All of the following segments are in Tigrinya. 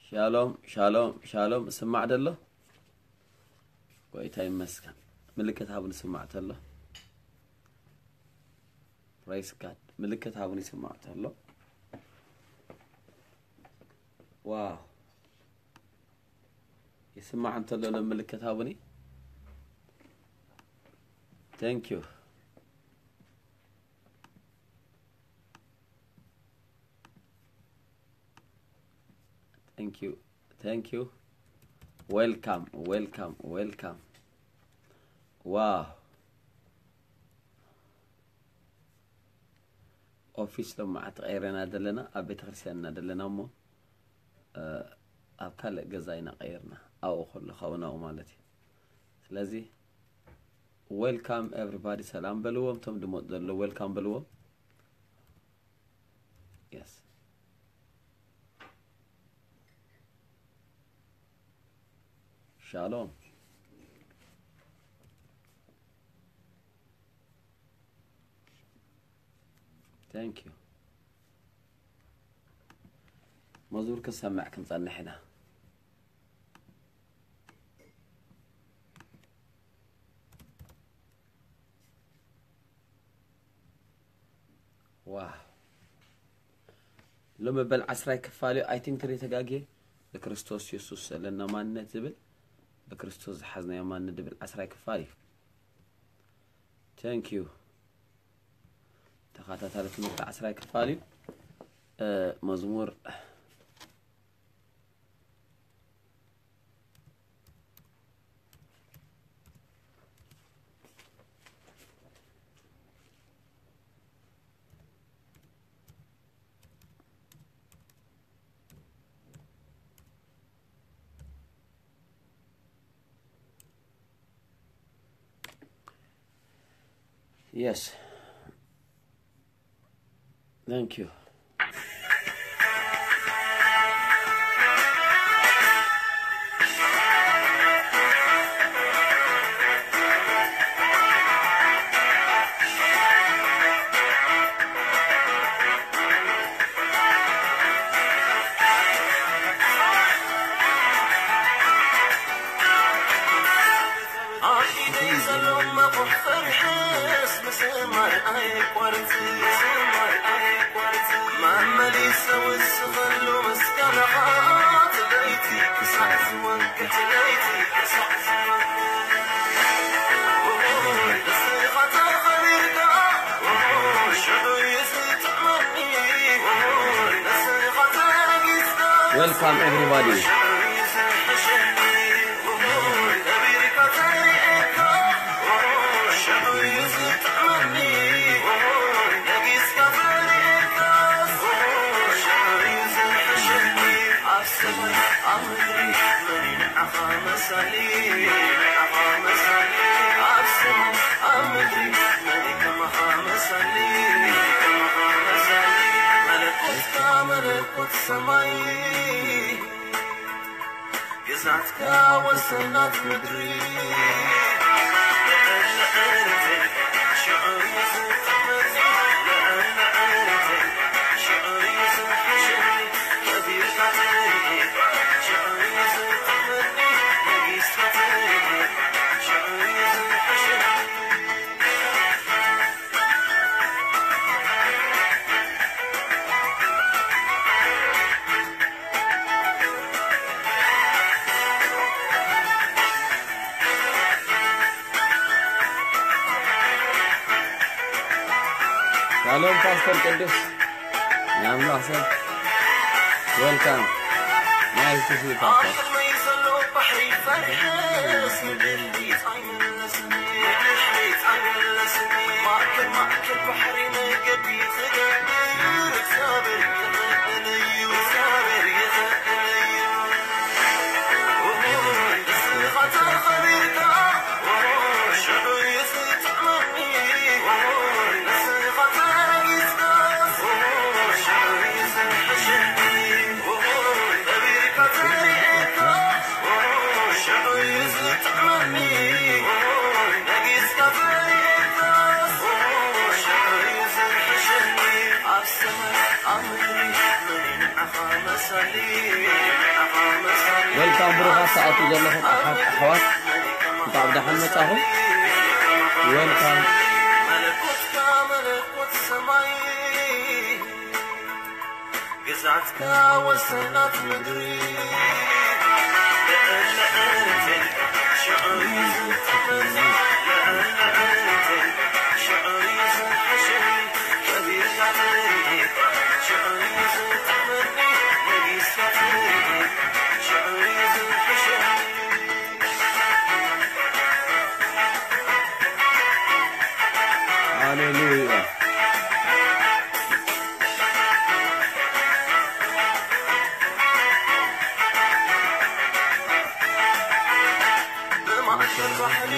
ሻሎም ሻሎም ሻሎም። እስማዕ ደሎ? ጎይታ ይመስገን። ምልክት ሃቡን ስማዕ ተሎ። Praise God። ምልክት ሃቡን ይስማዕ ተሎ። ዋው። ይስማዕ እንተሎ ሎ ምልክት ሃቡኒ። Thank you. Thank you. Thank you. Welcome, welcome, welcome. Wow. ኦፊስ ሎማዓንቲ ቀይረና ዘለና ኣብ ቤተክርስትያንና ዘለና እሞ ኣብ ካልእ ገዛ ኢና ቀይርና ኣብኡ ከሎ ካብኡ ናብኡ ማለት እዩ። ስለዚ welcome everybody ሰላም በልዎም። እቶም ድመፁ ዘለዉ welcome በልዎም። Yes. Shalom. Thank you. መዝሙር ክንሰምዕ ክንጸንሕ ኢና። ዋ ሎሚ በል ዓስራይ ክፋል እዩ። I think ትሪ ተጋግየ። ብክርስቶስ የሱስ ዘለና ማንነት ዝብል ብክርስቶስ ዝሓዝናዮ ማንነት ዝብል ዓስራይ ክፋል እዩ። Thank you። ተኸታታሊ ትምህርቲ ዓስራይ ክፋል እዩ። መዝሙር Yes. Thank you. Welcome everybody. Shalom, Pastor Kedus. Nyamlah, sir. Welcome. Nice to see you, Pastor. Welcome ብሩኻት ሰዓቱ ዘለኹም ኣሓት ኣሕዋት፣ እንኳዕ ብደሓን መጻኹም። Welcome። ግዛትካ ወሰናት ምድሪ። ሃሌሉያ። ብማእከል ባሕሪ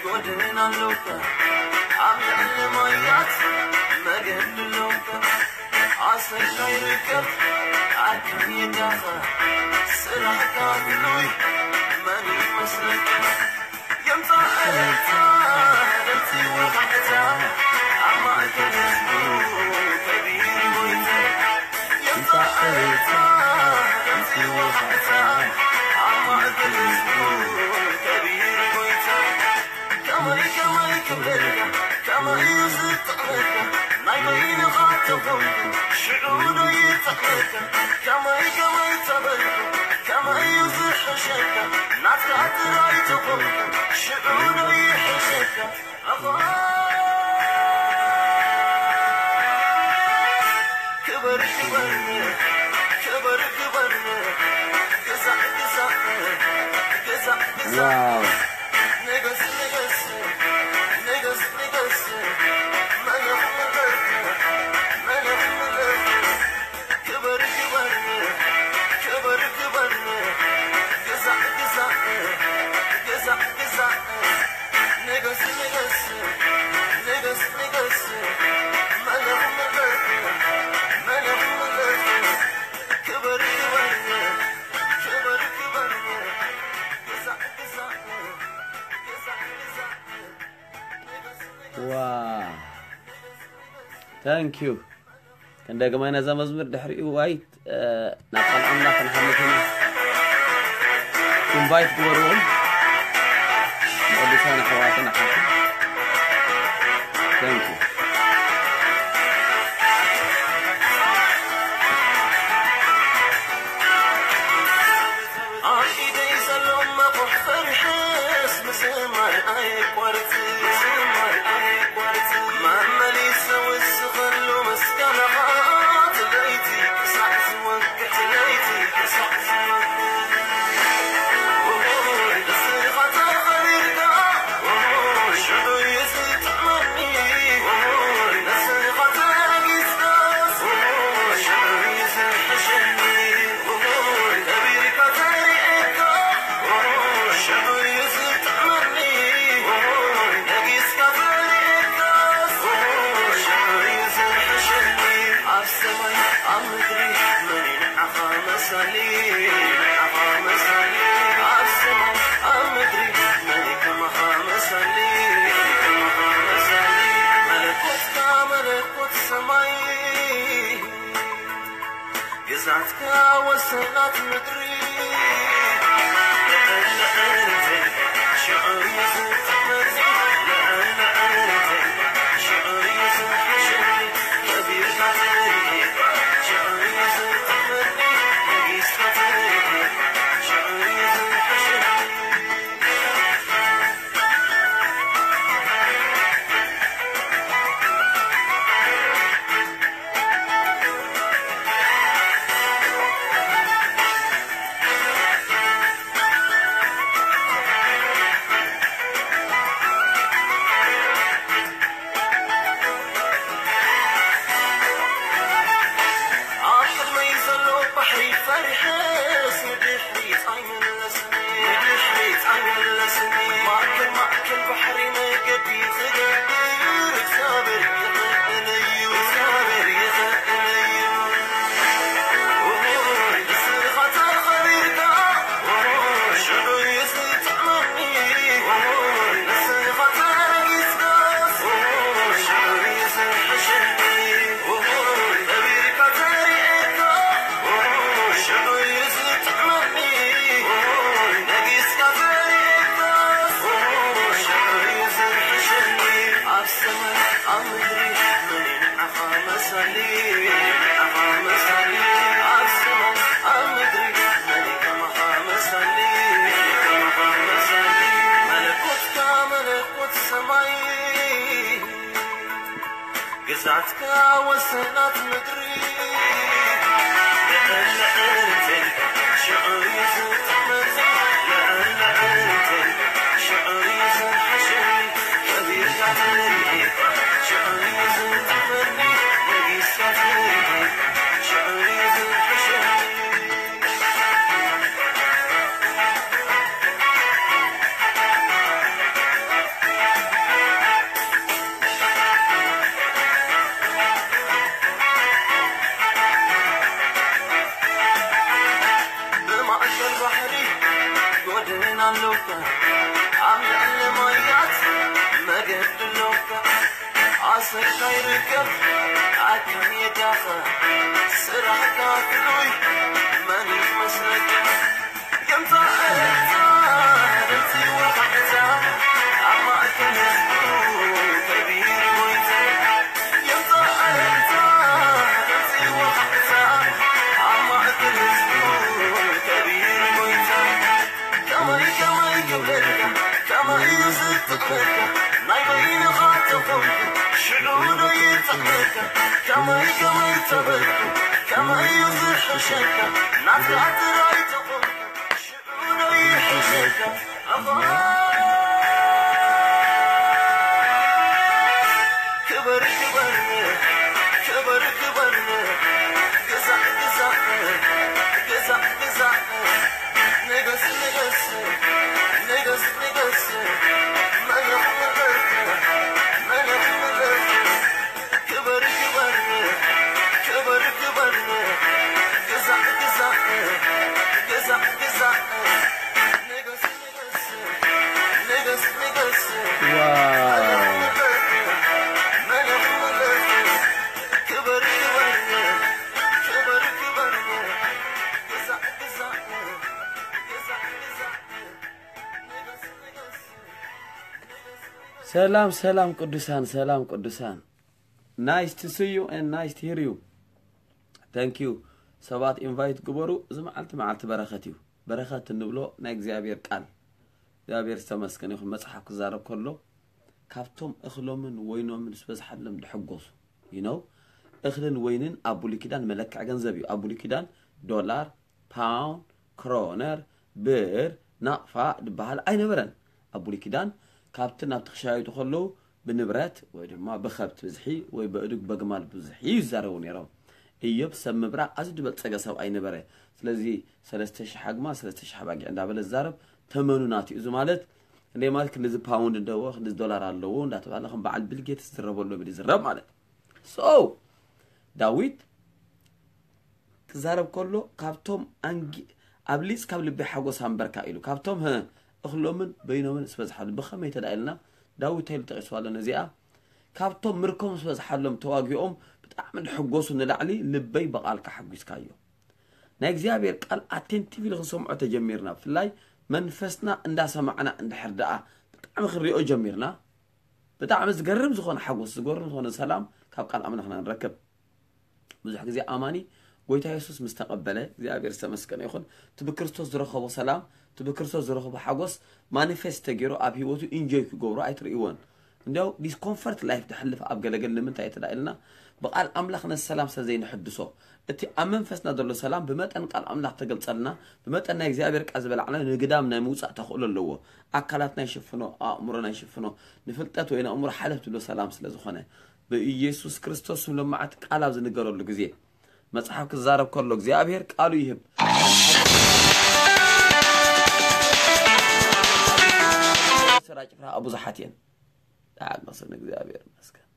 ጎደና ኣለውካ፣ ኣብ ልዕሊ ማያት መገዲ ኣለውካ። ኣሰር ከይርከብ ኣካይዳኻ፣ ስራሕካ ፍሉይ መን ይመስለካ? የምጻእ እልልታ፣ እቲ ወጋሕታ፣ ኣብ ማእከል ህዝቡ ከቢሩ ጎይታ። የምጻእ እልልታ፣ እቲ ወጋሕታ፣ ኣብ ማእከል ህዝቡ ከቢሩ ጎይታ። ከመይ ከመይ ክብለካ፣ ከመይ እዩ ዝጥዕመካ፣ ናይ በይንኻ ተኾንኩ ሽዑ ዶ ይጥዕመካ? ከመይ ከመይ ተበልኩ፣ ከመይ እዩ ዝሕሸካ፣ ናትካ ጥራይ ተኾንኩ ሽዑ ዶ ይሕሸካ? ኣኾ ክበር ክበር ክበር ክበር፣ ግዛእ ግዛእ ግዛእ ግዛእ፣ ዋው። ንገስ ንገስ ንገስ ንገስ፣ መለኽ መለኽ መለኽ መለኽ፣ ክበር ክበር ክበር ክበር፣ ግዛእ ግዛእ ግዛእ ግዛእ፣ ንገስ ንገስ ንገስ ንገስ፣ መለኽ መለኽ መለኽ መለኽ፣ ክበር ክበር ክበር ክበር፣ ግዛእ ግዛእ ግዛእ ግዛእ፣ ንገስ ንገስ። ዋ፣ thank you። ክንደግማይ ነዛ መዝሙር ድሕሪኡ ዋይ፣ እ፣ ናብ ቃል ኣምላኽ ክንሓልፍ ኢና። ኢንቫይት ግበርዎም ንቅዱሳን ኣሕዋትን ኣሓትን። Thank you። ኣብ ኢደይ ዘሎ መቑሕ ፈሪሐስ ምዝማር ኣየቋርጽ፣ ምዝማር ኣየቋርጽ። መመሊሰ ውስኸሉ ምስጋናኻ፣ እቲ ለይቲ ክሳዕ ዝወግሕ፣ ለይቲ ክሳዕ ዝወግሕ። ንስኻ ተኸቢርካ፣ ሽዑ እዩ ዝጥዕመኒ። ንስኻ ተረጊጽካስ፣ ሽዑ እዩ ዝሕሸኒ። ከቢርካ ተሪኤካ፣ ሽዑ እዩ ዝጥዕመኒ። ነጊስካ ተሪኤካስ፣ ሽዑ እዩ ዝሕሸኒ። ኣብ ሰማይ ኣብ ምድሪ መን እዩ ንዓኻ መሳሊ? ንዓኻ መሳሊ። ኣብ ሰማይ ኣብ ምድሪ መን እዩ ከማኻ መሳሊ? ከማኻ መሳሊ። መለኮትካ መለኮት ሰማይ፣ ግዛትካ ወሰናት ምድሪ። ኣብ ቅድመይ ዘሎ ባሕሪ ፈሪሐስ ንድሕሪት ኣይምለስን። ንድሕሪት ኣይምለስን። ማእከል ማእከል ባሕሪ መገዲ ክገብር እግዚኣብሔር ይኽእል እዩ። እግዚኣብሔር ይኽእል እዩ። ንስኻ ተኸቢርካ ሽዑ እዩ ዝጥዕመኒ። ንስኻ ተረጊጽካስ ሽዑ እዩ ዝሕሸኒ። ከቢርካ ተሪኤካ ሽዑ እዩ መሳሊ ኣኻ መሳሊ ኣብ ሰማይ ኣብ ምድሪ መን ከማኻ መሳሊ ከማኻ መሳሊ መለኮትካ መለኮት ሰማይ ግዛትካ ወሰናት ምድሪ ልዕሊ ዕርፍን ሽዑ እዩ ዝጥመኒ ልዕሊ ዕርፍን ሽዑ እዩ ዝሓሸኒ ከቢርካ ትርኢ ሽዑ እዩ ዝጥመኒ ነጊስካ ትርኢ ሽዑ እዩ ዝሓሸኒ ብማእከል ባሕሪ ጎድን ኣለውካ ኣብ ልዕሊ ማያት መገዲ ኣለውካ ኣሰርካ ይርከብ ኣካየዳኻ ስራሕካ ፍሉይ መን ይመስለካ ሰላም ሰላም ቅዱሳን ሰላም ቅዱሳን nice to see you and nice to hear you thank you ሰባት invite ግበሩ እዚ መዓልቲ መዓልቲ በረኸት እዩ በረኸት እንብሎ ናይ እግዚኣብሔር ቃል እግዚኣብሔር ዝተመስገነ ይኹን መፅሓፍ ክዛረብ ከሎ ካብቶም እኽሎምን ወይኖምን ዝበዝሓሎም ድሕጎሱ you know እኽልን ወይንን ኣብ ብሉይ ኪዳን መለክዒ ገንዘብ እዩ ኣብ ብሉይ ኪዳን ዶላር ፓውንድ፣ ክሮነር፣ ብር፣ ናቕፋ ድበሃል ኣይነበረን። ኣብ ብሉይ ኪዳን ካብቲ ናብቲ ክሻየጡ ከለዉ ብንብረት ወይ ድማ ብኸብቲ ብዝሒ ወይ በእዱግ በግማል ብዝሒ እዩ ዝዛረቡ ነይሮም። እዮብ ሰብ ምብራቕ ኣዝዩ ዝበልጸገ ሰብኣይ ነበረ። ስለዚ ሰለስተ ሽሕ ኣግማል፣ ሰለስተ ሽሕ ኣባጊዕ እንዳበለ ዝዛረብ ተመኑ ናቱ እዩ። እዚ ማለት ክንደይ ማለት ክንድዚ ፓውንድ እንደዎ ክንድዚ ዶላር ኣለዎ እንዳተባለ ከም በዓል ቢል ጌትስ ዝረበሉ ብል ይዝረብ ማለት። So ዳዊት ክዛረብ ከሎ ካብቶም ኣንጊ ኣብሊጽ ካብ ልቢ ሓጎስ ኣንበርካ ኢሉ ካብቶም ህ እኽሎምን በይኖምን ስበዝሓሉ ብኸመይ ተዳ ኢልና ዳዊት ተይሉ ጠቂስዋ ኣሎ ነዚኣ ካብቶም ምርኮም ስበዝሓሎም ተዋጊኦም ብጣዕሚ ድሕጎሱ ንላዕሊ ልበይ ብቓልካ ሓጒስካዮ ናይ እግዚኣብሔር ቃል ኣቴንቲቭ ኢሉ ክንሰምዖ ተጀሚርና ብፍላይ መንፈስና እንዳሰማዕና እንድሕር ደኣ ብጣዕሚ ክንሪኦ ጀሚርና ብጣዕሚ ዝገርም ዝኾነ ሓጎስ ዝገርም ዝኾነ ሰላም ካብ ቃል ኣምላኽና ንረክብ ብዙሕ ግዜ ኣማኒ ጎይታ የሱስ ምስ ተቐበለ እግዚኣብሔር ዝተመስገነ ይኹን እቲ ብክርስቶስ ዝረኸቦ ሰላም እቲ ብክርስቶስ ዝረኸቦ ሓጎስ ማኒፌስት ተገይሩ ኣብ ህይወቱ ኢንጆይ ክገብሮ ኣይትርእይዎን እንዲያው ዲስኮምፈርት ላይፍ ድሕልፍ ኣብ ገለገል ንምንታይ ተዳ ኢልና ብቃል ኣምላኽ ነዚ ሰላም ስለ ዘይንሕድሶ እቲ ኣብ መንፈስና ዘሎ ሰላም ብመጠን ቃል ኣምላኽ ተገልጸልና ብመጠን ናይ እግዚኣብሔር ቃል ዝበላዕና ንግዳም ናይ ምውጻእ ተኽእሎ ኣለዎ ኣካላትና ይሽፍኖ ኣእምሮና ይሽፍኖ ንፍልጠት ወይ ንኣእምሮ ሓለፍ ትብሎ ሰላም ስለ ዝኾነ ብኢየሱስ ክርስቶስ ስም ሎማዓት ቃል ኣብ ዝንገረሉ ግዜ መጽሓፍ ክዛረብ ከሎ እግዚኣብሔር ቃሉ ይህብ ስራ ጭፍራ ብዙሓት እየን ተዓቅስን እግዚኣብሔር ይመስገን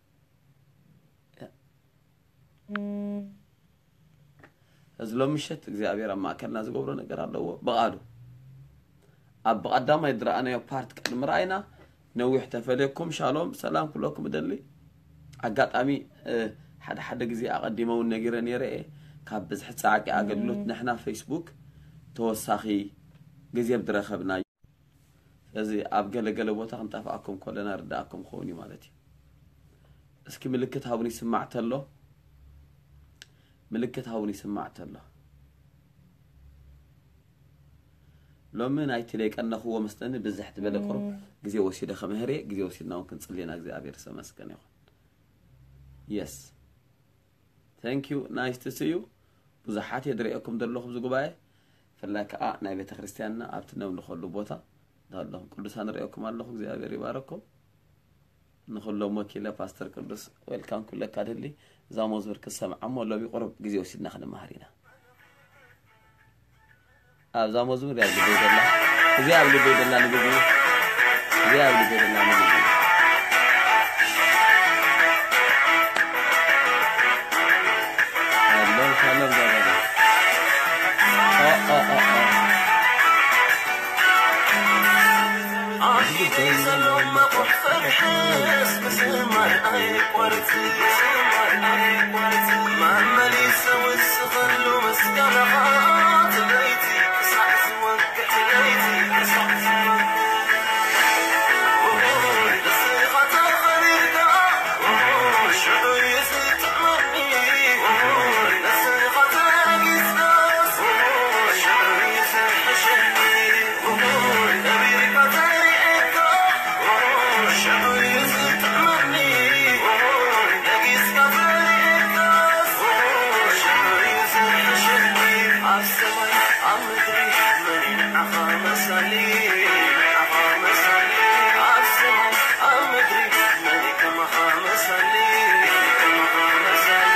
እዚ ሎም ምሸት እግዚኣብሔር ኣብ ማእከልና ዝገብሮ ነገር ኣለዎ ብቓሉ ኣብ ብቐዳማይ ዝረኣናዮ ፓርት ቅድሚ ረኣይና ነዊሕ ተፈልየኩም ሻሎም ሰላም ክብለኩም እደሊ ኣጋጣሚ ሓደ ሓደ ግዜ ኣቐዲመ እውን ነጊረ ነይረ እየ ካብ ብዝሒ ፃዕቂ ኣገልግሎት ንሕና ፌስቡክ ተወሳኺ ግዜ ብዝረኸብና ስለዚ ኣብ ገለገለ ቦታ ክንጠፍኣኩም ከለና ርዳኣኩም ክኸውን እዩ ማለት እዩ እስኪ ምልክት ሃቡን ይስማዕ ተሎ ምልክት ሃቡን ይስማዕ ተሎ። ሎሚ ናይቲ ለይቀነኽዎ መስለኒ ብዝሕ ዝበለ ቁሩብ ግዜ ወሲደ ከምህር እየ። ግዜ ወሲድና እውን ክንጽሊ ኢና። እግዚኣብሔር ዝተመስገነ ይኹን። Yes, thank you, nice to see you። ብዙሓት እየ ዝርእየኩም ዘለኹ ኣብዚ ጉባኤ፣ ብፍላይ ከዓ ናይ ቤተ ክርስቲያንና ኣብቲ ነምልኸሉ ቦታ ዘለኹም ቅዱሳን እርእየኩም ኣለኹ። እግዚኣብሔር ይባረኩም። ንኹሎም ወኪለ ፓስተር ቅዱስ ዌልካም ክብለካ ደሊ። እዛ መዝሙር ክትሰምዓ እሞ ሎሚ ቁሩብ ግዜ ወሲድና ክንመሃር ኢና። ኣብዛ መዝሙር እያ ኣብ ልበይ ዘላ፣ እዚኣ ኣብ ልበይ ዘላ ንግዜ፣ እዚኣ ኣብ ልበይ ዘላ ንግዜ። ኣሎም፣ ኣሎም፣ ዛዛዛ። ኦ፣ ኦ፣ ኦ፣ ኦ። ኣብ ኢደይ ዘሎ መቑሕ ፈሪሐስ ምዝማር ኣይቋርጽ፣ ምዝማር ኣይቋርጽ። መመሊሰ ወስኸሉ ምስጋናኻ፣ እቲ ለይቲ ክሳዕ ዝወግሕ፣ እቲ ለይቲ ክሳዕ ዝወግሕ። ኣብ ሰማይ ኣብ ምድሪ መን እዩ ንዓኻ መሳሊ? ንዓኻ መሳሊ። ኣብ ሰማይ ኣብ ምድሪ መን እዩ ከማኻ መሳሊ? ከማኻ መሳሊ።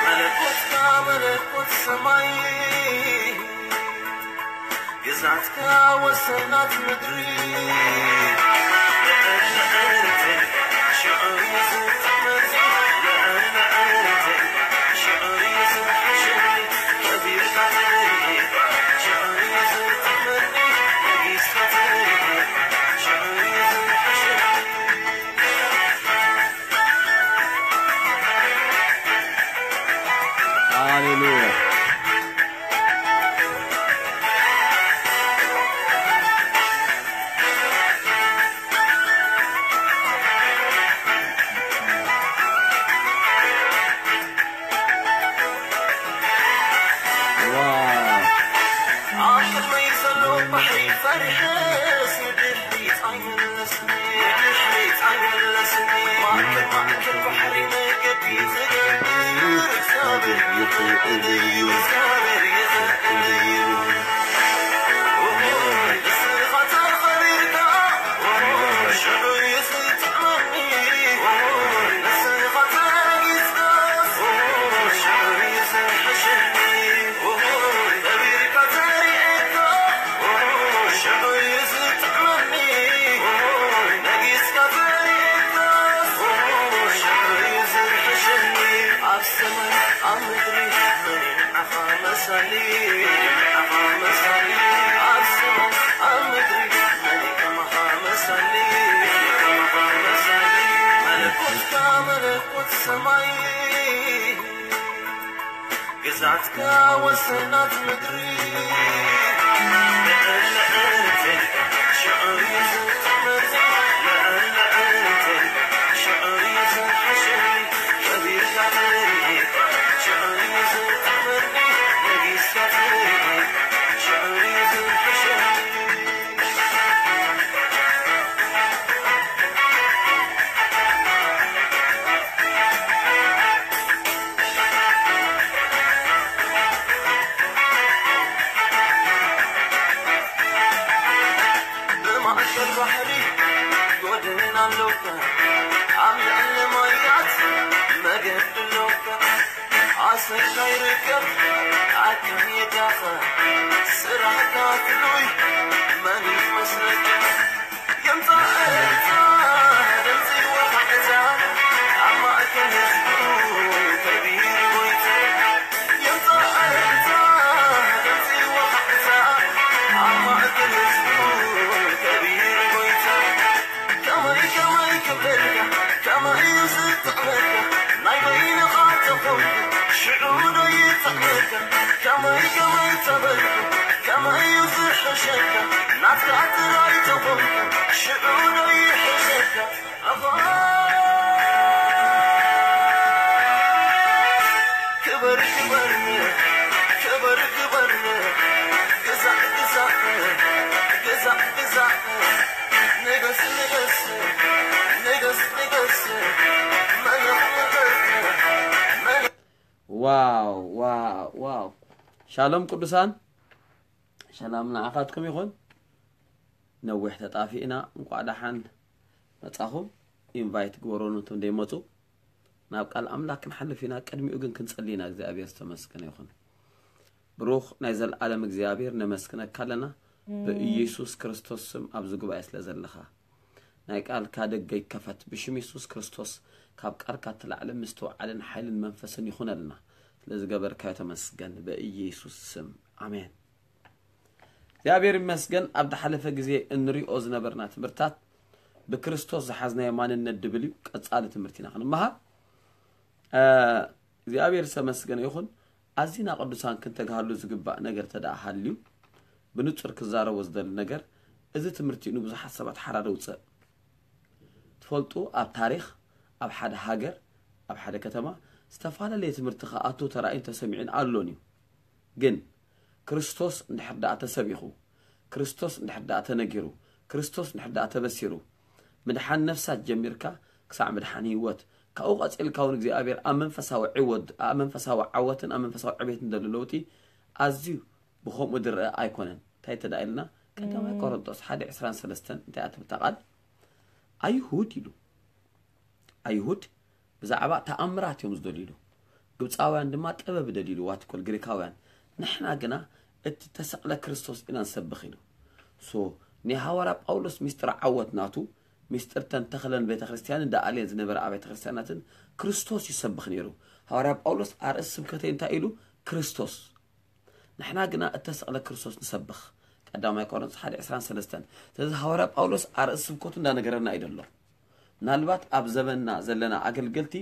መለኮትካ መለኮት ሰማይ፣ ግዝኣትካ ወሰናት ምድሪ። ሃሌሉያ። ዋው። ኣብ ቅድመይ ዘሎ ባሕሪ ፈሪሐስ ንድሕሪት ኣይምለስን፣ ንድሕሪት ኣይምለስን። ማእከል ማእከል ባሕሪ መገዲ ትገብር እግዚኣብሔር ይኽእል እዩ፣ እግዚኣብሔር ይኽእል እዩ። ንስኻ ተኸቢርካ ሽዑ እዩ ዝጥዕመኒ፣ ንስኻ ተረጊጽካስ ሽዑ እዩ ዝሕሸኒ። ከቢርካ ተሪኤካ ሽዑ እዩ ዝጥዕመኒ፣ ነጊስካ ተሪኤካስ ሽዑ እዩ ዝሕሸኒ። ኣብ ሰማይ ኣብ ምድሪ መን እዩ ንዓኻ መሳሊ? ንዓኻ መሳሊ። ኣብ ሰማይ ኣብ ምድሪ መን እዩ ከማኻ መሳሊ? ከማኻ መሳሊ። መለኮትካ መለኮት ሰማይ፣ ግዝኣትካ ወሰናት ምድሪ። ልዕል ልዕል ትብል ሽዑ እዩ ዝጥዕመኒ፣ ልዕል ልዕል ትብል ሽዑ እዩ ዝሕሸኒ። ከቢርካ ትርኢ ሽዑ እዩ ዝጥዕመኒ፣ ነጊስካ ትርኢ ሽዑ እዩ ዝሕሸኒ። ብማእከል ባሕሪ ጎድን ኣለውካ፣ ኣብ ልዕሊ ማያት መገዲ ኣለውካ። ኣሰር ከይርከብ ኣካይዳኻ፣ ስራሕካ ፍሉይ መን ይመስለካ? የምጻእ እልልታ፣ ድምጺ ወሃሕታ፣ ኣብ ማእከል ህዝቡ ከቢሩ ጎይታ። የምጻእ እልልታ፣ ድምጺ ወሃሕታ፣ ኣብ ማእከል ህዝቡ ከቢሩ ጎይታ። ከመይ ከመይ ክብለልካ፣ ከመይ እዩ ዝጥዕመካ? ናይ በይንኻ ተኾንካ ሽዑ ዶ ይጥዕመካ? ከመይ ከመይ ተበልኩ፣ ከመይ እዩ ዝሕሸካ? ናትካ ጥራይ ተኾንካ ሽዑ ዶ ይሕሸካ? ኣባ ክበር ክበር ሻሎም ቅዱሳን፣ ሰላም ንዓኻትኩም ይኹን። ነዊሕ ተጣፊእና፣ እንኳዕ ደሓን መጻኹም። ኢንቫይት ግበሩ ነቶም ደይመጹ። ናብ ቃል ኣምላኽ ክንሓልፍ ኢና። ቅድሚኡ ግን ክንጸሊ ኢና። እግዚኣብሔር ዝተመስገነ ይኹን። ብሩኽ ናይ ዘለኣለም እግዚኣብሔር፣ ነመስግነካ ኣለና። ብኢየሱስ ክርስቶስ ስም ኣብዚ ጉባኤ ስለ ዘለኻ፣ ናይ ቃልካ ደገ ይከፈት። ብሽም የሱስ ክርስቶስ ካብ ቃልካ እትላዕለ ምስትውዓልን ሓይልን መንፈስን ይኹነልና። ስለ ዝገበርካዮ ተመስገን፣ ብኢየሱስ ስም፣ ኣሜን። እግዚኣብሔር ይመስገን። ኣብ ዝሓለፈ ግዜ እንሪኦ ዝነበርና ትምህርታት ብክርስቶስ ዝሓዝናዮ ማንነት ድብል እዩ። ቀጻሊ ትምህርቲ ኢና ክንመሃር። እ፣ እግዚኣብሔር ዝተመስገነ ይኹን። ኣዚና ቅዱሳን ክንተግሃሉ ዝግባእ ነገር ተደኣ ሃልዩ፣ ብንጹር ክዛረቦ ዝደሊ ነገር፣ እዚ ትምህርቲ ንብዙሓት ሰባት ሓራ ደውጽእ። ትፈልጡ፣ ኣብ ታሪኽ፣ ኣብ ሓደ ሃገር፣ ኣብ ሓደ ከተማ፣ ዝተፈላለየ ትምህርቲ ክኣቱ ተራእዩን ተሰሚዑን ኣሎን እዩ። ግን ክርስቶስ እንድሕር ደኣ ተሰቢኹ፣ ክርስቶስ እንድሕር ደኣ ተነጊሩ፣ ክርስቶስ እንድሕር ደኣ ተበሲሩ፣ ምድሓን ነፍሳት ጀሚርካ ክሳዕ ምድሓን ህይወት፣ ካብኡ ቀጺልካ እውን እግዚኣብሔር ኣብ መንፈሳዊ ዕወት፣ ኣብ መንፈሳዊ ዓወትን ኣብ መንፈሳዊ ዕቤትን ዘሎ ለውጢ ኣዝዩ ብኸምኡ ዝረአ ኣይኮነን። እንታይ ተዳ ኢልና? ቀዳማይ ቆሮንጦስ ሓደ ዕስራን ሰለስተን እንታይ እያ ትብል እታ ቃል? ኣይሁድ ኢሉ። ኣይሁድ ብዛዕባ ተኣምራት እዮም ዝደልዩ ኢሉ። ግብፃውያን ድማ ጥበብ ይደልዩ ኢሉ። ዋትኮል ግሪካውያን፣ ንሕና ግና እቲ ተሰቕለ ክርስቶስ ኢና ንሰብኽ ኢሉ። ሶ ናይ ሃዋርያ ጳውሎስ ሚስጥር ዓወት ናቱ፣ ሚስጥር ተን ተኽለን ቤተ ክርስቲያንን ደኣልየን ዝነበረ ኣብያተ ክርስቲያናትን ክርስቶስ ይሰብኽ ነይሩ። ሃዋርያ ጳውሎስ ኣርእስቲ ስብከተይ እንታይ ኢሉ? ክርስቶስ። ንሕና ግና እተሰቕለ ክርስቶስ ንሰብኽ። ቀዳማይ ቆሮንቶስ ሓደ ዕስራን ሰለስተን። ስለዚ ሃዋርያ ጳውሎስ ኣርእስቲ ስብከቱ እንዳነገረና እዩ ዘሎ። ምናልባት ኣብ ዘበንና ዘለና ኣገልገልቲ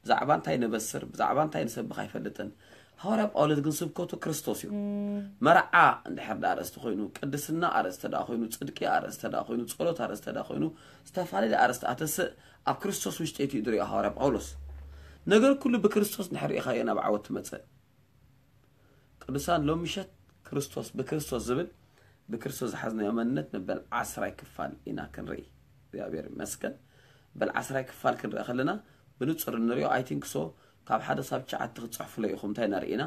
ብዛዕባ እንታይ ነበስር፣ ብዛዕባ እንታይ ንሰብኽ ኣይፈልጥን። ሃዋርያ ጳውሎስ ግን ስብከቱ ክርስቶስ እዩ። መርዓ እንድሕር ደኣ ኣርእስቲ ኮይኑ፣ ቅድስና ኣርእስቲ ደኣ ኮይኑ፣ ጽድቂ ኣርእስቲ ደኣ ኮይኑ፣ ጸሎት ኣርእስቲ ደኣ ኮይኑ፣ ዝተፈላለዩ ኣርእስቲ ኣተስእ ኣብ ክርስቶስ ውሽጢ እዩ ዝሪኦ ሃዋርያ ጳውሎስ። ነገር ኩሉ ብክርስቶስ እንድሕር ርኢኻዮ ናብ ዓወት ትመጽእ። ቅዱሳን፣ ሎሚ ምሸት ክርስቶስ፣ ብክርስቶስ ዝብል፣ ብክርስቶስ ዝሓዝናዮ መንነት መበል ዓስራይ ክፋል ኢና ክንርኢ። እግዚኣብሔር ይመስገን። መበል ዓስራይ ክፋል ክንርኢ ከለና ብንጹር እንሪኦ፣ ኣይ ቲንክ ሶ፣ ካብ ሓደ ሳብ ትሽዓተ ክትጽሕፉለይ ኢኹም። እንታይ ኢና ርኢና?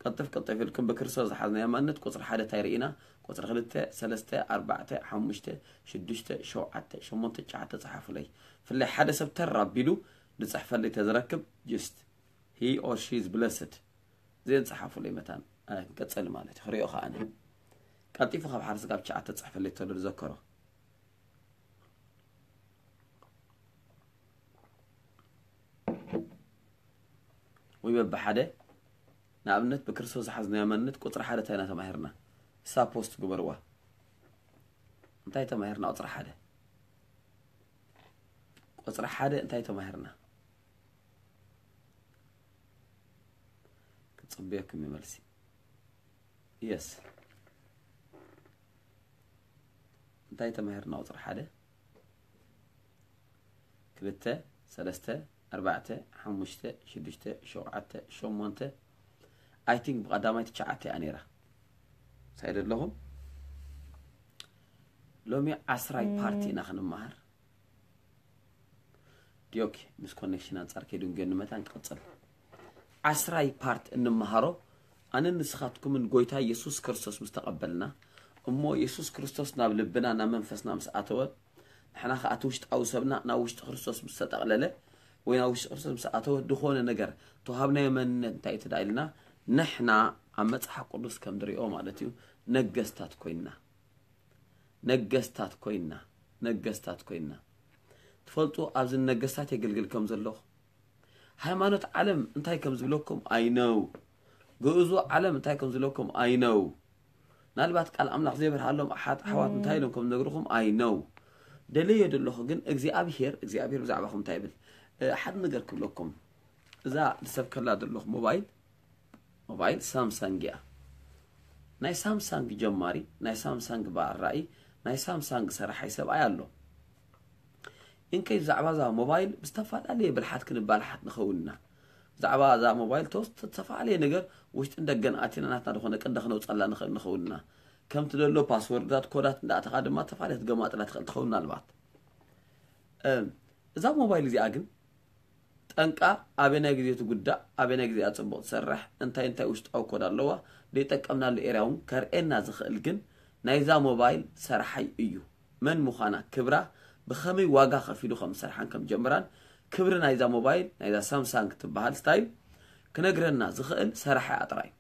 ቅልጥፍ ቅልጥፍ ኢልኩም ብክርስቶስ ዝሓዝናዮ መንነት ቁጽሪ ሓደ እንታይ ርኢና? ቁጽሪ ክልተ፣ ሰለስተ፣ ኣርባዕተ፣ ሓሙሽተ፣ ሽዱሽተ፣ ሸውዓተ፣ ሸሞንተ፣ ትሽዓተ ጸሓፉለይ። ፍላይ ሓደ ሰብ ተር ኣቢሉ ዝጽሕፈልይ ተዝረክብ፣ just he or she is blessed። እዚአን ጸሓፉለይ መታን፣ ኣነ ክንቀጽል ማለት እዩ። ክሪኦ ከኣ ኣነ። ቀልጢፉ ካብ ሓደ ስጋብ ትሽዓተ ጸሕፈልይ ተሎ ዝዘከሮ። ወይ በብሓደ፣ ንኣብነት ብክርስቶስ ዝሓዝናዮ መንነት ቁጽሪ ሓደ እንታይ ኢና ተማሂርና? እሳ ፖስት ግበርዋ። እንታይ ተማሂርና ቁጽሪ ሓደ? ቁጽሪ ሓደ እንታይ ተማሂርና? ክጽበየኩም እዩ መልሲ። የስ። እንታይ ተማሂርና? ቁጽሪ ሓደ፣ ክልተ፣ ሰለስተ፣ ኣርባዕተ፣ ሓሙሽተ፣ ሽዱሽተ፣ ሸውዓተ፣ ሸሞንተ፣ ኣይ ቲንክ ብቐዳማይ ትሽዓተ እያ ነይራ። ሳይድ ኣለኹም? ሎሚ ዓስራይ ፓርቲ ኢና ክንመሃር። ዲኦኬ፣ ምስ ኮኔክሽን ኣንጻር ከይዱ እንገን መታን ክቕጽል። ዓስራይ ፓርት እንመሃሮ፣ ኣነን ንስኻትኩምን ጎይታ የሱስ ክርስቶስ ምስ ተቐበልና፣ እሞ የሱስ ክርስቶስ ናብ ልብና፣ ናብ መንፈስና ምስ ኣተወ፣ ንሕና ኸኣ እቲ ውሽጣዊ ሰብና ናብ ውሽጢ ክርስቶስ ምስ ተጠቕለለ፣ ወይ ናብ ውሽጢ ክርስቶስ ምስ ኣተወ፣ ዝኾነ ነገር ተዋሃብናዮ መንነት እንታይ እዩ ተዳኢልና፣ ንሕና ኣብ መጽሓፍ ቅዱስ ከም ዝሪኦ ማለት እዩ፣ ነገስታት ኮይንና። ነገስታት ኮይንና፣ ነገስታት ኮይንና። ትፈልጡ፣ ኣብዚ ነገስታት የገልግል ከም ዘለኹ፣ ሃይማኖት ዓለም እንታይ ከም ዝብለኩም ኣይነው፣ ግእዙ ዓለም እንታይ ከም ዝብለኩም ኣይነው። ምናልባት ቃል ኣምላኽ ዘይበርሃሎም ኣሓት ኣሕዋት እንታይ ኢሎም ከም ዝነግርኹም ኣይነው። ደለዮ ዘለኹ ግን እግዚኣብሄር፣ እግዚኣብሄር ብዛዕባኹም እንታይ ይብል? እ፣ ሓደ ነገር ክብለኩም። እዛ ዝሰብከላ ዘለኹ ሞባይል፣ ሞባይል ሳምሳንግ እያ። ናይ ሳምሳንግ ጀማሪ፣ ናይ ሳምሳንግ በዓል ራእይ፣ ናይ ሳምሳንግ ሰራሓይ ሰብኣይ ኣሎ። እንከይ ብዛዕባ እዛ ሞባይል ብዝተፈላለየ ብልሓት ክንባልሓት ንኸውን ኢና። ብዛዕባ እዛ ሞባይል ተወስ-፣ ዝተፈላለየ ነገር ውሽጥን ደገን ኣቲና ናትና ዝኾነ ቅዲ ክነውፀላ ንኽእል ንኸውን ኢና። ከምቲ ዘሎ ፓስወርዳት፣ ኮዳት እንዳእተኻ ድማ ዝተፈላለየ ክትገማጥላ ትኽእል ትኸውን ምናልባት። እም፣ እዛ ሞባይል እዚኣ ግን ጠንቃ ኣበናይ ግዜ ትጉዳእ፣ ኣበናይ ግዜ ኣጽቡቕ ትሰርሕ፣ እንታይ እንታይ ውሽጣዊ ኮድ ኣለዋ፣ ዘይጠቀምናሉ ኤርያ እውን ከርእየና ዝኽእል ግን ናይዛ ሞባይል ሰራሓይ እዩ። መን ምዃና፣ ክብራ፣ ብኸመይ ዋጋ ከፊሉ ከም ዝሰርሓን ከም ጀምራን፣ ክብሪ ናይዛ ሞባይል፣ ናይዛ ሳምሳንግ ትበሃል ስታይል፣ ክነግረና ዝኽእል ሰራሓያ ጥራይ።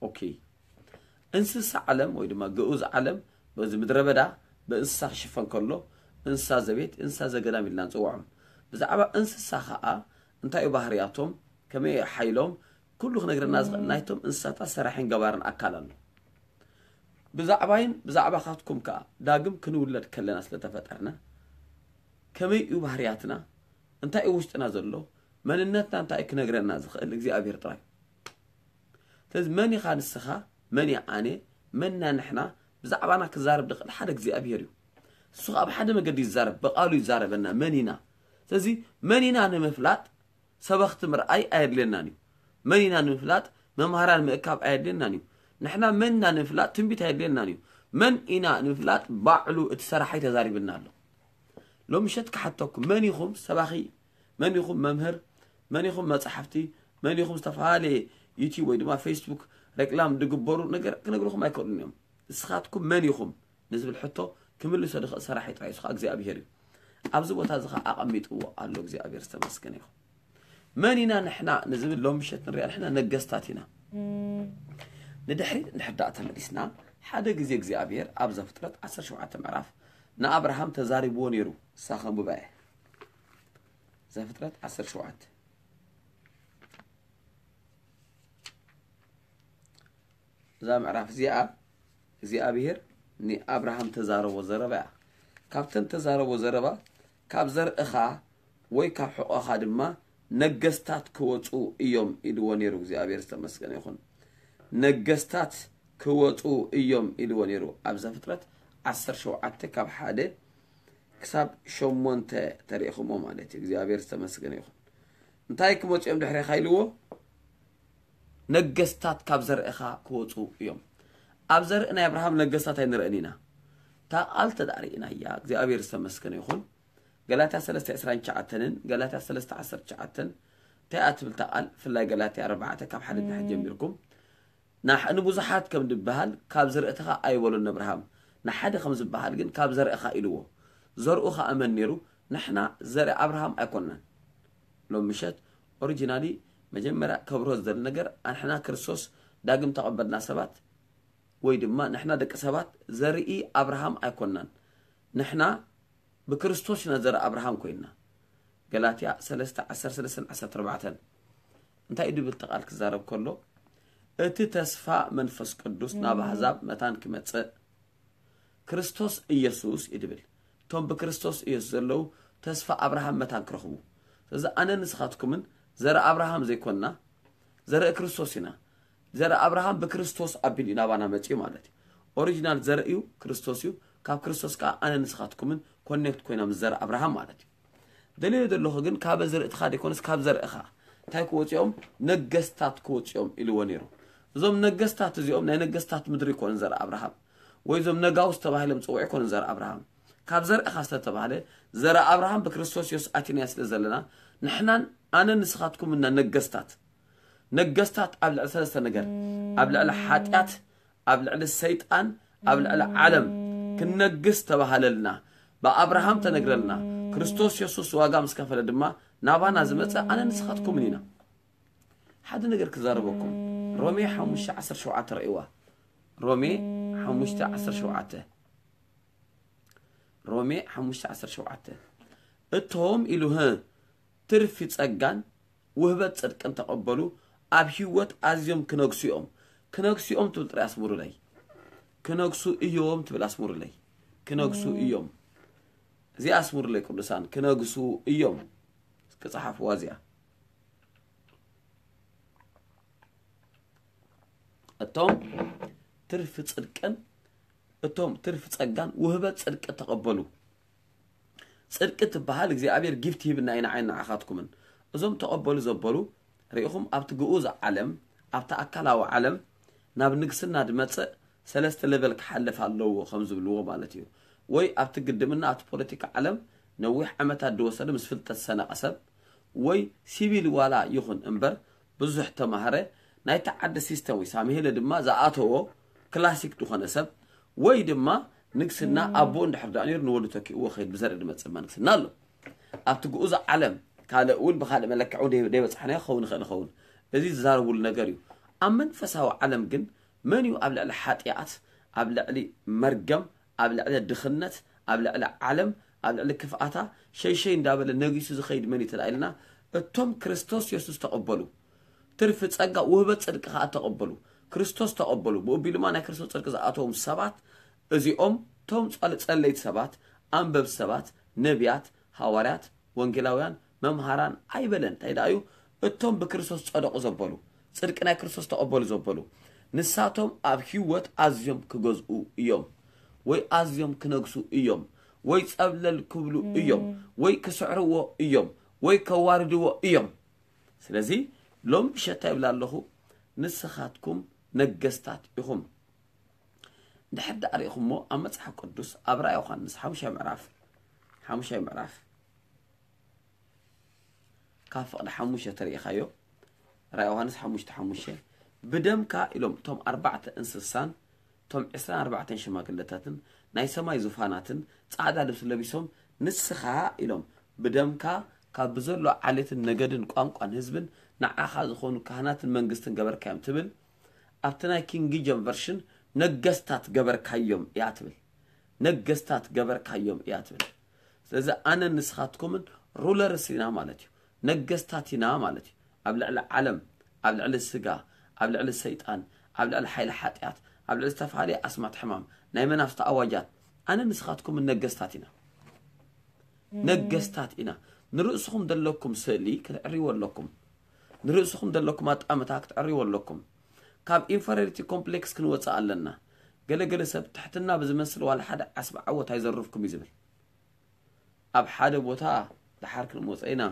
ኦኬ። እንስሳ ዓለም ወይ ድማ ግኡዝ ዓለም በዚ ምድረ በዳ ብእንስሳ ክሽፈን ከሎ፣ እንስሳ ዘቤት፣ እንስሳ ዘገዳም ኢልና ንጽውዖም። ብዛዕባ እንስሳ ኸኣ እንታይ እዩ ባህርያቶም፣ ከመይ እዩ ሓይሎም፣ ኩሉ ክነግረና ዝኽእል ናይቶም እንስሳታት ሰራሒን ገባርን ኣካል ኣሎ። ብዛዕባይን ብዛዕባኻትኩም ከኣ ዳግም ክንውለድ ከለና ስለተፈጠርና፣ ከመይ እዩ ባህርያትና፣ እንታይ እዩ ውሽጥና ዘሎ፣ መንነትና እንታይ እዩ ክነግረና ዝኽእል እግዚኣብሔር ጥራይ። ስለዚ መን ኢኻ ንስኻ፣ መን እየ ኣነ፣ መን ኢና ንሕና፣ ብዛዕባና ክዛረብ ዝኽእል ሓደ እግዚኣብሔር እዩ። እሱ ኸኣ ብሓደ መገዲ ይዛረብ፣ ብቓሉ ይዛረበና፣ መን ኢና። ስለዚ መን ኢና ንምፍላጥ ሰበኽቲ ምርኣይ ኣየድልየናን እዩ። መን ኢና ንምፍላጥ መምሃራን ምእካብ ኣየድልየናን እዩ። ንሕና መን ኢና ንምፍላጥ ትንቢት ኣየድልየናን እዩ። መን ኢና ንምፍላጥ ባዕሉ እቲ ሰራሓይ ተዛሪብና ኣሎ። ሎም ምሸት ክሓተኩም፣ መን ኢኹም ሰባኺ፣ መን ኢኹም መምህር፣ መን ኢኹም መጻሕፍቲ፣ መን ኢኹም ዝተፈላለየ ዩቲዩብ ወይ ድማ ፌስቡክ ሬክላም ዝግበሩ ነገር ክነግርኹም ኣይክእሉን እዮም። ንስኻትኩም መን ኢኹም ንዝብል ሕቶ ክምልሶ ዝኽእል ሰራሒ ጥራይ እሱ ኸኣ እግዚኣብሔር እዩ። ኣብዚ ቦታ እዚ ኸኣ ኣቐሚጥዎ ኣሎ እግዚኣብሔር ዝተመስገነ ይኹን። መን ኢና ንሕና ንዝብል ሎም ምሸት ንሪኣ ንሕና ነገስታት ኢና። ንድሕሪት እንድሕር ደኣ ተመሊስና ሓደ ግዜ እግዚኣብሔር ኣብ ዘፍጥረት ዓሰርተ ሸውዓተ ምዕራፍ ንኣብርሃም ተዛሪብዎ ነይሩ። እሳ ከንብባ እየ። ዘፍጥረት ዓሰርተ ሸውዓተ እዛ ምዕራፍ እዚኣ እግዚኣብሔር ንኣብርሃም ተዛረቦ ዘረባ እያ። ካብተን ተዛረቦ ዘረባ ካብ ዘርእኻ ወይ ካብ ሕቖኻ ድማ ነገስታት ክወፁ እዮም ኢልዎ ነይሩ እግዚኣብሔር ዝተመስገነ ይኹን። ነገስታት ክወፁ እዮም ኢልዎ ነይሩ ኣብ ዘፍጥረት ዓሰርተ ሸውዓተ ካብ ሓደ ክሳብ ሸሞንተ ተሪእኹሞ ማለት እዩ እግዚኣብሔር ዝተመስገነ ይኹን። እንታይ ክመፁ እዮም ድሕሬኻ ኢልዎ? ነገስታት ካብ ዘርእኻ ክወፁ እዮም። ኣብ ዘርኢ ናይ ኣብርሃም ነገስታት ኣይንርእን ኢና። እታ ቃል ተዳሪእና እያ እግዚኣብሔር ዝተመስገነ ይኹን። ገላትያ ሰለስተ ዕስራን ትሽዓተንን ገላትያ ሰለስተ ዓሰርተ ትሽዓተን እንታይ እያ ትብል እታ ቃል? ብፍላይ ገላትያ ኣርባዕተ ካብ ሓደ ድሕሪ ጀሚርኩም ንብዙሓት ከም ዝበሃል ካብ ዝርእትኻ ኣይበሎን ኣብርሃም፣ ንሓደ ከም ዝበሃል ግን ካብ ዘርእኻ ኢልዎ። ዘርኡ ኸኣ መን ነይሩ? ንሕና ዘርኢ ኣብርሃም ኣይኮንናን። ሎም ምሸት ኦሪጂናሊ መጀመርያ ከብርሆ ዝደሊ ነገር ኣንሕና ክርስቶስ ዳግም ተቐበልና ሰባት ወይ ድማ ንሕና ደቂ ሰባት ዘርኢ ኣብርሃም ኣይኮንናን። ንሕና ብክርስቶስ ኢና ዘርኢ ኣብርሃም ኮይንና። ገላትያ ሰለስተ ዓሰርተ ሰለስተን ዓሰርተ ኣርባዕተን እንታይ እዩ ድብል ተቓል ክዛረብ ከሎ እቲ ተስፋ መንፈስ ቅዱስ ናብ ኣህዛብ መታን ክመጽእ ክርስቶስ ኢየሱስ እዩ ድብል። እቶም ብክርስቶስ ኢየሱስ ዘለዉ ተስፋ ኣብርሃም መታን ክረኽቡ። ስለዚ ኣነ ንስኻትኩምን ዘርኢ ኣብርሃም ዘይኮንና ዘርኢ ክርስቶስ ኢና። ዘርኢ ኣብርሃም ብክርስቶስ ኣቢሉ እዩ ናባና መፅኡ ማለት እዩ። ኦሪጂናል ዘርኢ እዩ ክርስቶስ እዩ። ካብ ክርስቶስ ከዓ ኣነ ንስኻትኩምን ኮኔክት ኮይና ምስ ዘርኢ ኣብርሃም ማለት እዩ። ደልዮ ዘለኹ ግን ካብ ዘርእትኻ ዘይኮነስ ካብ ዘርእኻ እንታይ ክወፅኦም ነገስታት ክወፅኦም ኢልዎ ነይሩ። እዞም ነገስታት እዚኦም ናይ ነገስታት ምድሪ ይኮኑ ዘርኢ ኣብርሃም ወይ እዞም ነጋውስ ተባሂሎም ፅውዕ ይኮኑ ዘርኢ ኣብርሃም። ካብ ዘርእኻ ዝተተባህለ ዘርኢ ኣብርሃም ብክርስቶስ የሱስ ኣቲናዮ ስለ ዘለና ንሕናን ኣነ ንስኻትኩም እና ነገስታት ነገስታት ኣብ ልዕሊ ሰለስተ ነገር ኣብ ልዕሊ ሓጢኣት ኣብ ልዕሊ ሰይጣን ኣብ ልዕሊ ዓለም ክነግስ ተባሃለልና ብኣብርሃም ተነግረልና ክርስቶስ የሱስ ዋጋ ምስ ከፈለ ድማ ናባና ዝመፀ ኣነ ንስኻትኩምን ኢና ሓደ ነገር ክዛረበኩም ሮሜ ሓሙሽተ ዓሰርተ ሸውዓተ ረእይዋ ሮሜ ሓሙሽተ ዓሰርተ ሸውዓተ ሮሜ ሓሙሽተ ዓሰርተ ሸውዓተ እቶም ኢሉ ህ ትርፊ ጸጋን ውህበት ጽድቅን ተቐበሉ ኣብ ህይወት ኣዝዮም ክነግሱ እዮም ክነግሱ እዮም ትብል ጥራይ ኣስምሩለይ ክነግሱ እዮም ትብል ኣስምሩለይ ክነግሱ እዮም እዚኣ ኣስምሩለይ ቅዱሳን ክነግሱ እዮም ክጸሓፍዋ እዚኣ እቶም ትርፊ ጽድቅን እቶም ትርፊ ጸጋን ውህበት ጽድቂ ተቐበሉ። ጽድቂ ትበሃል እግዚኣብሔር ጊፍት ሂብና ኢና ዓይን ንዓኻትኩምን። እዞም ተቐበሉ ዘበሉ ርኢኹም ኣብቲ ግኡዝ ዓለም ኣብቲ ኣካላዊ ዓለም ናብ ንግስና ድመጽእ ሰለስተ ሌቨል ክሓልፍ ኣለዎ ከም ዝብልዎ ማለት እዩ። ወይ ኣብቲ ግድምና ኣብቲ ፖለቲካ ዓለም ነዊሕ ዓመታት ድወሰደ ምስ ፍልጠት ዝሰነቐ ሰብ ወይ ሲቪል ዋላ ይኹን እምበር ብዙሕ ተማህረ ናይቲ ዓዲ ሲስተም ወይ ሳምሄለ ድማ ዝኣተዎ ክላሲክ ዝኾነ ሰብ ወይ ድማ ንግስና ኣቦ እንድሕር ደኣ ነይሩ ንወዱ ተኪእዎ ከይድ ብዘርኢ ዝመጽእ መንግስና ኣሎ። ኣብቲ ግኡዝ ዓለም ካልእ እውን ብኻልእ መለክዒ እውን ደይ- ደይበጻሕናዮ ክኸውን ይኽእል ይኸውን። እዚ ዝዛረቡሉ ነገር እዩ። ኣብ መንፈሳዊ ዓለም ግን መን እዩ ኣብ ልዕሊ ሓጢኣት፣ ኣብ ልዕሊ መርገም፣ ኣብ ልዕሊ ድኽነት፣ ኣብ ልዕሊ ዓለም፣ ኣብ ልዕሊ ክፍኣታ ሸይሸይ እንዳበለ ነጊሱ ዝኸይድ መን እዩ ተላኢልና? እቶም ክርስቶስ የሱስ ተቐበሉ፣ ትርፊ ጸጋ ውህበት ጽድቂ ከኣ ተቐበሉ። ክርስቶስ ተቐበሉ። ብኡ ኣቢሉ ድማ ናይ ክርስቶስ ጽድቂ ዝኣተዎም ሰባት እዚኦም እቶም ጸለ- ጸለይቲ ሰባት፣ ኣንበብቲ ሰባት፣ ነቢያት፣ ሃዋርያት፣ ወንጌላውያን፣ መምሃራን ኣይበለን። እንታይ ደኣ እዩ? እቶም ብክርስቶስ ጸደቑ ዘበሉ፣ ጽድቂ ናይ ክርስቶስ ተቐበሉ ዘበሉ፣ ንሳቶም ኣብ ህይወት ኣዝዮም ክገዝኡ እዮም፣ ወይ ኣዝዮም ክነግሱ እዮም፣ ወይ ጸብለል ክብሉ እዮም፣ ወይ ክስዕርዎ እዮም፣ ወይ ከዋርድዎ እዮም። ስለዚ ሎም ምሸት ይብላ ኣለኹ፣ ንስኻትኩም ነገስታት ኢኹም። እንድሕር ደኣ ርኢኹሞ ኣብ መጽሓፍ ቅዱስ ኣብ ራእይ ዮሃንስ ሓሙሻይ ምዕራፍ ሓሙሻይ ምዕራፍ ካብ ፍቕዲ ሓሙሽተ ተርእኻዮ፣ ራእይ ዮሃንስ ሓሙሽተ ሓሙሽተ፣ ብደምካ ኢሎም እቶም ኣርባዕተ እንስሳን እቶም ዕስራን ኣርባዕተን ሽማግለታትን ናይ ሰማይ ዙፋናትን ጻዕዳ ልብሲ ለቢሶም፣ ንስኻ ኢሎም ብደምካ ካብ ብዘሎ ዓሌትን ነገድን ቋንቋን ህዝብን ንዓኻ ዝኾኑ ካህናትን መንግስትን ገበርካዮም ትብል። ኣብቲ ናይ ኪንግ ጀም ቨርሽን ነገስታት ገበርካዮም እያ ትብል። ነገስታት ገበርካዮም እያ ትብል። ስለዚ ኣነ ንስኻትኩምን ሩለርስ ኢና ማለት እዩ። ነገስታት ኢና ማለት እዩ። ኣብ ልዕሊ ዓለም፣ ኣብ ልዕሊ ስጋ፣ ኣብ ልዕሊ ሰይጣን፣ ኣብ ልዕሊ ሓይሊ ሓጢኣት፣ ኣብ ልዕሊ ዝተፈላለዩ ኣስማት ሕማም፣ ናይ መናፍስቲ ኣዋጃት፣ ኣነ ንስኻትኩምን ነገስታት ኢና። ነገስታት ኢና። ንርእስኹም ዘለኩም ስእሊ ክትዕርይዎ ኣለኩም። ንርእስኹም ዘለኩም ኣጣምታ ክትዕርይዎ ኣለኩም። ካብ ኢንፈሪዮሪቲ ኮምፕሌክስ ክንወጽእ ኣለና። ገለገለ ሰብ ትሕትና ብዝመስል ዋላ ሓደ ዓስቢ ዓወት ኣይዘርፍኩም እዩ ዝብል። ኣብ ሓደ ቦታ ድሓር ክንመጾ ኢና።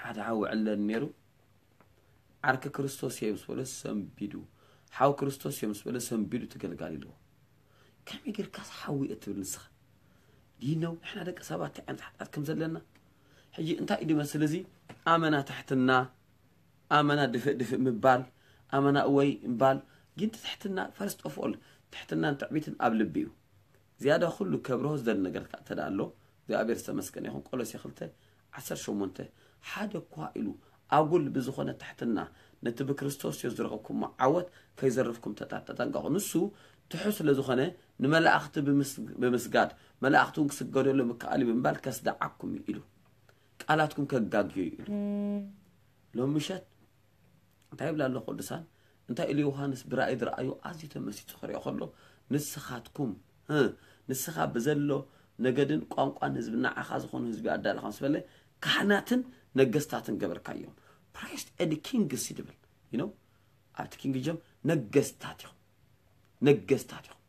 ሓደ ሓው ዕለን ነይሩ። ዓርኪ ክርስቶስ እየ ምስ በለ ሰንቢዱ፣ ሓው ክርስቶስ እየ ምስ በለ ሰንቢዱ እቲ ገልጋሊ ኣለዎ። ከመይ ጌርካስ ሓው እየ ትብል ንስኻ? ዲነው ንሕና ደቂ ሰባት እንታይ ዓይነት ሓጢኣት ከም ዘለና? ሕጂ እንታይ እዩ ዝመስል እዚ? ኣመና ትሕትና፣ ኣመና ድፍእ ድፍእ ምባል፣ ኣመና እወይ ምባል። ግን ትሕትና ፈርስት ኦፍ ኦል ትሕትናን ትዕቢትን ኣብ ልቢ እዩ። ዝያዳ ኩሉ ከብርሆ ዝደሊ ነገር ከኣ እንተ ደኣ ኣሎ እግዚኣብሔር ዝተመስገነ ይኹን። ቆሎሴ ክልተ ዓሰርተ ሸሞንተ ሓደ እኳ ኢሉ ኣጉል ብዝኾነ ትሕትና ነቲ ብክርስቶስ ኢየሱስ ዝረኸብኩሞ ዓወት ከይዘርፍኩም ተጣ- ተጠንቀቑ። ንሱ ትሑት ስለ ዝኾነ ንመላእኽቲ ብምስ- ብምስጋድ መላእኽቲ እውን ክስገደሉ ምከኣል እዩ ብምባል ከስድዓኩም እዩ ኢሉ። ቃላትኩም ከጋግዮ እዩ ኢሉ። ሎም ምሸት እንታይ ይብላ ኣሎ ቅዱሳን? እንታይ ኢሉ ዮሃንስ ብራእይ ዝረኣዩ ኣዝዩ ተመሲጡ ክሪኦ ከሎ ንስኻትኩም እ፣ ንስኻ ብዘሎ ነገድን ቋንቋን ህዝቢ ንዓኻ ዝኾኑ ህዝቢ ኣዳለኻ ምስ በለ ካህናትን ነገስታትን ገበርካዮም። ፕራይስት ኤንድ ኪንግስ ይድብል ይኖ ኣብቲ ኪንግ ጀም ነገስታት ኢኹም። ነገስታት ኢኹም።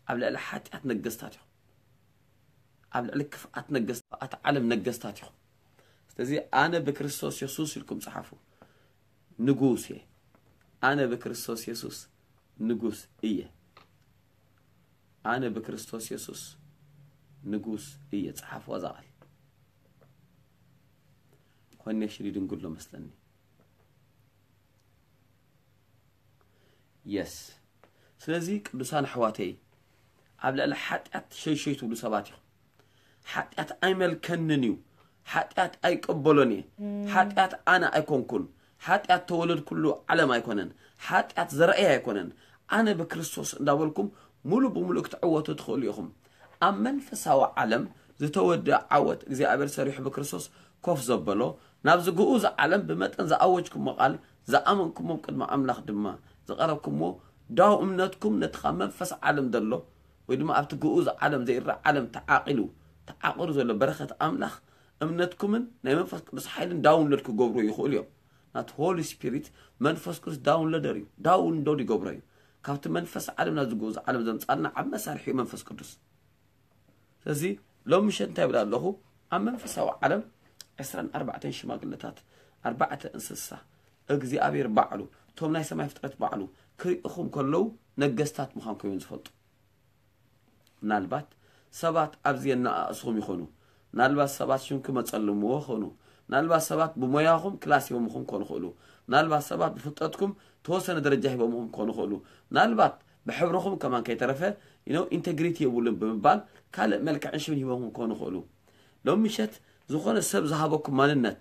ኣብ ልዕሊ ሓጢኣት ነገስታት ኢኹም። ኣብ ልዕሊ ክፍኣት ነገስታት ዓለም ነገስታት ኢኹም። ስለዚ ኣነ ብክርስቶስ የሱስ ኢልኩም ጸሓፉ። ንጉስ እየ። ኣነ ብክርስቶስ የሱስ ንጉስ እየ። ኣነ ብክርስቶስ የሱስ ንጉስ እየ። ጸሓፉ እዛ ቃል። ኮኔክሽን ይድንጉሎ መስለኒ። የስ። ስለዚ ቅዱሳን ኣሕዋተይ ኣብ ልዕሊ ሓጢኣት ሸይሸይ ትብሉ ሰባት ኢኹም። ሓጢኣት ኣይመልከንን እዩ። ሓጢኣት ኣይቀበሎን እየ። ሓጢኣት ኣነ ኣይኮንኩን። ሓጢኣት ተወለድኩሉ ዓለም ኣይኮነን። ሓጢኣት ዘርእየ ኣይኮነን። ኣነ ብክርስቶስ እንዳበልኩም ሙሉ ብሙሉ ክትዕወቱ ትኽእሉ ኢኹም። ኣብ መንፈሳዊ ዓለም ዝተወደአ ዓወት እግዚኣብሔር ሰሪሑ ብክርስቶስ ኮፍ ዘበሎ ናብዚ ግኡዝ ዓለም ብመጠን ዝኣወጅኩሞ ቃል ዝኣመንኩሞም ቅድሚ ኣምላኽ ድማ ዝቐረብኩሞ ዳው እምነትኩም ነቲ ካብ መንፈስ ዓለም ዘሎ ወይ ድማ ኣብቲ ግኡዝ ዓለም ዘይረኣ ዓለም ተዓቂሉ ተዓቂሩ ዘሎ በረኸት ኣምላኽ እምነትኩምን ናይ መንፈስ ቅዱስ ሓይልን ዳውንሎድ ክገብሩ ይኽእሉ እዮም። ናት ሆሊ ስፒሪት መንፈስ ቅዱስ ዳውንሎደር እዩ። ዳውንሎድ ይገብሮ እዩ። ካብቲ መንፈስ ዓለም ናብ ዝግኡዝ ዓለም ዘምጻልና ዓብ መሳርሒ እዩ መንፈስ ቅዱስ። ስለዚ ሎም ምሸት እንታይ ይብል ኣለኹ? ኣብ መንፈሳዊ ዓለም ዕስራን ኣርባዕተን ሽማግለታት ኣርባዕተ እንስሳ እግዚኣብሔር ባዕሉ እቶም ናይ ሰማይ ፍጥረት ባዕሉ ክርእኹም ከለዉ ነገስታት ምዃንኩም እዮም ዝፈልጡ። ምናልባት ሰባት ኣብዚ የነኣእስኹም ይኾኑ። ምናልባት ሰባት ሽምኩም ኣጸልምዎ ይኾኑ። ምናልባት ሰባት ብሞያኹም ክላስ ሂቦምኹም ክኾኑ ይኽእሉ። ምናልባት ሰባት ብፍልጠትኩም ተወሰነ ደረጃ ሂቦምኹም ክኾኑ ይኽእሉ። ምናልባት ብሕብርኹም ከማን ከይተረፈ ኢንቴግሪቲ የብሉን ብምባል ካልእ መልክዕን ሽምን ሂቦምኹም ክኾኑ ይኽእሉ። ሎም ምሸት ዝኾነ ሰብ ዝሃበኩም ማንነት፣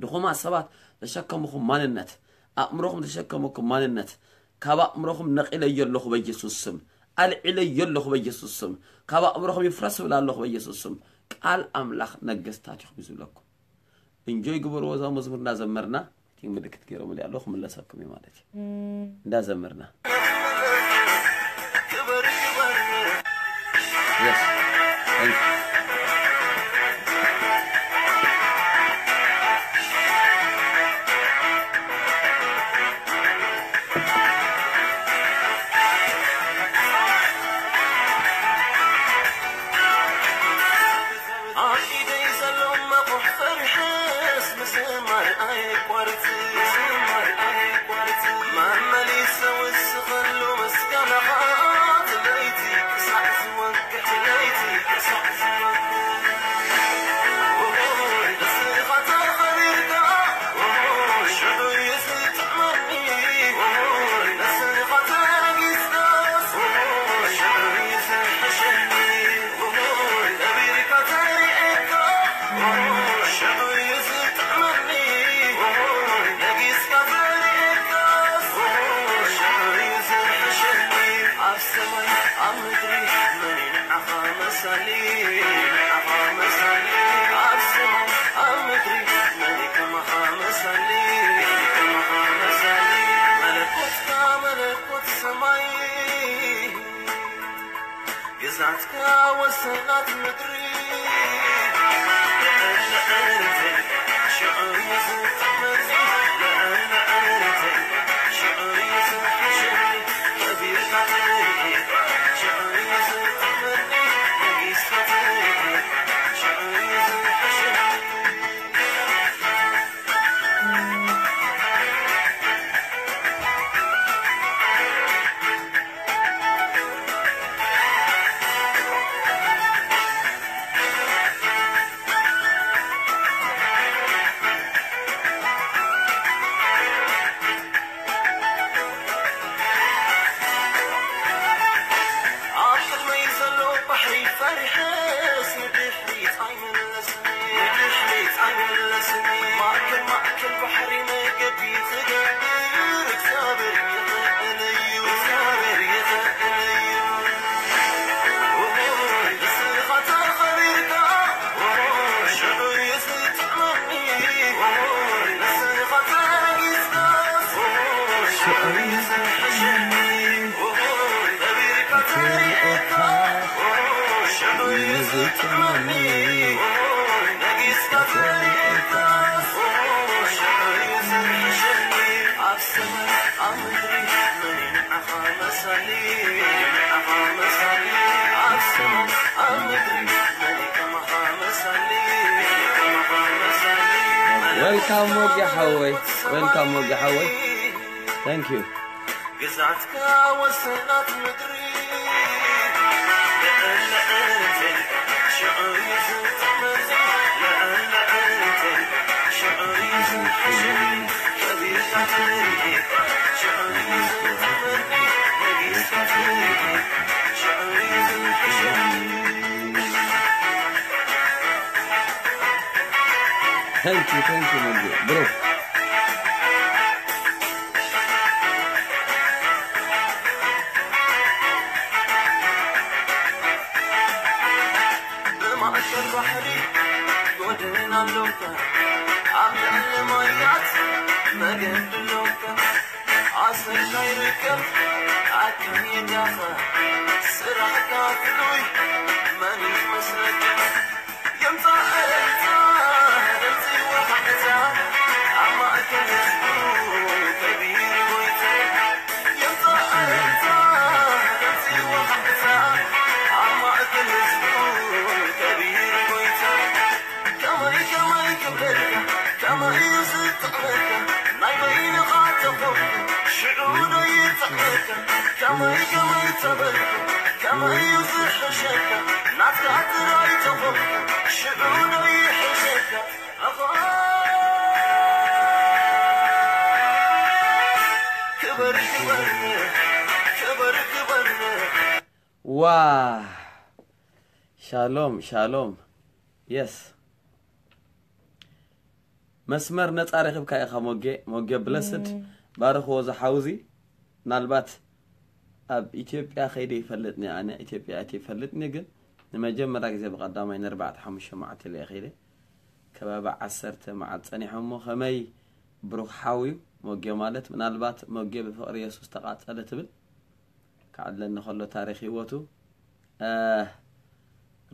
ድኹማት ሰባት ዘሸከምኹም ማንነት፣ ኣእምሮኹም ዘሸከምኩም ማንነት ካብ ኣእምሮኹም ነቒለዮ ኣለኹ በኢየሱስ ስም። ኣልዒለዮ ኣለኹ በኢየሱስ ስም። ካብ ኣእምሮኹም ይፍረስ እብል ኣለኹ በኢየሱስ ስም። ቃል ኣምላኽ ነገስታት ኢኹም እዩ ዝብለኩም። እንጆይ ግበርዎ እዛ መዝሙር እንዳዘመርና። ቲንግ ምልክት ገይሮምልይ ኣለዉ ክምለሰኩም እዩ ማለት እዩ። እንዳዘመርና። Yes. Thank you. ኣብ ኢደይ ዘሎ መቑሕ ፈሪሐስ ምዝማር ኣየቋርጽ፣ ምዝማር ኣየቋርጽ። መመሊሰ ወስኸሉ ምስጋናኻ፣ ለይቲ ክሳዕ ዝወግሕ፣ ለይቲ ክሳዕ ዝወግሕ። ንስኻ ተኸቢርካ፣ ሽዑ እዩ ዝጥዕመኒ። ንስኻ ተረጊጽካስ፣ ሽዑ እዩ ዝሕሸኒ። ግዛትካ ወሰናት ምድሪ። ኣብ ቅድመይ ዘሎ ባሕሪ ፈሪሐስ ንድሕሪት ኣይምለስን፣ ንድሕሪት ኣይምለስን። ማእከል ማእከል ባሕሪ መገዲ ክገብር እግዚኣብሔር ይኽእል እዩ፣ እግዚኣብሔር ይኽእል እዩ። Welcome ወጊ ሓወይ፣ welcome ወጊ ሓወይ። Thank you. ግዛትካ ወሰናት ምድሪ Thank you, thank you, Muggy. Bro. ብማእከል ባሕሪ ጎደና ኣሎካ፣ ኣብ ልዕሊ ማያት መገዲ ኣሎካ። ኣሰር ከይርከብ ኣካይዳኻ፣ ስራሕካ ፍሉይ መን ይመስለካ? የምጻእ እልልታ ድምጺ ወሃብታ፣ ኣብ ማእከል ህዝቡ ከቢሩ ጎይታ። የምጻእ እልልታ ድምጺ ወሃብታ፣ ኣብ ማእከል ህዝቡ ከቢሩ ጎይታ። ከመይ ከመይ ክብለልካ፣ ከመይ እዩ ዝጥዕመካ፣ ናይ በይንኻ ተኾንካ፣ ሽዑ ዶ ይጥዕመካ? ከመይ ከመይ ተበልኩ፣ ከመይ እዩ ዝሕሸካ፣ ናትካ ጥራይ ተኾንካ፣ ሽዑ ዶ ይሕሸካ? ክበር ክበር ክበር ክበር ዋ ሻሎም ሻሎም የስ መስመር ነፃ ረኺብካ ኢኻ ሞጌ ሞጌ ብለስድ ባርኽዎ ዝሓውዚ ምናልባት ኣብ ኢትዮጵያ ከይደ ይፈልጥኒ ኣነ ኢትዮጵያ እቲ ይፈልጥኒ ግን ንመጀመርያ ግዜ ብቐዳማይ ንርባዕተ ሓሙሽተ መዓልቲ ኢለ ከይደ ከባቢ ዓሰርተ መዓልቲ ጸኒሖ እሞ ከመይ ብሩኽ ሓው እዩ ሞጌ ማለት ምናልባት ሞጌ ብፍቕሪ የሱስ ተቓጸለ ትብል ክዓድለኒ ከሎ ታሪኽ ህይወቱ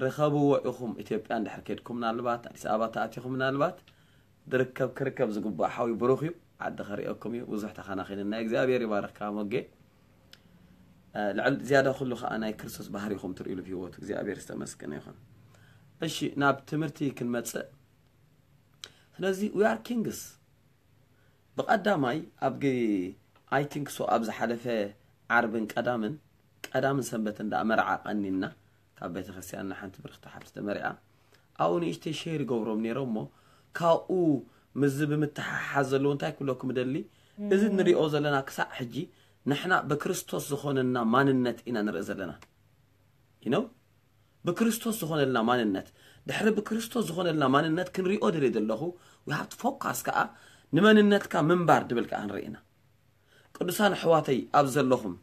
ርኸብዎ ኢኹም ኢትዮጵያ እንድሕር ከድኩም ምናልባት ኣዲስ ኣበባ ተኣቲኹም ምናልባት ድርከብ ክርከብ ዝግባእ ሓዊ ብሩኽ እዩ ዓዲ ከርእየኩም እዩ ብዙሕ ተኻናኺንና እግዚኣብሔር ይባርኽካ ሞጌ ልዕል ዝያዳ ኩሉ ከዓ ናይ ክርስቶስ ባህሪኹም ትርእሉ ህይወቱ እግዚኣብሔር ዝተመስገነ ይኹን እሺ ናብ ትምህርቲ ክንመፅእ ስለዚ we are kings ብቐዳማይ ኣብ I think so ኣብ ዝሓለፈ ዓርብን ቀዳምን ቀዳምን ሰንበትን ደኣ መርዓ ቀኒና ካብ ቤተክርስትያንና ሓንቲ ብርክቲ ሓፍቲ ተመሪዓ ኣብኡ ንእሽተይ ሸር ይገብሮም ነይሮም እሞ ካብኡ ምስዚ ብምትሓሓዝ ዘለዎ እንታይ ክብለኩም እደሊ እዚ ንሪኦ ዘለና ክሳዕ ሕጂ ንሕና ብክርስቶስ ዝኾነና ማንነት ኢና ንርኢ ዘለና you know ብክርስቶስ ዝኾነልና ማንነት ድሕሪ ብክርስቶስ ዝኾነልና ማንነት ክንሪኦ ደልየ ዘለኹ we have to focus ከዓ ንመንነትካ ምንባር ድብል ከዓ ንርኢ ኢና ቅዱሳን ኣሕዋተይ ኣብ ዘለኹም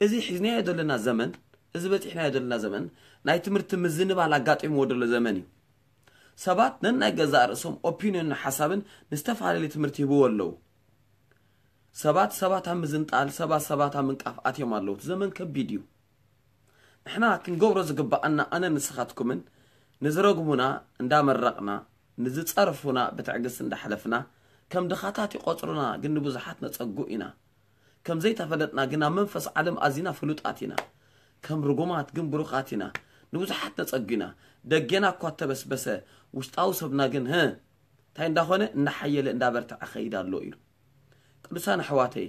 እዚ ሒዝናዮ ዘለና ዘመን እዚ በፂሕናዮ ዘለና ዘመን ናይ ትምህርቲ ምዝንባል ኣጋጢምዎ ዘሎ ዘመን እዩ ሰባት ነናይ ገዛእ ርእሶም ኦፒንዮንን ሓሳብን ንዝተፈላለየ ትምህርቲ ይህብዎ ኣለዉ ሰባት ሰባት ኣብ ምዝንጣል ሰባት ሰባት ኣብ ምንቃፍ ኣትዮም ኣለዉ እቲ ዘመን ከቢድ እዩ ንሕና ክንገብሮ ዝግብኣና ኣነ ንስኻትኩምን ንዝረግሙና እንዳመረቕና ንዝፀርፉና ብትዕግስቲ እንዳሕለፍና ከም ድኻታት ይቆፅሩና ግን ንብዙሓት ነፀጉ ኢና ከም ዘይተፈለጥና ግን ኣብ መንፈስ ዓለም ኣዚና ፍሉጣት ኢና ከም ርጉማት ግን ብሩኻት ኢና ንብዙሓት ነፀጉ ኢና ደጌና እኳ ተበስበሰ ውሽጣዊ ሰብና ግን ህ እንታይ እንዳኾነ እንዳሓየለ እንዳበርትዐ ኸይድ ኣሎ ኢሉ ቅዱሳን ኣሕዋተይ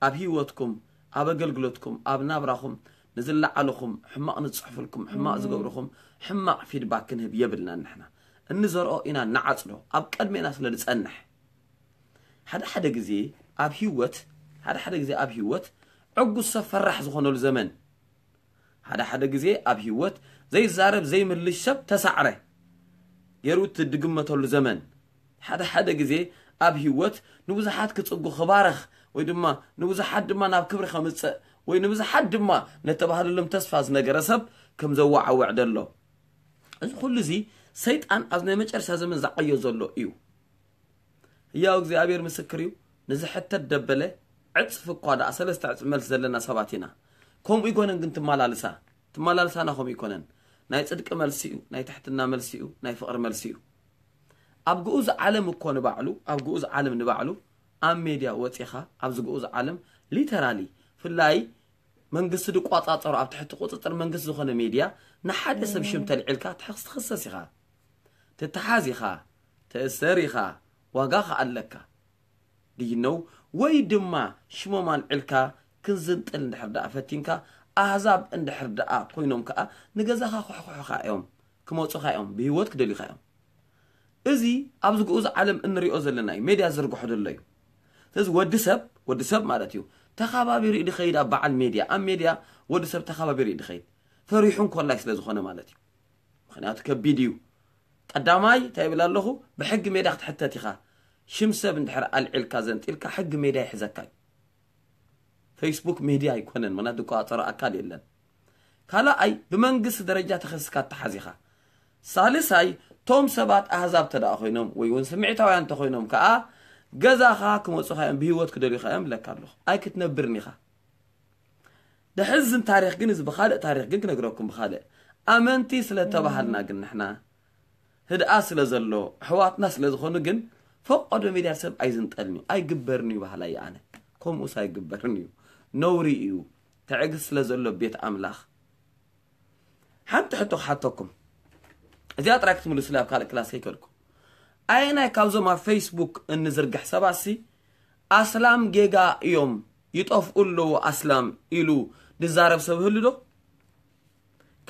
ኣብ ህይወትኩም ኣብ ኣገልግሎትኩም ኣብ ናብራኹም ንዝለዓልኹም ሕማቕ ንዝፅሕፉልኩም ሕማቕ ዝገብርኹም ሕማቕ ፊድባክ ክንህብ የብልናን ንሕና እንዘርኦ ኢና ንዓፅዶ ኣብ ቀድሜና ስለ ዝፀንሕ ሓደ ሓደ ግዜ ኣብ ህይወት ሓደ ሓደ ግዜ ኣብ ህይወት ዕጉስ ሰብ ፈራሕ ዝኾነሉ ዘመን ሓደ ሓደ ግዜ ኣብ ህይወት ዘይዛረብ ዘይምልሽ ሰብ ተሳዕረ ገይሩ እትድግመተሉ ዘመን ሓደ ሓደ ግዜ ኣብ ህይወት ንብዙሓት ክጽጉ ክባረኽ ወይ ድማ ንብዙሓት ድማ ናብ ክብሪ ከምጽእ ወይ ንብዙሓት ድማ ነተባህለሎም ተስፋ ዝነገረ ሰብ ከም ዘዋዓውዕ ደሎ እዚ ኩሉ እዚ ሰይጣን ኣብ ናይ መጨረሻ ዘመን ዝዓዮ ዘሎ እዩ ህያው እግዚኣብሔር ምስክር እዩ ንዝሕተት ደበለ ዕፅፊ እኳ ደኣ ሰለስተ ዕፅፊ መልሲ ዘለና ሰባት ኢና ከምኡ ይኮነን ግን ትመላልሳ ትመላልሳና ከምኡ ይኮነን ናይ ፅድቂ መልሲ እዩ ናይ ትሕትና መልሲ እዩ ናይ ፍቅሪ መልሲ እዩ ኣብ ግኡዝ ዓለም እኮ ንባዕሉ ኣብ ግኡዝ ዓለም ንባዕሉ ኣብ ሜድያ ወፂኻ ኣብዚ ግኡዝ ዓለም ሊተራሊ ፍላይ መንግስቲ ዝቋፃፀሮ ኣብ ትሕቲ ቁፅፅር መንግስቲ ዝኾነ ሜድያ ንሓደ ሰብ ሽም ተልዒልካ ትሕክስ ትኽሰስ ኢኻ ትተሓዝ ኢኻ ትእሰር ኢኻ ዋጋ ከኣ ኣለካ ድይነው ወይ ድማ ሽሞም ኣልዒልካ ክንዝንጥል እንድሕር ደኣ ፈቲንካ ኣህዛብ እንድሕር ደኣ ኮይኖም ከኣ ንገዛኻ ክሕኩሑኻ እዮም ክመፁኻ እዮም ብህይወት ክደልዩኻ እዮም እዚ ኣብዚ ግኡዝ ዓለም እንሪኦ ዘለና እዩ ሜድያ ዝርግሖ ዘሎ እዩ ስለዚ ወዲ ሰብ ወዲ ሰብ ማለት እዩ ተኻባቢሩ እዩ ድኸይድ ኣብ በዓል ሜድያ ኣብ ሜድያ ወዲ ሰብ ተኻባቢሩ እዩ ድኸይድ ፈሪሑ እንኮላይ ስለ ዝኾነ ማለት እዩ ምክንያቱ ከቢድ እዩ ቀዳማይ እንታይ ይብል ኣለኹ ብሕጊ ሜድያ ክትሕተት ኢኻ ሽም ሰብ እንድሕር ኣልዒልካ ዘንጢልካ ሕጊ ሜድያ ይሕዘካ እዩ ፌስቡክ ሜድያ ኣይኮነን ምክንያቱ ዝቆፃፀሮ ኣካል የለን ካልኣይ ብመንግስቲ ደረጃ ተኸሲስካ ትሓዝ ኢኻ ሳልሳይ ቶም ሰባት ኣህዛብ ተደኣ ኮይኖም ወይ እውን ስምዒታውያን እንተኮይኖም ከዓ ገዛኻ ክመፁኻ እዮም ብህይወት ክደልዩኻ እዮም ብለካ ኣለኹ ኣይክትነብርን ኢኻ ደሕዝን ታሪኽ ግን እዚ ብኻልእ ታሪኽ ግን ክነግረኩም ብኻልእ ኣመንቲ ስለተባሃልና ግን ንሕና ህድኣ ስለ ዘሎ ኣሕዋትና ስለ ዝኾኑ ግን ፈቆዶ ሚድያ ሰብ ኣይዝንጠልን እዩ ኣይግበርን እዩ ባህላ እዩ ኣነ ከምኡስ ኣይግበርን እዩ ነውሪ እዩ ትዕግስት ስለ ዘሎ ቤት ኣምላኽ ሓንቲ ሕቶ ክሓተኩም እዚኣ ጥራይ ክትምልሱላ ኣብ ካልእ ክላስ ከይከድኩም ኣየናይ ካብዞም ኣብ ፌስቡክ እንዝርግሕ ሰባትሲ ኣስላም ጌጋ እዮም ይጠፍኡ ኣለዉ ኣስላም ኢሉ ድዛረብ ሰብ ህሉ ዶ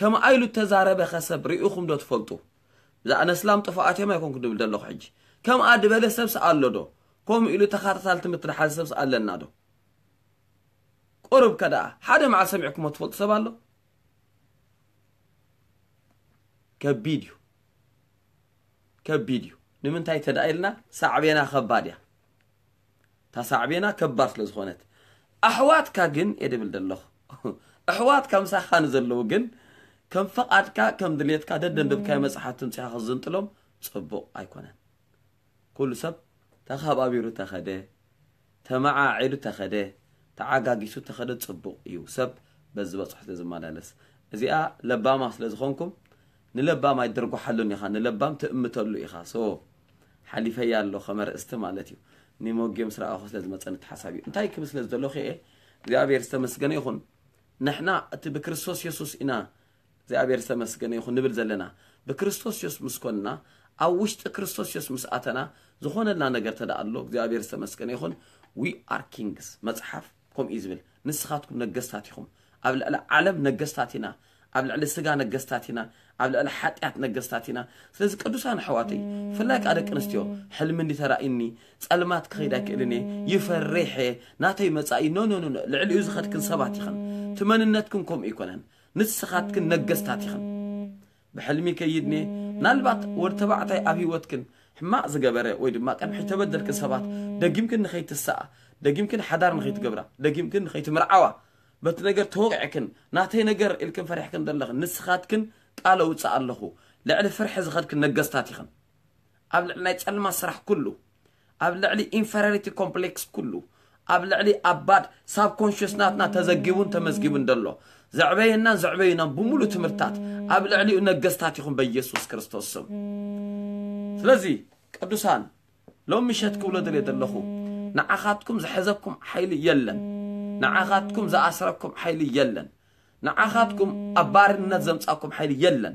ከምኣ ኢሉ እተዛረበ ኸ ሰብ ርኢኹም ዶ ትፈልጡ እዛ ኣነ ኣስላም ጥፉኣት እዮም ኣይኮንኩ ድብል ዘለኹ ሕጂ ከምኣ ድበለ ሰብስ ኣሎ ዶ? ከምኡ ኢሉ ተኸታታሊ ትምህርቲ ድሓዘ ሰብስ ኣለና ዶ? ቁሩብ ከደኣ ሓደ መዓል ሰሚዕኩሞ ትፈልጡ ሰብ ኣሎ? ከቢድ እዩ። ከቢድ እዩ። ንምንታይ ተደኣ ኢልና ሳዕቤና ከባድ እያ። እታ ሳዕቤና ከባድ ስለ ዝኾነት። ኣሕዋትካ ግን እየ ድብል ዘለኹ። ኣሕዋትካ ምሳኻ ንዘለዉ ግን ከም ፈቓድካ ከም ድሌትካ ደደንደብካዮ መጽሓፍ ትምጽኻ ክዝንጥሎም ጽቡቕ ኣይኮነን። ኩሉ ሰብ ተኸባቢሩ ተኸደ፣ ተመዓዒዱ ተኸደ፣ ተዓጋጊሱ ተኸደ ጽቡቕ እዩ። ሰብ በዚ በጽሑ ስለ ዝመላለስ። እዚኣ ለባማ ስለ ዝኾንኩም ንለባም ኣይትድርጓሓሉን ኢኻ፣ ንለባም ትእምተሉ ኢኻ። ሶ ሓሊፈያ ኣሎ ከመ ርእስቲ ማለት እዩ። ንሞጌ ምስ ረኣኹ ስለ ዝመጸኒ እቲ ሓሳብ እዩ። እንታይ ክብል ስለ ዝደለኹ እየ፣ እግዚኣብሔር ዝተመስገነ ይኹን። ንሕና እቲ ብክርስቶስ የሱስ ኢና እግዚኣብሔር ዝተመስገነ ይኹን ንብል ዘለና። ብክርስቶስ የሱስ ምስ ኮንና፣ ኣብ ውሽጢ ክርስቶስ የሱስ ምስ ኣተና፣ ዝኾነልና ነገር ተደኣ ኣሎ እግዚኣብሔር ዝተመስገነ ይኹን። We are kings። መጽሓፍ ከምኡ እዩ ዝብል። ንስኻትኩም ነገስታት ኢኹም። ኣብ ልዕሊ ዓለም ነገስታት ኢና። ኣብ ልዕሊ ስጋ ነገስታት ኢና። ኣብ ልዕሊ ሓጢኣት ነገስታት ኢና። ስለዚ ቅዱሳን ኣሕዋተይ፣ ብፍላይ ከኣ ደቂ ኣንስትዮ፣ ሕልሚ እንዲ ተራእዩኒ፣ ጸልማት ክኸይድ ኣይክእልን እየ፣ ይፈርሕ እየ፣ ናተይ መጻኢ፣ ኖ፣ ኖ፣ ኖ፣ ኖ፣ ልዕሊኡ ዝኸድክን ሰባት ኢኽን። እቲ መንነትክን ከምኡ ኣይኮነን። ንስኻትክን ነገስታት ኢኽን። ብሕልሚ ከይድኒ፣ ምናልባት ወዲ ተባዕታይ ኣብ ህይወትክን ሕማቕ ዝገበረ ወይ ድማ ቅድሚ ሕጂ ተበደልክን ሰባት፣ ደጊምክን ንኸይትስኣ፣ ደጊምክን ሓዳር ንኸይትገብራ፣ ደጊምክን ንኸይትምርዓዋ፣ በቲ ነገር ተወቂዕክን፣ ናተይ ነገር ኢልክን ፈሪሕክን ዘለኽን፣ ንስኻትክን ቃል ኣውጽእ ኣለኹ። ልዕሊ ፍርሒ ዝኸድክን ነገስታት ኢኽን። ኣብ ልዕሊ ናይ ጸልማት ስራሕ ኩሉ፣ ኣብ ልዕሊ ኢንፌሪዮሪቲ ኮምፕሌክስ ኩሉ፣ ኣብ ልዕሊ ኣባድ ሳብኮንሽስ ናትና ተዘጊቡን ተመዝጊቡን ዘሎ፣ ዘዕበየናን ዘዕበዩናን ብምሉእ ትምህርታት፣ ኣብ ልዕሊኡ ነገስታት ኢኹም በኢየሱስ ክርስቶስ ስም። ስለዚ ቅዱሳን፣ ሎም ምሸት ክብሎ ደልየ ዘለኹ፣ ንዓኻትኩም ዝሐዘኩም ሓይሊ የለን። ንዓኻትኩም ዝኣስረኩም ሓይሊ የለን። ንዓኻትኩም ኣብ ባርነት ዘምጻኩም ሓይሊ የለን።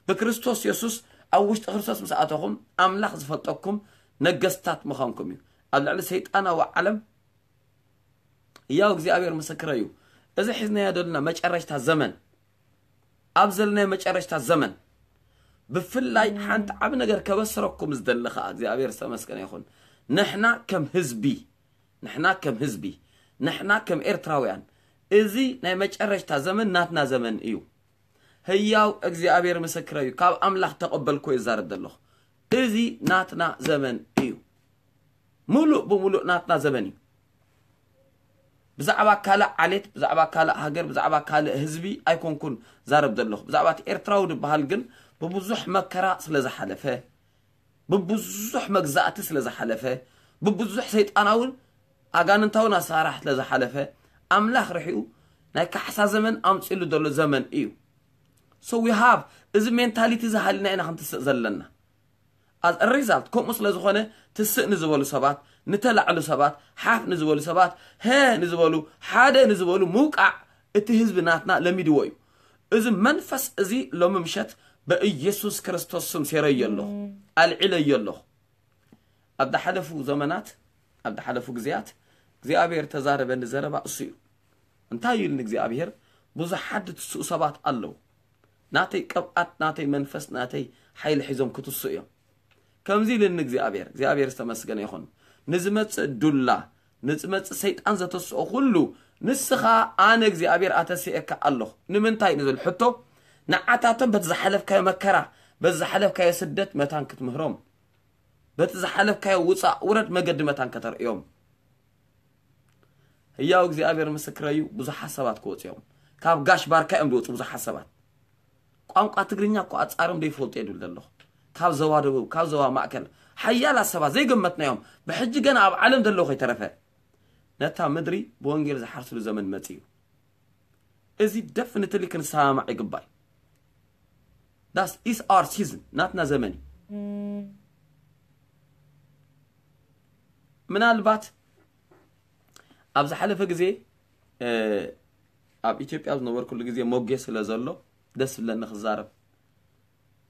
ብክርስቶስ የሱስ፣ ኣብ ውሽጢ ክርስቶስ ምስ ኣተኹም፣ ኣምላኽ ዝፈልጠኩም ነገስታት ምዃንኩም እዩ። ኣብ ልዕሊ ሰይጣናዊ ዓለም ህያው እግዚኣብሔር ምስክረይ እዩ። እዚ ሒዝናዮ ዘለና መጨረሽታ ዘመን፣ ኣብ ዘለናዮ መጨረሽታ ዘመን፣ ብፍላይ ሓንቲ ዓቢ ነገር ከበስረኩም ዝደሊ ኸኣ፣ እግዚኣብሔር ዝተመስገነ ይኹን። ንሕና ከም ህዝቢ፣ ንሕና ከም ህዝቢ፣ ንሕና ከም ኤርትራውያን፣ እዚ ናይ መጨረሽታ ዘመን ናትና ዘመን እዩ። ህያው እግዚኣብሔር ምስክረይ እዩ። ካብ ኣምላኽ ተቐበልኩ ይዛረብ ዘለኹ። እዚ ናትና ዘመን እዩ። ሙሉእ ብሙሉእ ናትና ዘመን እዩ። ብዛዕባ ካልእ ዓሌት፣ ብዛዕባ ካልእ ሃገር፣ ብዛዕባ ካልእ ህዝቢ ኣይኮንኩን ዛረብ ዘለኹ። ብዛዕባ እቲ ኤርትራዊ ዝበሃል ግን ብብዙሕ መከራ ስለ ዝሓለፈ፣ ብብዙሕ መግዛእቲ ስለ ዝሓለፈ፣ ብብዙሕ ሰይጣናውን ኣጋንንታውን ኣሰራርሓ ስለ ዝሓለፈ፣ ኣምላኽ ርሒኡ ናይ ካሕሳ ዘመን ኣምጺሉ ዘሎ ዘመን እዩ። So we have፣ እዚ ሜንታሊቲ እዚ ሃሊና ኢና ክንትስእ ዘለና። As a result፣ ከምኡ ስለ ዝኾነ፣ ትስእ ንዝበሉ ሰባት፣ ንተላዕሉ ሰባት፣ ሓፍ ንዝበሉ ሰባት፣ ሀ ንዝበሉ፣ ሓደ ንዝበሉ ምውቃዕ እቲ ህዝቢ ናትና ለሚድዎ እዩ። እዚ መንፈስ እዚ ሎሚ ምሸት በኢየሱስ ክርስቶስ ስም ሴረዮ ኣለኹ፣ ኣልዒለዮ ኣለኹ። ኣብ ዝሓለፉ ዘመናት፣ ኣብ ዝሓለፉ ግዜያት እግዚኣብሔር ተዛረበኒ ዘረባ እሱ እዩ። እንታይ እዩ ኢልኒ እግዚኣብሔር? ብዙሓት ዝትስኡ ሰባት ኣለዉ። ናተይ ቅብኣት፣ ናተይ መንፈስ፣ ናተይ ሓይሊ ሒዞም ክትስኡ እዮም። ከምዚ ኢልኒ እግዚኣብሔር፣ እግዚኣብሔር ዝተመስገነ ይኹን። ንዝመጽእ ዱላ፣ ንዝመጽእ ሰይጣን ዘተስኦ ኩሉ፣ ንስኻ ኣነ እግዚኣብሔር ኣተሲኤካ ኣለኹ። ንምንታይ ንዝብል ሕቶ፣ ንዓታቶም በቲ ዝሓለፍካዮ መከራ፣ በቲ ዝሓለፍካዮ ስደት መታን ክትምህሮም፣ በቲ ዝሓለፍካዮ ውጻእ ውረድ መገዲ መታን ከተርእዮም። ህያው እግዚኣብሔር ምስክረይ እዩ፣ ብዙሓት ሰባት ክወጹ እዮም። ካብ ጋሽ ባርካ እዮም ዝወጹ ብዙሓት ሰባት። ቋንቋ ትግርኛ እኮ ኣጻሮም ዘይፈልጡ እየ ድብል ዘለኹ። ካብ ዞባ ደቡብ፣ ካብ ዞባ ማእከል፣ ሓያላት ሰባት ዘይገመትናዮም፣ ብሕጂ ገና ኣብ ዓለም ዘለዉ ከይተረፈ፣ ነታ ምድሪ ብወንጌል ዝሓርስሉ ዘመን መጺኡ እዩ። እዚ ደፍኒትሊ ክንሰማማዕ ይግባእ። That is our season፣ ናትና ዘመን እዩ። ምናልባት ኣብ ዝሓለፈ ግዜ፣ እ፣ ኣብ ኢትዮጵያ ኣብ ዝነበርኩሉ ግዜ ሞጌ ስለ ዘሎ ደስ ዝብለኒ ክዛረብ።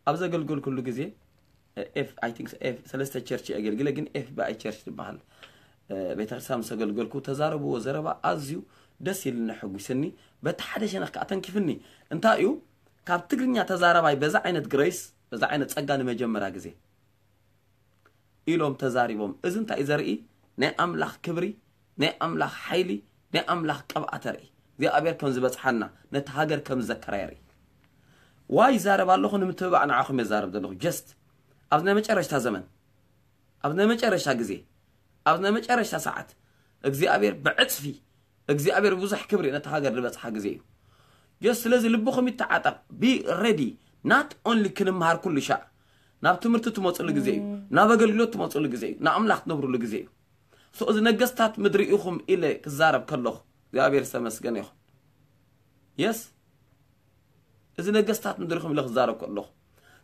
ኣብ ዘገልገልኩሉ ግዜ፣ እ፣ ኤፍ፣ I think ኤፍ፣ ሰለስተ ቸርች የገልግለ፣ ግን ኤፍ ቢ ኣይ ቸርች ትበሃል፣ እ፣ ቤተክርስትያን ምስ ኣገልገልኩ ተዛረብዎ ዘረባ ኣዝዩ ደስ ኢልኒ፣ ኣሐጒስኒ፣ በቲ ሓደ ሸነኽ ከኣ ተንኪፍኒ። እንታይ እዩ? ካብ ትግርኛ ተዛረባይ በዛ ዓይነት ግሬስ፣ በዛ ዓይነት ጸጋ ንመጀመርያ ግዜ ኢሎም ተዛሪቦም። እዚ እንታይ ዘርኢ? ናይ ኣምላኽ ክብሪ፣ ናይ ኣምላኽ ሓይሊ፣ ናይ ኣምላኽ ቅብኣት የርኢ። እግዚኣብሔር ከም ዝበጽሓና፣ ነቲ ሃገር ከም ዝዘከራ የርኢ። ዋይ ይዛረብ ኣለኹ? ንምትብባዕ ንዓኹም የዛረብ ዘለኹ። ጀስት ኣብዚ ናይ መጨረሽታ ዘመን፣ ኣብዚ ናይ መጨረሽታ ግዜ፣ ኣብዚ ናይ መጨረሽታ ሰዓት እግዚኣብሔር ብዕጽፊ፣ እግዚኣብሔር ብዙሕ ክብሪ ነቲ ሃገር ዝበጽሓ ግዜ እዩ። ጀስት ስለዚ ልብኹም ይተዓጠቕ። ቢ ሬዲ። ናት ኦንሊ ክንምሃር ኩሉ ሻዕ ናብ ትምህርቲ ትመፅሉ ግዜ እዩ። ናብ ኣገልግሎት ትመፅሉ ግዜ እዩ። ንኣምላኽ ትነብርሉ ግዜ እዩ። ሶ እዚ ነገስታት ምድሪ ኢኹም ኢለ ክዛረብ ከለኹ እግዚኣብሔር ዝተመስገነ ይኹን። የስ፣ እዚ ነገስታት ምድሪ ኢኹም ኢለ ክዛረብ ከለኹ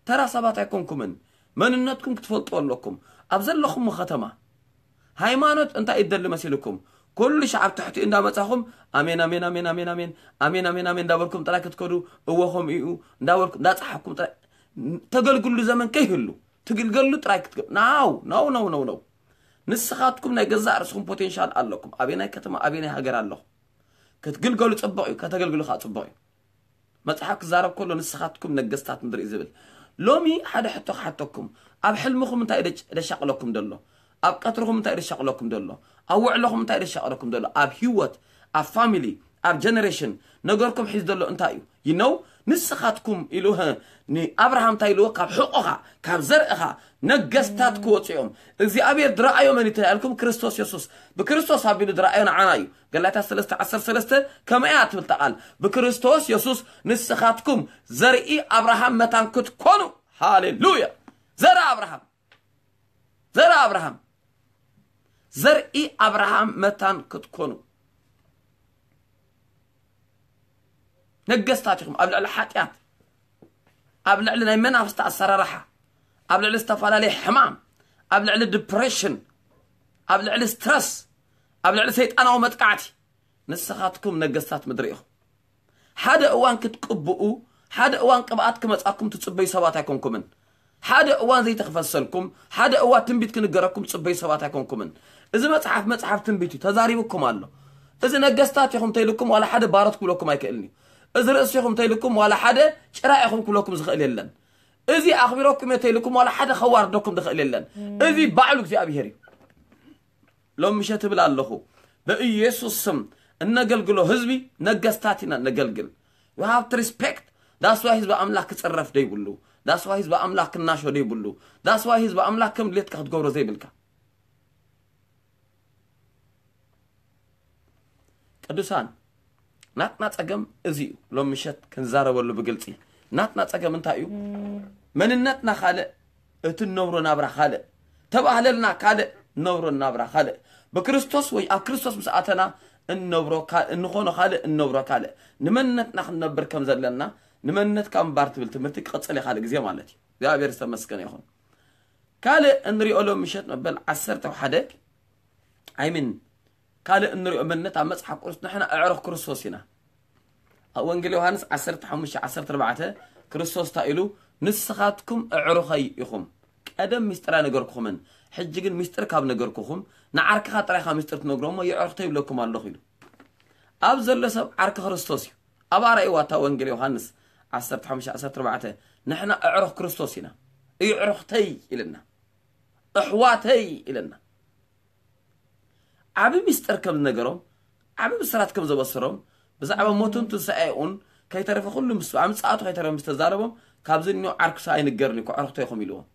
ተራ ሰባት ኣይኮንኩምን። መንነትኩም ክትፈልጡ ኣለኩም። ኣብ ዘለኹም ከተማ ሃይማኖት እንታይ ይደሊ መሲልኩም? ኩሉ ሻዕ ኣብ ትሕቲ እንዳመጻኹም ኣሜን ኣሜን ኣሜን ኣሜን ኣሜን ኣሜን ኣሜን ኣሜን እንዳበልኩም ጥራይ ክትከዱ፣ እወ ከምኡ እዩ እንዳበልኩም እንዳጻሓኩም ጥራይ ተገልግሉ። ዘመን ከይህሉ ትግልገሉ ጥራይ ክትገ ናው ናው ናው ናው ናው ንስኻትኩም ናይ ገዛእ ርእስኹም ፖቴንሻል ኣለኩም። ኣበናይ ከተማ ኣበናይ ሃገር ኣለኹም ክትግልገሉ ጽቡቕ እዩ። ከተገልግሉ ከዓ ጽቡቕ እዩ። መጽሓፍ ክዛረብ ከሎ ንስኻትኩም ነገስታት ምድሪ እዩ ዝብል። ሎሚ ሓደ ሕቶ ክሓተኩም። ኣብ ሕልምኹም እንታይ ደሽ- ደሻቕለኩም ደሎ? ኣብ ቀትርኹም እንታይ ደሻቕለኩም ደሎ? ኣብ ውዕለኹም እንታይ ደሻቕለኩም ደሎ? ኣብ ህይወት፣ ኣብ ፋሚሊ፣ ኣብ ጀነሬሽን ነገርኩም ሒዝ ደሎ እንታይ እዩ? ይነው ንስኻትኩም ኢሉ ህ- ንኣብርሃም እንታይ ኢልዎ? ካብ ሕቆኻ ካብ ዘርእኻ ነገስታት ክወፁ እዮም። እግዚኣብሔር ድረኣዮ መን እዩ ተባሂልኩም? ክርስቶስ የሱስ። ብክርስቶስ ኣቢሉ ድረኣዮ ንዓና እዩ። ገላትያ ሰለስተ ዓሰርተ ሰለስተ ከመይ እያ ትብል እታ ቃል? ብክርስቶስ የሱስ ንስኻትኩም ዘርኢ ኣብርሃም መታን ክትኮኑ። ሃሌሉያ። ዘርኢ ኣብርሃም፣ ዘርኢ ኣብርሃም፣ ዘርኢ ኣብርሃም መታን ክትኮኑ ነገስታት ኢኹም። ኣብ ልዕሊ ሓጢኣት፣ ኣብ ልዕሊ ናይ መናፍስቲ ኣሰራርሓ፣ ኣብ ልዕሊ ዝተፈላለየ ሕማም፣ ኣብ ልዕሊ ዲፕሬሽን፣ ኣብ ልዕሊ ስትረስ፣ ኣብ ልዕሊ ሰይጣናዊ መጥቃዕቲ ንስኻትኩም ነገስታት ምድሪ ኢኹም። ሓደ እዋን ክትቅብኡ፣ ሓደ እዋን ቅብኣት ክመጻኩም ትጽበዩ ሰባት ኣይኮንኩምን። ሓደ እዋን ዘይተኽፈሰልኩም፣ ሓደ እዋን ትንቢት ክንገረኩም ትጽበዩ ሰባት ኣይኮንኩምን። እዚ መጽሓፍ መጽሓፍ ትንቢት እዩ፣ ተዛሪብኩም ኣሎ። እዚ ነገስታት ኢኹም ተይልኩም ዋላ ሓደ ባሮት ክብለኩም ኣይክእልን እዩ። እዚ ርእሲ ኢኹም ተይልኩም ዋላ ሓደ ጭራ ኢኹም ክብለኩም ዝኽእል የለን። እዚ ኣኽቢረኩም እየ ተይልኩም ዋላ ሓደ ከዋርደኩም ዝኽእል የለን። እዚ ባዕሉ እግዚኣብሔር እዩ። ሎም ምሸት እብል ኣለኹ፣ በኢየሱስ ስም እነገልግሎ ህዝቢ ነገስታት ኢና እነገልግል። We have to respect። That's why ህዝቢ ኣምላኽ ክጽረፍ ደይብሉ። That's why ህዝቢ ኣምላኽ ክናሾ ደይብሉ። That's why ህዝቢ ኣምላኽ ከም ድሌትካ ክትገብሮ ዘይብልካ። ቅዱሳን፣ ናትና ጸገም እዚ እዩ። ሎም ምሸት ክንዛረበሉ ብግልጺ ናትና ጸገም እንታይ እዩ? መንነትና ካልእ፣ እቲ እንነብሮ ናብራ ካልእ። ተባህለልና ካልእ፣ እንነብሮ ናብራ ካልእ። ብክርስቶስ ወይ ኣብ ክርስቶስ ምስ ኣተና እንነብሮ ካ- እንኾኖ ካልእ፣ እንነብሮ ካልእ። ንመንነትና ክንነብር ከም ዘለና፣ ንመንነትካ ምንባር ትብል ትምህርቲ ክቕጽል እየ ካልእ ግዜ ማለት እዩ። እግዚኣብሔር ዝተመስገነ ይኹን። ካልእ እንሪኦ ሎም ምሸት መበል ዓሰርተ ሓደ፣ ኣይምን ካልእ እንሪኦ መንነት ኣብ መጽሓፍ ቅዱስ ንሕና ኣዕሩኽ ክርስቶስ ኢና። ኣብ ወንጌል ዮሃንስ ዓሰርተ ሓሙሽተ ዓሰርተ ኣርባዕተ ክርስቶስ እንታይ ኢሉ? ንስኻትኩም ኣዕሩኸይ ኢኹም። ቀደም ሚስጥር ኣይነገርኩኹምን፣ ሕጂ ግን ሚስጥር ካብ ነገርኩኹም ንዓርክኻ ጥራይ ኢኻ ሚስጥር ትነግሮ እሞ የዕሩኽተይ ይብለኩም ኣለኹ ኢሉ። ኣብ ዘሎ ሰብ ዓርኪ ክርስቶስ እዩ። ኣብ ኣርኣይዋ እታ ወንጌል ዮሃንስ ዓሰርተ ሓሙሽተ ዓሰርተ ኣርባዕተ ንሕና ኣዕሩኽ ክርስቶስ ኢና። የዕሩኽተይ ኢልና፣ ኣሕዋተይ ኢልና። ዓቢ ሚስጥር ከም ዝነገሮም፣ ዓቢ ብስራት ከም ዘበሰሮም፣ ብዛዕባ ሞቱን ትንሳኤኡን ከይተረፈ ኩሉ ምስ ኣምጻኣቱ ከይተረፈ ምስ ተዛረቦም፣ ካብዚ እኒኦ ዓርኩስ ኣይንገርን እዩ፣ ኣዕሩኽተይ ኢኹም ኢልዎም።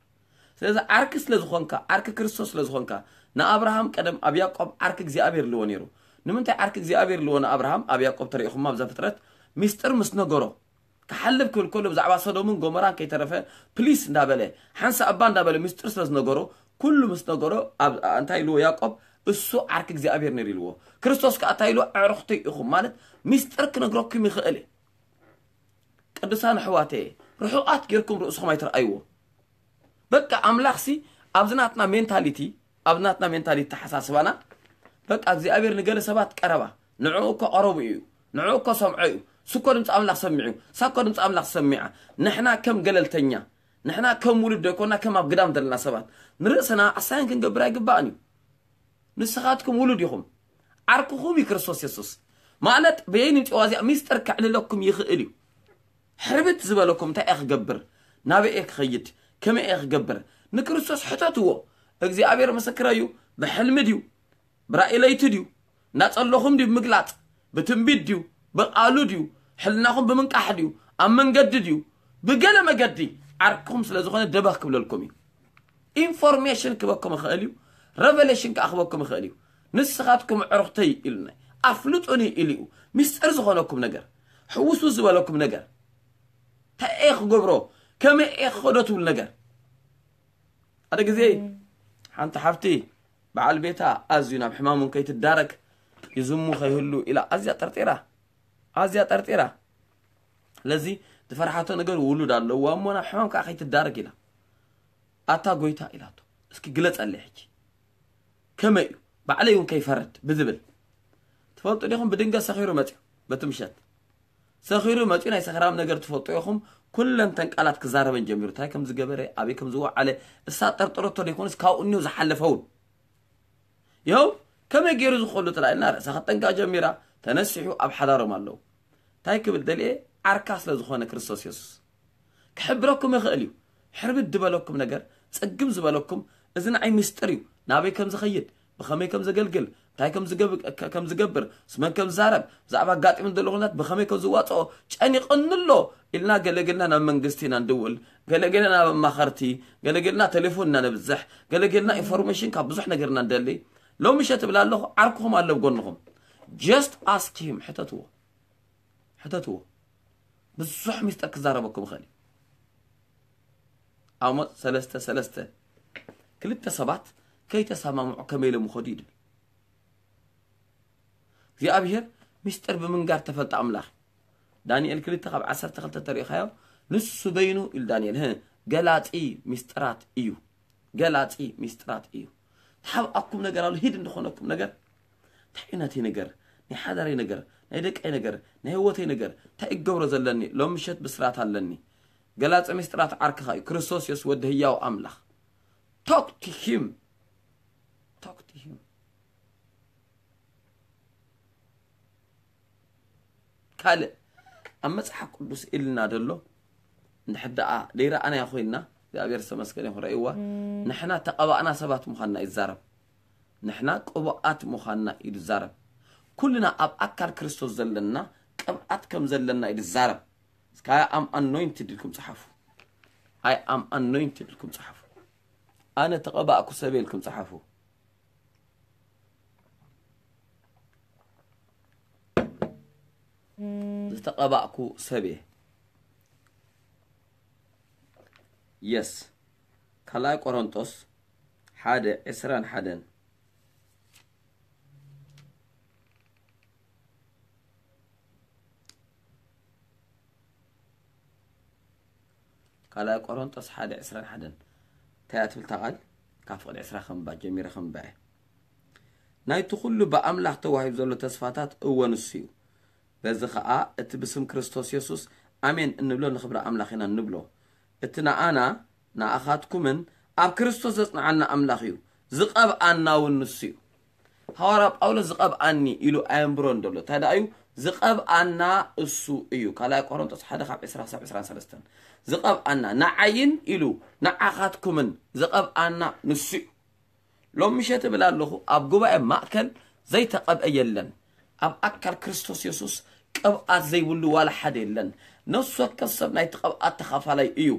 ስለዚ ዓርኪ ስለ ዝኾንካ፣ ዓርኪ ክርስቶስ ስለ ዝኾንካ፣ ንኣብርሃም ቀደም ኣብ ያዕቆብ ዓርኪ እግዚኣብሔር ኢልዎ ነይሩ። ንምንታይ ዓርኪ እግዚኣብሔር ኢልዎ ንኣብርሃም ኣብ ያዕቆብ ተሪኢኹማ ኣብ ዘፍጥረት ሚስጥር ምስ ነገሮ፣ ክሓልፍ ክብል ከሎ ብዛዕባ ሶዶምን ጎሞራን ከይተረፈ ፕሊስ እንዳበለ ሓንሳእ እባ እንዳበለ ምስጢር ስለ ዝነገሮ ኩሉ ምስ ነገሮ ኣብ እንታይ ኢልዎ ያዕቆብ እሱ ዓርኪ እግዚኣብሔር ነይሩ ኢልዎ። ክርስቶስ ከኣ እንታይ ኢልዎ ኣዕሩኽተይ ኢኹም ማለት ምስጢር ክነግረኩም ይኽእል እየ። ቅዱሳን ኣሕዋተየ ርሑቓት ጌርኩም ርእስኹም ኣይትርኣይዎ። በቃ ኣምላኽሲ ኣብዚ ናትና ሜንታሊቲ ኣብ ናትና ሜንታሊቲ ተሓሳስባና በቃ እግዚኣብሔር ንገለ ሰባት ቀረባ ንዕኡ እኮ ቀረቡ እዩ ንዕኡ እኮ ሰምዖ እዩ ስኮ ድምፂ ኣምላኽ ሰሚዑ ሳኮ ድምፂ ኣምላኽ ሰሚዓ ንሕና ከም ገለልተኛ ንሕና ከም ውሉድ ዶ ይኮና ከም ኣብ ግዳም ዘለና ሰባት ንርእስና ኣሳይን ክንገብር ኣይግባእን እዩ ንስኻትኩም ውሉድ ኢኹም ዓርክኹም እዩ ክርስቶስ የሱስ ማለት በየን ይምፅዋ እዚኣ ሚስጥር ከዕልለኩም ይኽእል እዩ ሕርብት ዝበለኩም እንታይ እየ ክገብር ናበይ እየ ክኸይድ ከመይ እየ ክገብር ንክርስቶስ ሕተትዎ እግዚኣብሔር ምስክረይ እዩ። ብሕልሚ ድዩ? ብራእይ ለይቲ ድዩ? እናጸለኹም ድዩ ምግላጽ? ብትንቢት ድዩ? ብቓሉ ድዩ? ሕልናኹም ብምንቃሕ ድዩ? ኣብ መንገዲ ድዩ? ብገለ መገዲ ዓርክኹም ስለ ዝኾነ ደበኽ ክብለልኩም እዩ። ኢንፎርሜሽን ክበኩም ይኽእል እዩ። ረቨሌሽን ከኣ ክበኩም ይኽእል እዩ። ንስኻትኩም ኣዕሩኽተይ ኢሉና፣ ኣፍልጡኒ ኢሉ እዩ። ሚስጥር ዝኾነኩም ነገር፣ ሕውስውስ ዝበለኩም ነገር፣ እንታይ እየ ክገብሮ፣ ከመይ እየ ክኸዶ ትብሉ ነገር። ሓደ ግዜ ሓንቲ ሓፍቲ በዓል ቤታ ኣዝዩ ናብ ሕማም እውን ከይትዳረግ ይዝሙ ከይህሉ ኢላ ኣዝያ ጠርጢራ፣ ኣዝያ ጠርጢራ። ስለዚ ዝፈርሓቶ ነገር ውሉድ ኣለዋ እሞ ናብ ሕማም ከዓ ከይትዳረግ ኢላ። ኣታ ጎይታ ኢላቶ፣ እስኪ ግለጸለይ ሕጂ ከመይ እዩ፣ ባዕለይ እውን ከይፈርድ ብዝብል። ትፈልጡ ዲኹም? ብድንገት ሰኺሩ መፅዩ፣ በቲ ምሸት ሰኺሩ መፅዩ። ናይ ሰኽራም ነገር ትፈልጡ ኢኹም። ኩለን ተን ቃላት ክዛረበን ጀሚሩ፣ እንታይ ከም ዝገበረ፣ ኣበይ ከም ዝወዓለ። እሳ ጠርጠረቶ ደይኮነስ ካብኡ እኒኦ ዝሓለፈውን። ይኸው ከመይ ገይሩ ዝኸሉ ትላልና ርእሳ ከጠንቃ ጀሚራ። ተነሲሑ ኣብ ሓዳሮም ኣለዉ። እንታይ ክብል ደልየ? ዓርካ ስለ ዝኾነ ክርስቶስ የሱስ ክሕብረኩም ይኽእል እዩ። ሕርብድ ዝበለኩም ነገር፣ ጽግም ዝበለኩም፣ እዚ ንዓይ ምስጢር እዩ። ናበይ ከም ዝኸይድ፣ ብኸመይ ከም ዘገልግል፣ እንታይ ከም ዝገብ-፣ ከ-፣ ከም ዝገብር፣ ምስ መን ከም ዝዛረብ፣ ብዛዕባ ኣጋጢሙኒ ዘሎ ኩነታት ብኸመይ ከም ዝዋጽኦ ጨኒቕኒ ኣሎ ኢልና ገለገልና ናብ መንግስቲ ኢና ንድውል፣ ገለገልና ናብ ኣማኸርቲ፣ ገለገልና ቴሌፎን ኢና ነብዝሕ፣ ገለገልና ኢንፎርሜሽን ካብ ብዙሕ ነገር ኢና ንደሊ። ሎሚ ምሸት እብል ኣለኹ፣ ዓርክኹም ኣሎ ኣብ ጎንኹም። Just ask him፣ ሕተትዎ። ሕተትዎ። ብዙሕ ሚስጥር ክዛረበኩም ይኽእል እዩ። ኣሞጽ ሰለስተ ሰለስተ፣ ክልተ ሰባት ከይተሰማምዑ ከመይ ኢሎም ይኸዱ ይብል። እግዚኣብሔር ሚስጥር ብምንጋር ተፈልጠ ኣምላኽ። ዳንኤል ክልተ ካብ ዓሰርተ ክልተ ተሪእኻዮ፣ ንሱ በይኑ ኢሉ ዳንኤል፣ ህ፣ ገላጺ ሚስጥራት እዩ። ገላጺ ሚስጥራት እዩ። ተሓብኣኩም ነገር ኣሎ፣ ሂድ እንደኾነኩም ነገር። እንታይ እዩ ናተይ ነገር? ናይ ሓዳረይ ነገር፣ ናይ ደቀይ ነገር፣ ናይ ህይወተይ ነገር፣ እንታይ እገብሮ ዘለኒ? ሎም ምሸት ብስራት ኣለኒ። ገላጺ ሚስጥራት ዓርክኻ እዩ፣ ክርስቶስ የሱስ ወዲ ህያው ኣምላኽ። Talk to him። Talk to him። ካልእ ኣብ መጽሓፍ ቅዱስ ኢልና ዘሎ እንድሕር ደኣ ደይረኣናዮ ኮይንና፣ እግዚኣብሔር ዝተመስገነ ይኹን፣ ረእይዋ፣ ንሕና ተቐባእና ሰባት ምዃንና እዩ ዝዛረብ። ንሕና ቅቡኣት ምዃንና እዩ ዝዛረብ። ኩልና ኣብ ኣካል ክርስቶስ ዘለና ቅብኣት ከም ዘለና እዩ ዝዛረብ። እስከ I am anointed ኢልኩም ጸሓፉ። I am anointed ኢልኩም ጸሓፉ። ኣነ ተቐባእኩ ሰብ ኢልኩም ጸሓፉ። ዝተቐባእኩ ሰብ እየ። የስ። ካልኣይ ቆሮንጦስ ሓደ ዕስራን ሓደን። ካልኣይ ቆሮንጦስ ሓደ ዕስራን ሓደን። እንታይ እያ ትብል እታ ቃል? ካብ ፍቕዲ ዕስራ ከንባ ጀሚረ ከንባ እየ። ናይቲ ኩሉ ብኣምላኽ ተዋሂቡ ዘሎ ተስፋታት እወ ንሱ እዩ። በዚ ኸኣ እቲ ብስም ክርስቶስ የሱስ ኣሜን እንብሎ ንኽብሪ ኣምላኽ ኢና እንብሎ። እቲ ንኣና ንኣኻትኩምን ኣብ ክርስቶስ ዘጽንዓና ኣምላኽ እዩ። ዝቐብኣና እውን ንሱ እዩ። ሃዋርያ ጳውሎስ ዝቐብኣኒ ኢሉ ኣየንብሮን ዘሎ። እንታይ ደኣ እዩ? ዝቐብኣና እሱ እዩ። ካልኣይ ቆሮንጦስ ሓደ ካብ ዕስራ ክሳብ ዕስራን ሰለስተን። ዝቐብኣና፣ ንዓይን ኢሉ ንዓኻትኩምን ዝቐብኣና ንሱ እዩ። ሎም ምሸት እብል ኣለኹ፣ ኣብ ጉባኤ ማእከል ዘይተቐብአ የለን። ኣብ ኣካል ክርስቶስ የሱስ ቅብኣት ዘይብሉ ዋላ ሓደ የለን። ነፍሲ ወከፍ ሰብ ናይቲ ቅብኣት ተኻፋላይ እዩ።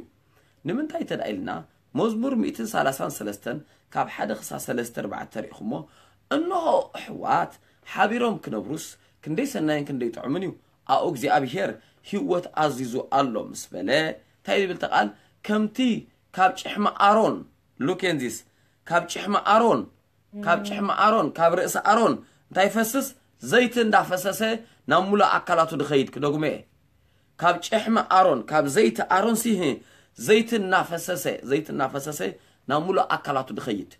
ንምንታይ እንተ ደኣ ኢልና፣ መዝሙር ሚእትን ሰላሳን ሰለስተን ካብ ሓደ ክሳብ ሰለስተ ኣርባዕተ ርኢኹሞ፣ እንሆ ኣሕዋት ሓቢሮም ክነብሩስ ክንደይ ሰናይን ክንደይ ጥዑምን እዩ፣ ኣብኡ እግዚኣብሄር ህይወት ኣዚዙ ኣሎ ምስ በለ፣ እንታይ ዝብል እቲ ቃል? ከምቲ ካብ ጭሕሚ ኣሮን፣ look at this፣ ካብ ጭሕሚ ኣሮን፣ ካብ ጭሕሚ ኣሮን፣ ካብ ርእሲ ኣሮን እንታይ ይፈስስ? ዘይቲ እንዳፈሰሰ ናብ ሙሉእ ኣካላቱ ድኸይድ። ክደግሞ እየ። ካብ ጭሕሚ ኣሮን፣ ካብ ዘይቲ ኣሮን ሲ፣ ዘይቲ እናፈሰሰ፣ ዘይቲ እናፈሰሰ ናብ ሙሉእ ኣካላቱ ድኸይድ።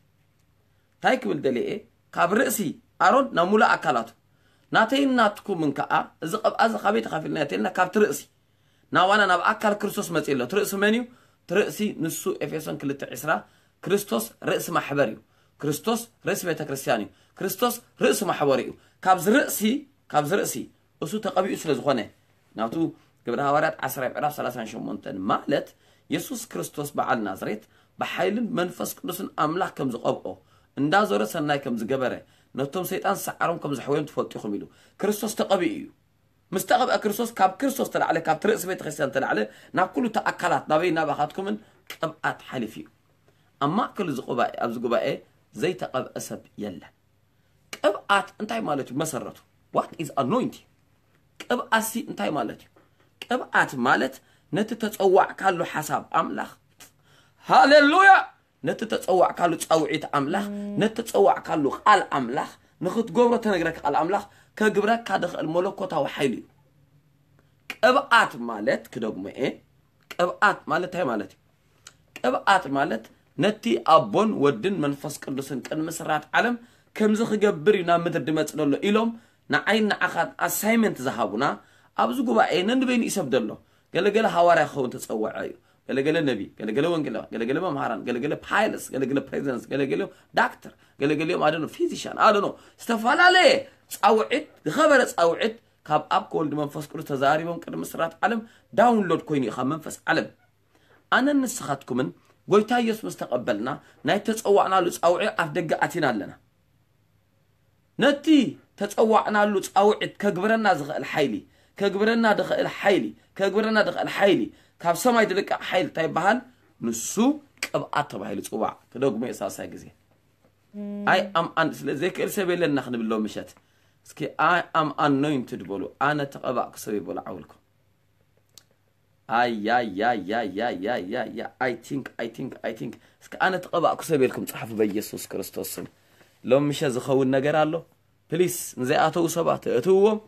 እንታይ ክብል ደልየ እየ? ካብ ርእሲ ኣሮን ናብ ሙሉእ ኣካላቱ። ናተይን ናትኩምን ከኣ፣ እዚ ቅብኣ እዚ ካበይ ተኻፊልና እተልና? ካብቲ ርእሲ። ናባና ናብ ኣካል ክርስቶስ መጺኡ ኣሎ። እቲ ርእሲ መን እዩ? እቲ ርእሲ ንሱ ኤፌሶን ክልተ ዕስራ፣ ክርስቶስ ርእሲ ማሕበር እዩ። ክርስቶስ ርእሲ ቤተ ክርስቲያን እዩ። ክርስቶስ ርእሲ ማሕበር እዩ። ካብዚ ርእሲ፣ ካብዚ ርእሲ እሱ ተቐቢኡ ስለ ዝኾነ፣ ናቱ ግብረ ሃዋርያት ዓስር ምዕራፍ ሰላሳን ሸሞንተን ማለት፣ የሱስ ክርስቶስ በዓል ናዝሬት ብሓይልን መንፈስ ቅዱስን ኣምላኽ ከም ዝቐብኦ፣ እንዳዞረ ሰናይ ከም ዝገበረ፣ ነቶም ሰይጣን ሰዓሮም ከም ዘሕወዮም ትፈልጡ ኢኹም ኢሉ። ክርስቶስ ተቐቢኡ እዩ። ምስ ተቐብአ ክርስቶስ፣ ካብ ክርስቶስ ተላዕለ፣ ካብቲ ርእሲ ቤተ ክርስቲያን ተላዕለ፣ ናብ ኩሉ እቲ ኣካላት፣ ናበይ ናባኻትኩምን ቅብኣት ሓሊፉ እዩ። ኣብ ማእከል እዚ ጉባኤ፣ ኣብዚ ጉባኤ ዘይተቐብአ ሰብ የለን። ቅብኣት እንታይ ማለት እዩ? መሰረቱ፣ what is anointing? ቅብኣትሲ እንታይ ማለት እዩ? ቅብኣት ማለት ነቲ ተጸዋዕካሉ ሓሳብ ኣምላኽ፣ ሃሌሉያ፣ ነቲ ተጸዋዕካሉ ጻውዒት ኣምላኽ፣ ነቲ ተጸዋዕካሉ ቃል ኣምላኽ፣ ንኽትገብሮ ተነግረካ ቃል ኣምላኽ ከግብረካ ድኽእል መለኮታዊ ሓይሊ እዩ። ቅብኣት ማለት፣ ክደግሞ እየ፣ ቅብኣት ማለት እንታይ ማለት እዩ? ቅብኣት ማለት ነቲ ኣቦን ወድን መንፈስ ቅዱስን ቅድሚ ስራት ዓለም ከምዚ ክገብር እዩ ናብ ምድሪ ድመጽእ ዘሎ ኢሎም ንዓይን ንዓኻን ኣሳይመንት ዝሃቡና ኣብዚ ጉባኤ ነንበይኑ ይሰብ ደሎ። ገለገለ ሃዋርያ ክኸውን ተጸውዐ እዩ። ገለገለ ነቢ፣ ገለገለ ወንጌላዊ፣ ገለገለ መምሃራን፣ ገለገለ ፓይለትስ፣ ገለገለ ፕሬዚደንትስ፣ ገለገሊኦም ዳክተር፣ ገለገሊኦም ኣደኖ ፊዚሻን፣ ኣደኖ ዝተፈላለየ ጻውዒት፣ ዝኸበረ ጻውዒት ካብ ኣብ ከወልድ መንፈስ ቅዱስ ተዛሪቦም ቅድሚ ስራት ዓለም ዳውንሎድ ኮይኑ እዩ ካብ መንፈስ ዓለም። ኣነን ንስኻትኩምን ጎይታ ኢየሱስ ምስ ተቐበልና ናይ ተጸዋዕናሉ ጻውዒ ኣፍ ደገ ኣቲና ኣለና። ነቲ ተጸዋዕናሉ ጻውዒት ከግብረና ዝኽእል ሓይሊ፣ ከግብረና ድኽእል ሓይሊ፣ ከግብረና ድኽእል ሓይሊ፣ ካብ ሰማይ ድልቀቕ ሓይሊ እንታይ ይበሃል? ንሱ ቅብኣት ተባሂሉ ይጽዋዕ። ክደግሞ እየ ሳልሳይ ግዜ። ኣይ ኣም ኣን-፣ ስለ ዘይክእል ሰብ የለና ክንብል ሎም ምሸት። እስኪ ኣይ ኣም ኣኖይንትድ በሉ። ኣነ ተቐባእኩ ሰብ ይበሉ ዓውልኩም። ኣያያያያያያያ፣ I think, I think, I think። እስኪ ኣነ ተቐባእኩ ሰብ ኢልኩም ጸሓፉ በኢየሱስ ክርስቶስ ስም። ሎም ምሸት ዝኸውን ነገር ኣሎ። ፕሊስ፣ ንዘይኣተዉ ሰባት እእትውዎም።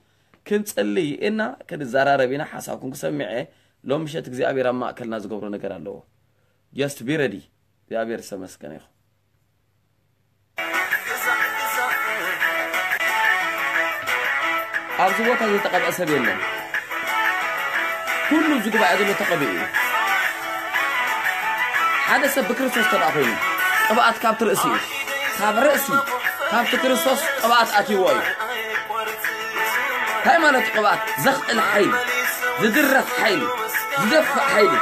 ክንጽሊ ኢና፣ ክንዘራረብ ኢና፣ ሓሳብኩም ክሰምዕ እየ። ሎም ምሸት እግዚኣብሔር ኣብ ማእከልና ዝገብሮ ነገር ኣለዎ። Just be ready። እግዚኣብሔር ዝተመስገነ ይኹን። ኣብዚ ቦታ ዝተቐብአ ሰብ የለን። ኩሉ እዚ ጉባኤ ዘሎ ተቐቢኡ እዩ። ሓደ ሰብ ብክርስቶስ ተደኣ ኮይኑ፣ ቅብኣት ካብቲ ርእሲ እዩ። ካብ ርእሲ፣ ካብቲ ክርስቶስ ቅብኣት ኣትይዎ እዩ። እንታይ ማለት እዩ ቅብኣት? ዘኽእል ሓይሊ፣ ዝድረኽ ሓይሊ፣ ዝደፍእ ሓይሊ።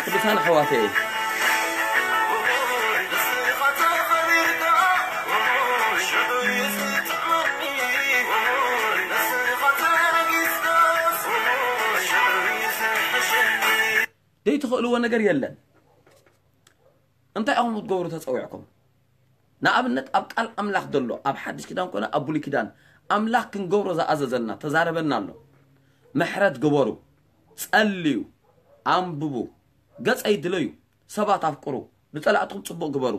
ቅዱሳን ኣሕዋተይ፣ ዘይትኽእልዎ ነገር የለን። እንታይ ኢኹም ክትገብሩ ተጸዊዕኩም? ንኣብነት ኣብ ቃል ኣምላኽ ዘሎ፣ ኣብ ሓድሽ ኪዳን ኮነ ኣብ ብሉይ ኪዳን፣ ኣምላኽ ክንገብሮ ዝኣዘዘና፣ ተዛረበና ኣሎ። ምሕረት ግበሩ፣ ጸልዩ፣ ኣንብቡ፣ ገጸይ ድለዩ፣ ሰባት ኣፍቅሩ፣ ንጸላእትኹም ጽቡቕ ግበሩ፣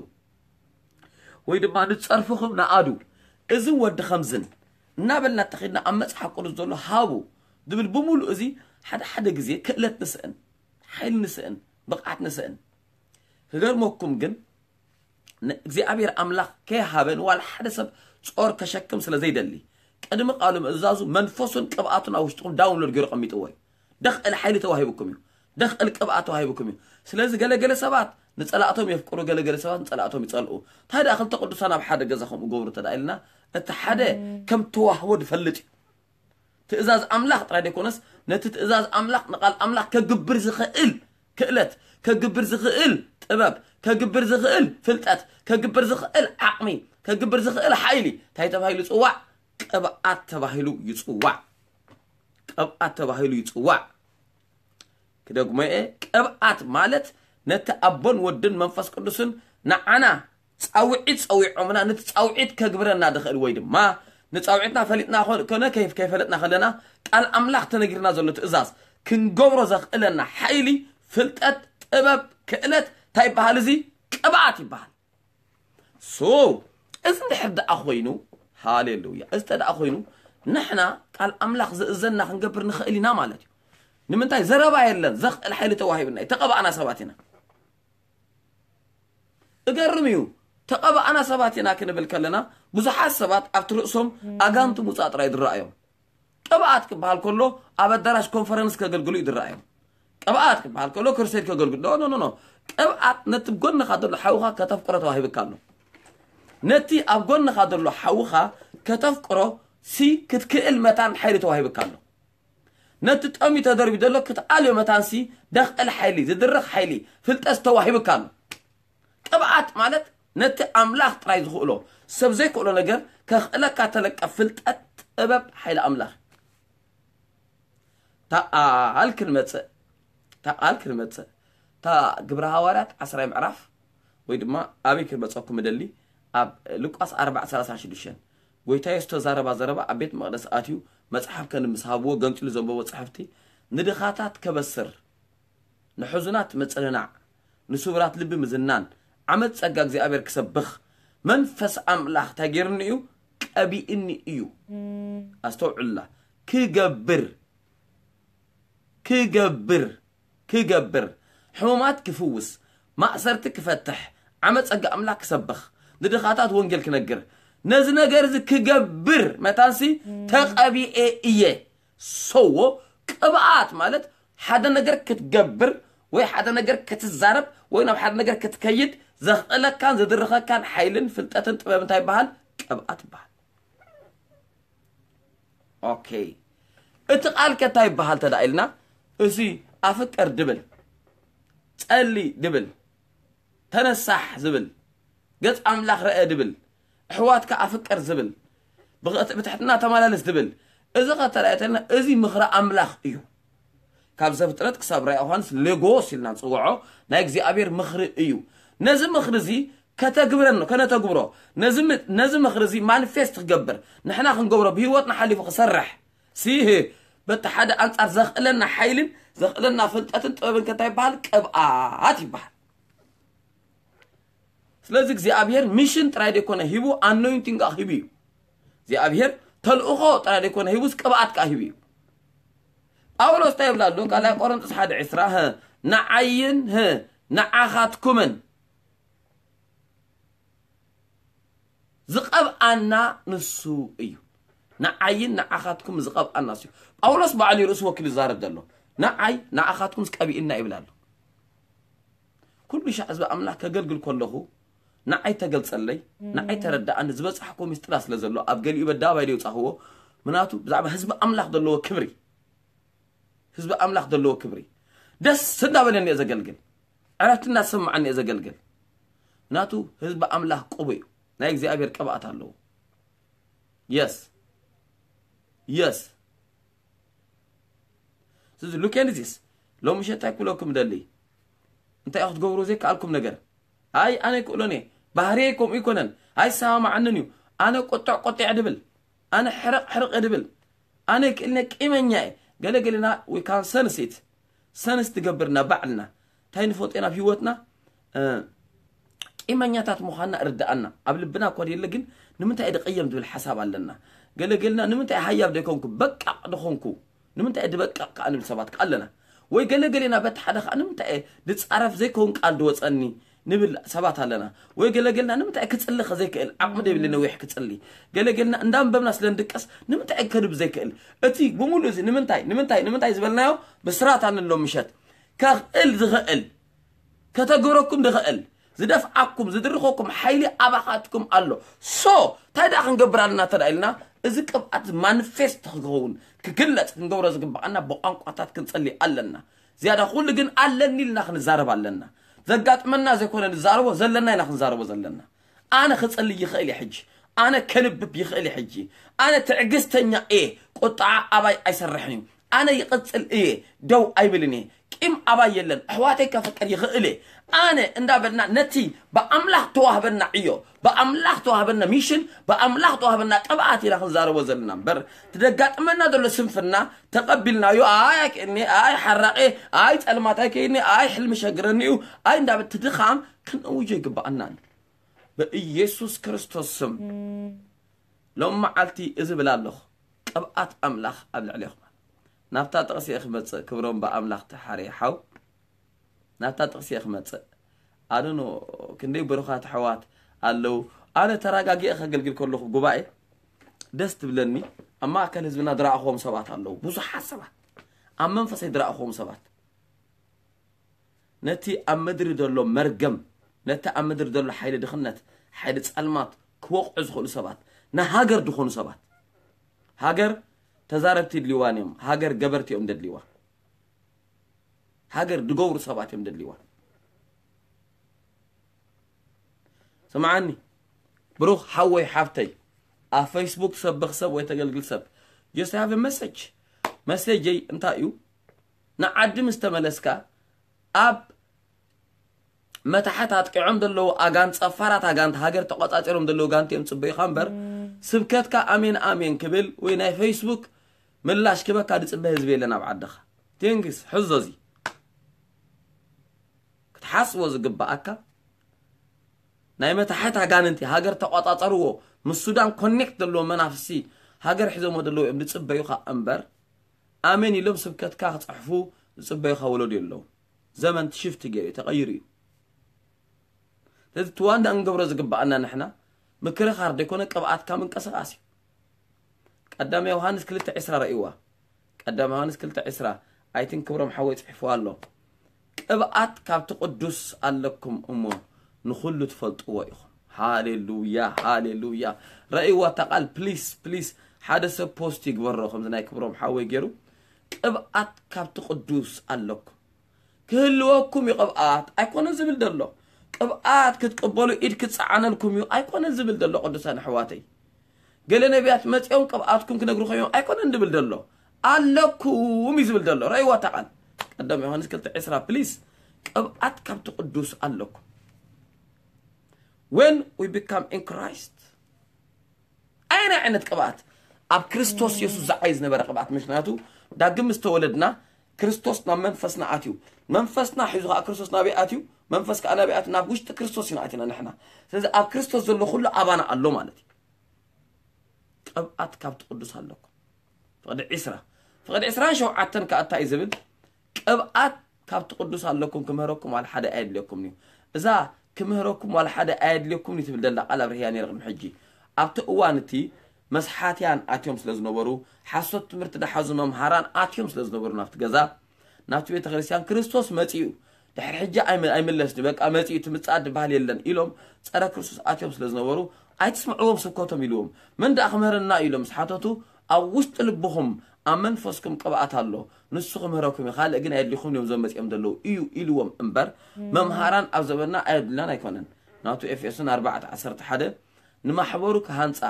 ወይ ድማ ንጸርፍኹም ንኣዱ፣ እዚ ወዲ ከምዝን እናበልና ተኺድና ኣብ መጽሓፍ ቅዱስ ዘሎ ሃቡ ዝብል ብምሉእ እዚ ሓደ ሓደ ግዜ ክእለት ንስእን፣ ሓይሊ ንስእን፣ ብቕዓት ንስእን። ክገርመኩም ግን፣ ን-፣ እግዚኣብሔር ኣምላኽ ከይሃበ ንዋላ ሓደ ሰብ ጾር ከሸክም ስለ ዘይደሊ፣ ቅድሚ ቃሉ ምእዛዙ መንፈሱን ቅብኣቱን ኣብ ውሽጥኹም ዳውንሎድ ገይሩ ቀሚጥዎ እዩ። ደኽእል ሓይሊ ተዋሂብኩም እዩ። ደኽእል ቅብኣት ተዋሂብኩም እዩ። ስለዚ ገለገለ ሰባት ንጸላእቶም የፍቅሩ፣ ገለገለ ሰባት ንጸላእቶም ይጸልኡ። እንታይ ደኣ ክልተ ቅዱሳን ኣብ ሓደ ገዛ ከምኡ ገብሩ እንተ ደኣ ኢልና፣ እቲ ሓደ ከም ተዋህቦ ዝፈልጥ እዩ። ትእዛዝ ኣምላኽ ጥራይ ዘይኮነስ፣ ነቲ ትእዛዝ ኣምላኽ፣ ንቓል ኣምላኽ ከግብር ዝኽእል ክእለት፣ ከግብር ዝኽእል ጥበብ፣ ከግብር ዝኽእል ፍልጠት፣ ከግብር ዝኽእል ዓቕሚ፣ ከግብር ዝኽእል ሓይሊ እንታይ ተባሂሉ ይጽዋዕ? ቅብኣት ተባሂሉ ይጽዋዕ። ቅብኣት ተባሂሉ ይጽዋዕ። ክደግሞ እየ፣ ቅብኣት ማለት ነቲ ኣቦን ወድን መንፈስ ቅዱስን ንዓና ጻውዒት ጸዊዖምና፣ ነቲ ጻውዒት ከግብረና ድኽእል ወይ ድማ ንጻውዒትና ፈሊጥና ኮ-፣ ኮነ ከይ-፣ ከይፈለጥና ከለና ቃል ኣምላኽ ተነጊርና ዘሎ ትእዛዝ ክንገብሮ ዘኽእለና ሓይሊ፣ ፍልጠት፣ ጥበብ፣ ክእለት እንታይ ይበሃል? እዚ ቅብኣት ይበሃል። ሶ፣ እዚ እንድሕር ደኣ ኮይኑ፣ ሃሌሉያ፣ እዚ እንተ ደኣ ኮይኑ፣ ንሕና ቃል ኣምላኽ ዝእዘና ክንገብር ንኽእል ኢና ማለት እዩ። ንምንታይ? ዘረባ የለን፣ ዘኽእል ሓይሊ ተዋሂብና እዩ። ተቐባእና ሰባት ኢና። እገርም እዩ። ተቐባእና ሰባት ኢና ክንብል ከለና፣ ብዙሓት ሰባት ኣብቲ ርእሶም ኣጋንንቲ ምውጻእ ጥራይ ዝረኣዮም። ቅብኣት ክበሃል ከሎ፣ ኣብ ኣዳራሽ ኮንፈረንስ ከገልግሉ እዩ ዝረኣዮም። ቅብኣት ክበሃል ከሎ፣ ክሩሴድ ከገልግሉ፣ ኖ፣ ኖ፣ ኖ፣ ኖ። ቅብኣት ነቲ ጎንኻ ዘሎ ሓውኻ ከተፍቅሮ ተዋሂብካ ኣሎ። ነቲ ኣብ ጎንኻ ዘሎ ሓውኻ ከተፍቅሮ ሲ ክትክእል መታን ሓይሊ ተዋሂብካ ኣሎ። ነቲ ጠምዩ ተደርቢ ዘሎ ክትኣልዮ መታንሲ ደኽእል ሓይሊ፣ ዝድርኽ ሓይሊ፣ ፍልጠት ተዋሂብካ ኣሎ። ቅብኣት ማለት ነቲ ኣምላኽ ጥራይ ዝኽእሎ፣ ሰብ ዘይክእሎ ነገር ከኽእለካ ተለቀ ፍልጠት፣ ጥበብ፣ ሓይሊ ኣምላኽ። እታ ቃል ክንመጽእ፣ እታ ቃል ክንመጽእ፣ እታ ግብረ ሃዋርያት ዓስራይ ምዕራፍ፣ ወይ ድማ ኣበይ ክንመጸኩም እደሊ፣ ኣብ ሉቃስ ኣርባዕ ሰላሳ ሽዱሽተ፣ ጎይታ የሱስ ተዛረባ ዘረባ ኣብ ቤት መቕደስ ኣትዩ መጽሓፍ ከንምስ ሃብዎ ገንጺሉ ዘንበቦ ጽሕፍቲ፣ ንድኻታት ከበስር፣ ንሕዙናት ምጽንናዕ፣ ንስቡራት ልቢ ምዝናን፣ ዓመት ጸጋ እግዚኣብሔር ክሰብኽ፣ መንፈስ ኣምላኽ እንታይ ገይሩኒ እዩ? ቀቢእኒ እዩ። ኣስተውዕሉላ። ክገብር፣ ክገብር፣ ክገብር፣ ሕሙማት ክፍውስ፣ ማእሰርቲ ክፈትሕ፣ ዓመት ጸጋ ኣምላኽ ክሰብኽ፣ ንድኻታት ወንጌል ክነግር፣ ነዚ ነገር እዚ ክገብር መታንሲ ተቐቢኤ እየ። ሰዎ ቅብኣት ማለት ሓደ ነገር ክትገብር ወይ ሓደ ነገር ክትዛረብ ወይ ናብ ሓደ ነገር ክትከይድ ዘኽእለካን ዘድርኸካን ሓይልን ፍልጠትን ጥበብ እንታይ ይበሃል? ቅብኣት ይበሃል። ኦኬ፣ እቲ ቃል ከ እንታይ ይበሃል ተዳ ኢልና፣ እዚ ኣፍቅር ድብል፣ ጸሊ ድብል፣ ተነሳሕ ዝብል፣ ገጽ ኣምላኽ ረአ ድብል፣ ኣሕዋትካ ኣፍቅር ዝብል፣ ብኸ-፣ ብትሕትና ተመላለስ ድብል፣ እዚ ከተረኣየተልና እዚ ምኽሪ ኣምላኽ እዩ። ካብ ዘፍጥረት ክሳብ ራእይ ዮሃንስ ሌጎስ ኢልና ንጽውዖ ናይ እግዚኣብሔር ምኽሪ እዩ። ነዚ ምኽሪ እዚ ከተግብረን ከነተግብሮ፣ ነዚ ም-፣ ነዚ ምኽሪ እዚ ማኒፌስት ክገብር፣ ንሕና ክንገብሮ፣ ብህይወትና ሓሊፉ ክሰርሕ፣ ሲህ በቲ ሓደ ኣንጻር ዘኽእለና ሓይልን ዘኽእለና ፍልጠትን ጥበብን ከ እንታይ ይበሃል? ቅብኣት ይበሃል። ስለዚ እግዚኣብሔር ሚሽን ጥራይ ደይኮነ ሂቡ፣ ኣኖይንቲንግ ከኣ ሂቡ እዩ። እግዚኣብሔር ተልእኾ ጥራይ ደይኮነ ሂቡስ ቅብኣት ከኣ ሂቡ እዩ። ጳውሎስ እንታይ ይብል ኣሎ? ካልኣይ ቆሮንቶስ ሓደ ዕስራ፣ ህ፣ ንዓይን፣ ህ፣ ንዓኻትኩምን ዝቐብኣና ንሱ እዩ። ንዓይን ንዓኻትኩም ዝቐብኣና ንሱ እዩ። ጳውሎስ ባዕሉ እዩ ርእሱ ወኪሉ ዝዛረብ ዘሎ። ንዓይ ንዓኻትኩም ዝቀብእና ይብል ኣሎ። ኩሉ ሻዕ ህዝቢ ኣምላኽ ከገልግል ከለኹ ንዓይ ተገልጸለይ፣ ንዓይ ተረዳኣኒ፣ ዝበጻሕኩዎ ምስጢራት ስለ ዘሎ ኣብ ገሊኡ በዳባይ ደይውጻኽዎ። ምናቱ ብዛዕባ ህዝቢ ኣምላኽ ዘለዎ ክብሪ፣ ህዝቢ ኣምላኽ ዘለዎ ክብሪ ደስ እንዳበለኒ እየ ዘገልግል፣ ዕረፍቲ እንዳተሰማዓኒ እየ ዘገልግል። ምናቱ ህዝቢ ኣምላኽ ቅቡእ እዩ፣ ናይ እግዚኣብሔር ቅብኣት ኣለዎ። የስ፣ የስ። ስለዚ ሉኬንዚስ ሎሚ ሸታይ ክብለኩም ደሊ፣ እንታይ ክትገብሩ ዘይከኣልኩም ነገር? ኣይ ኣነ ክእሎን እየ፣ ባህርየይ ከምኡ ይኮነን፣ ኣይሰማማዓንን እዩ፣ ኣነ ቁጥዕ ቁጥዕ ድብል፣ ኣነ ሕርቕ ሕርቕ ድብል፣ ኣነ ክእልነ ቂመኛ እየ። ገለ ገለና we can sense it፣ ሰንስ ትገብርና ባዕልና እንታይ ንፈልጦ ኢና ኣብ ህይወትና፣ እ፣ ቂመኛታት ምዃንና እርድኣና። ኣብ ልብና እኳ የለ ግን ንምንታይ እየ ድቕየም ዝብል ሓሳብ ኣለና። ገለ ገለና ንምንታይ እየ ሃያብ ዘይኮንኩ፣ በቃቕ ድኾንኩ፣ ንምንታይ እየ ድበቃቕ ከኣ ንብል ሰባት ከኣ ኣለና። ወይ ገለ ገሌና በቲ ሓደ ከኣ ንምንታይ እየ ድጻረፍ ዘይከውን ቃል ድወጸኒ ንብል ሰባት ኣለና። ወይ ገለ ገልና ንምንታይ ክጽሊ ከ ዘይክእል፣ ዓቕሚ ደይብሊ ነዊሕ ክጽሊ። ገለ ገልና እንዳንበብና ስለ ንድቀስ ንምንታይ ከንብ ዘይክእል። እቲ ብምሉእ እዚ ንምንታይ፣ ንምንታይ፣ ንምንታይ ዝበልናዮ ብስራት ኣንሎ ምሸት ከኽእል ዝኽእል፣ ከተግብረኩም ዝኽእል፣ ዝደፍዓኩም፣ ዝድርኸኩም ሓይሊ ኣባኻትኩም ኣሎ። ሶ፣ እንታይ ደኣ ክንገብር ኣለና እንተ ደኣ ኢልና፣ እዚ ቅብኣት ማኒፌስት ክኸውን፣ ክግለጽ ክንገብሮ ዝግብኣና ብቋንቋታት ክንጸሊ ኣለና። ዝያዳ ኩሉ ግን ኣለኒ ኢልና ክንዛረብ ኣለና። ዘጋጥመና ዘይኮነ ንዛረቦ ዘለና ኢና ክንዛረቦ ዘለና። ኣነ ክጽሊ ይኽእል እየ ሕጂ። ኣነ ከንብብ ይኽእል እየ ሕጂ። ኣነ ትዕግስተኛ እየ። ቁጥዓ ኣባይ ኣይሰርሕን እዩ። ኣነ ይቕጽል እየ። ደው ኣይብልን እየ። ቂም ኣባይ የለን። ኣሕዋተይ ከፍቅር ይኽእል እየ። ኣነ እንዳበልና ነቲ ብኣምላኽ ተዋህበና ዕዮ፣ ብኣምላኽ ተዋህበና ሚሽን፣ ብኣምላኽ ተዋህበና ቅብኣት ኢና ክንዛረቦ ዘለና እምበር፣ እቲ ዘጋጥመና ዘሎ ስንፍና ተቐቢልናዮ፣ ኣይ ኣይክእልኒ፣ ኣይ ሓራቂ፣ ኣይ ጸልማት ኣይከይድኒ፣ ኣይ ሕልሚ ሸግረኒ እዩ፣ ኣይ እንዳበል እቲ ድኻም ክንእውጆ ይግብኣና ኣሎ። ብኢየሱስ ክርስቶስ ስም ሎም መዓልቲ እዚ ብል ኣለኹ፣ ቅብኣት ኣምላኽ ኣብ ልዕሌኹም። ናብታ ጥቕሲ እየ ክመጽእ፣ ክብሮም ብኣምላኽ ተሓርየ ሓው። ናብታ ጥቕሲ እየ ክመጽእ። ኣነ ኖ፣ ክንደይ ብሩኻት ኣሕዋት ኣለዉ። ኣነ ተረጋጊኤ ከገልግል ከለኹ ጉባኤ ደስ ትብለኒ። ኣብ ማእከል ህዝብና ዝረኣኽዎም ሰባት ኣለዉ፣ ብዙሓት ሰባት፣ ኣብ መንፈሰይ ዝረኣኽዎም ሰባት። ነቲ ኣብ ምድሪ ዘሎ መርገም፣ ነቲ ኣብ ምድሪ ዘሎ ሓይሊ ድኽነት፣ ሓይሊ ጸልማት ክወቕዑ ዝኽእሉ ሰባት፣ ንሃገር ዝኾኑ ሰባት። ሃገር ተዛረብቲ ድልዋን እዮም። ሃገር ገበርቲ እዮም ደድልዋ። ሃገር ድገብሩ ሰባት እዮም ደድልዋ። ስምዓኒ ብሩኽ ሓወይ ሓፍተይ፣ ኣብ ፌስቡክ ሰብ ብኽሰብ ወይ ተገልግል ሰብ፣ just have a message። መሴጀይ እንታይ እዩ? ንዓዲ ምስ ተመለስካ፣ ኣብ መታሕት ኣጥቂዖም ዘለዉ ኣጋንት፣ ጸፋራት ኣጋንት፣ ሃገር ተቆጻጺሮም ዘለዉ ጋንት እዮም ጽበዩኻ እምበር፣ ስብከትካ ኣሜን ኣሜን ክብል ወይ ናይ ፌስቡክ ምላሽ ክበካ ዝጽበ ህዝቢ የለን ኣብ ዓድኻ። ቴንግስ፣ ሕዞ እዚ ክትሓስቦ ዝግባኣካ፣ ናይ መታሕት ኣጋንንቲ ሃገር ተቆጻጸርዎ፣ ምስ ሱዳን ኮኔክት ዘለዎ መናፍሲ ሃገር ሒዞሞ ዘለዉ እዮም ዝጽበዩኻ እምበር፣ ኣሜን ኢሎም ስብከትካ ክጽሕፉ ዝጽበዩኻ ወለዶ የለዉ። ዘመን ሽፍት ገይሩ ተቐይሩ እዩ። ስለዚ እቲ ዋና እንገብሮ ዝግባኣና ንሕና ምክርኻር ዘይኮነ ቅብኣትካ ምንቅስቃስ እዩ። ቀዳማይ ዮሃንስ ክልተ ዕስራ ረእይዋ። ቀዳማይ ዮሃንስ ክልተ ዕስራ፣ ኣይትን ክብሮም ሓወይ ጽሒፍዋ ኣሎ። ቅብኣት ካብቲ ቅዱስ ኣለኩም እሞ ንኹሉ ትፈልጥዎ ኢኹም። ሃሌሉያ፣ ሃሌሉያ። ረእይዋ እታ ቃል ፕሊስ፣ ፕሊስ። ሓደ ሰብ ፖስት ይግበሮ ከምዚ ናይ ክብሮም ሓወይ ገይሩ። ቅብኣት ካብቲ ቅዱስ ኣለኩም። ክህልወኩም እዩ ቅብኣት ኣይኮነን ዝብል ዘሎ። ቅብኣት ክትቅበሉ ኢድ ክጸዓነልኩም እዩ ኣይኮነን ዝብል ዘሎ። ቅዱሳን ኣሕዋተይ፣ ገለ ነቢያት መጺኦም ቅብኣትኩም ክነግሩ ኮይኖም ኣይኮነን ዝብል ዘሎ። ኣለኩም እዩ ዝብል ዘሎ። ረእይዋ እታ ቃል። ቀዳም ዮሃንስ ክልተ ዕስራ ፕሊስ። ቅብኣት ካብቲ ቅዱስ ኣለኩም። When we become in Christ፣ ኣየናይ ዓይነት ቅብኣት? ኣብ ክርስቶስ የሱስ ዝዓይ ዝነበረ ቅብኣት። ምክንያቱ ዳግም ምስ ተወለድና ክርስቶስ ናብ መንፈስና ኣትዩ፣ መንፈስና ሒዙ ከዓ ክርስቶስ ናበይ ኣትዩ? መንፈስ ከዓ ናበይ ኣትዩ? ናብ ውሽጢ ክርስቶስ ኢና ኣቲና ንሕና። ስለዚ ኣብ ክርስቶስ ዘሎ ኩሉ ኣባና ኣሎ ማለት እዩ። ቅብኣት ካብቲ ቅዱስ ኣለኩም። ፍቕዲ ዕስራ፣ ፍቕዲ ዕስራን ሸውዓተን ከዓ እንታይ እዩ ዝብል? ቅብኣት ካብቲ ቅዱስ ኣለኩም፣ ክምህረኩም ዋላ ሓደ ኣየድልየኩም እዩ። እዛ ክምህረኩም ዋላ ሓደ ኣየድልየኩም እዩ ትብል ዘላ ቃል ኣብርህያ ነይረ ቅድሚ ሕጂ። ኣብቲ እዋን እቲ መስሓትያን ኣትዮም ስለ ዝነበሩ፣ ሓሶት ትምህርቲ ዝሓዙ መምሃራን ኣትዮም ስለ ዝነበሩ ናብቲ ገዛ፣ ናብቲ ቤተ ክርስቲያን ክርስቶስ መጺኡ፣ ድሕሪ ሕጂ ኣይመ-፣ ኣይምለስን እዩ፣ በቃ መጺኡ፣ እቲ ምጽኣት ዝበሃል የለን ኢሎም ጸረ ክርስቶስ ኣትዮም ስለ ዝነበሩ፣ ኣይትስምዕዎም ስብከቶም ኢልዎም። መን ደኣ ክምህረና እዩ ኢሎም ምስ ሓተቱ፣ ኣብ ውሽጢ ልብኹም ኣብ መንፈስኩም ቅብኣት ኣሎ፣ ንሱ ክምህረኩም እዩ፣ ካልእ ግን ኣየድልኹም እዮም እዞም መጺኦም ዘለዉ እዩ ኢልዎም እምበር፣ መምሃራን ኣብ ዘመንና ኣየድልናን ኣይኮነን። ናቱ ኤፌሶን ኣርባዕተ ዓሰርተ ሓደ ንማሕበሩ ክሃንጻ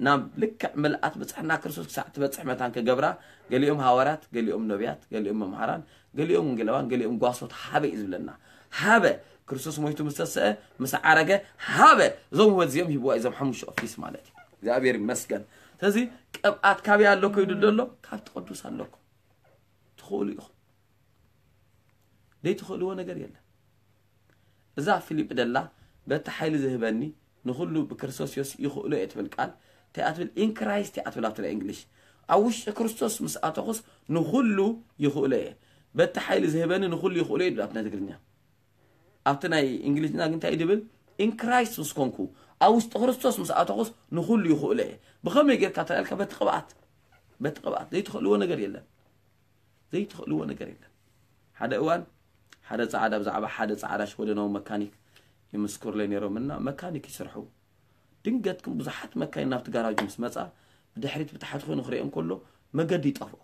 ናብ ልክዕ ምልኣት ብጽሕና ክርስቶስ ክሳዕ ትበጽሕ መታን ክገብራ፣ ገሊኦም ሃዋርያት፣ ገሊኦም ነቢያት፣ ገሊኦም መምሃራን፣ ገሊኦም ወንጌላውያን፣ ገሊኦም ጓሶት ሃበ እዩ ዝብለና። ሃበ፣ ክርስቶስ ሞይቱ ምስ ተሰአ፣ ምስ ዓረገ፣ ሃበ፣ እዞም ህይወት እዚኦም ሂብዋ እዞም ሓሙሽተ ኦፊስ ማለት እዩ። እግዚኣብሔር ይመስገን። ስለዚ ቅብኣት ካበይ ኣሎ ከይዱ ደሎ? ካብቲ ቅዱስ ኣለኩም። ትኽእሉ ኢኹም። ዘይትኽእልዎ ነገር የለን። እዛ ፊሊፕ ደላ፣ በቲ ሓይሊ ዝህበኒ ንኹሉ ብክርስቶስ የሱስ ይኽእሎ እየ ትብል ቃል፣ እንታይ እያ ትብል? In Christ እያ ትብል ኣብቲ ናይ እንግሊሽ። ኣብ ውሽጢ ክርስቶስ ምስ ኣተኹስ ንኹሉ ይኽእሎ እየ። በቲ ሓይሊ ዝህበኒ ንኹሉ ይኽእሎ እየ ትብል ኣብቲ ናይ ትግርኛ። ኣብቲ ናይ እንግሊዝኛ ግን እንታይ እዩ ድብል? In Christ ምስ ኮንኩ፣ ኣብ ውሽጢ ክርስቶስ ምስ ኣተኹስ ንኹሉ ይኽእሎ እየ። ብኸመይ ጌርካ ተላልካ? በቲ ቅብኣት። በቲ ቅብኣት። ዘይትኽእልዎ ነገር የለን። ዘይትኽእልዎ ነገር የለን። ሓደ እዋን ሓደ ጻዕዳ፣ ብዛዕባ ሓደ ጻዕዳ ሽወደናዊ መካኒክ ይምስክሩለይ ነይሮም እና መካኒክ ይሰርሑ። ድንገት ግን ብዙሓት መካይን ናብቲ ጋራጅ ምስ መጻ፣ ብድሕሪት ብታሕቲ ኮይኑ ክርእየን ከሎ መገዲ ይጠፍኦ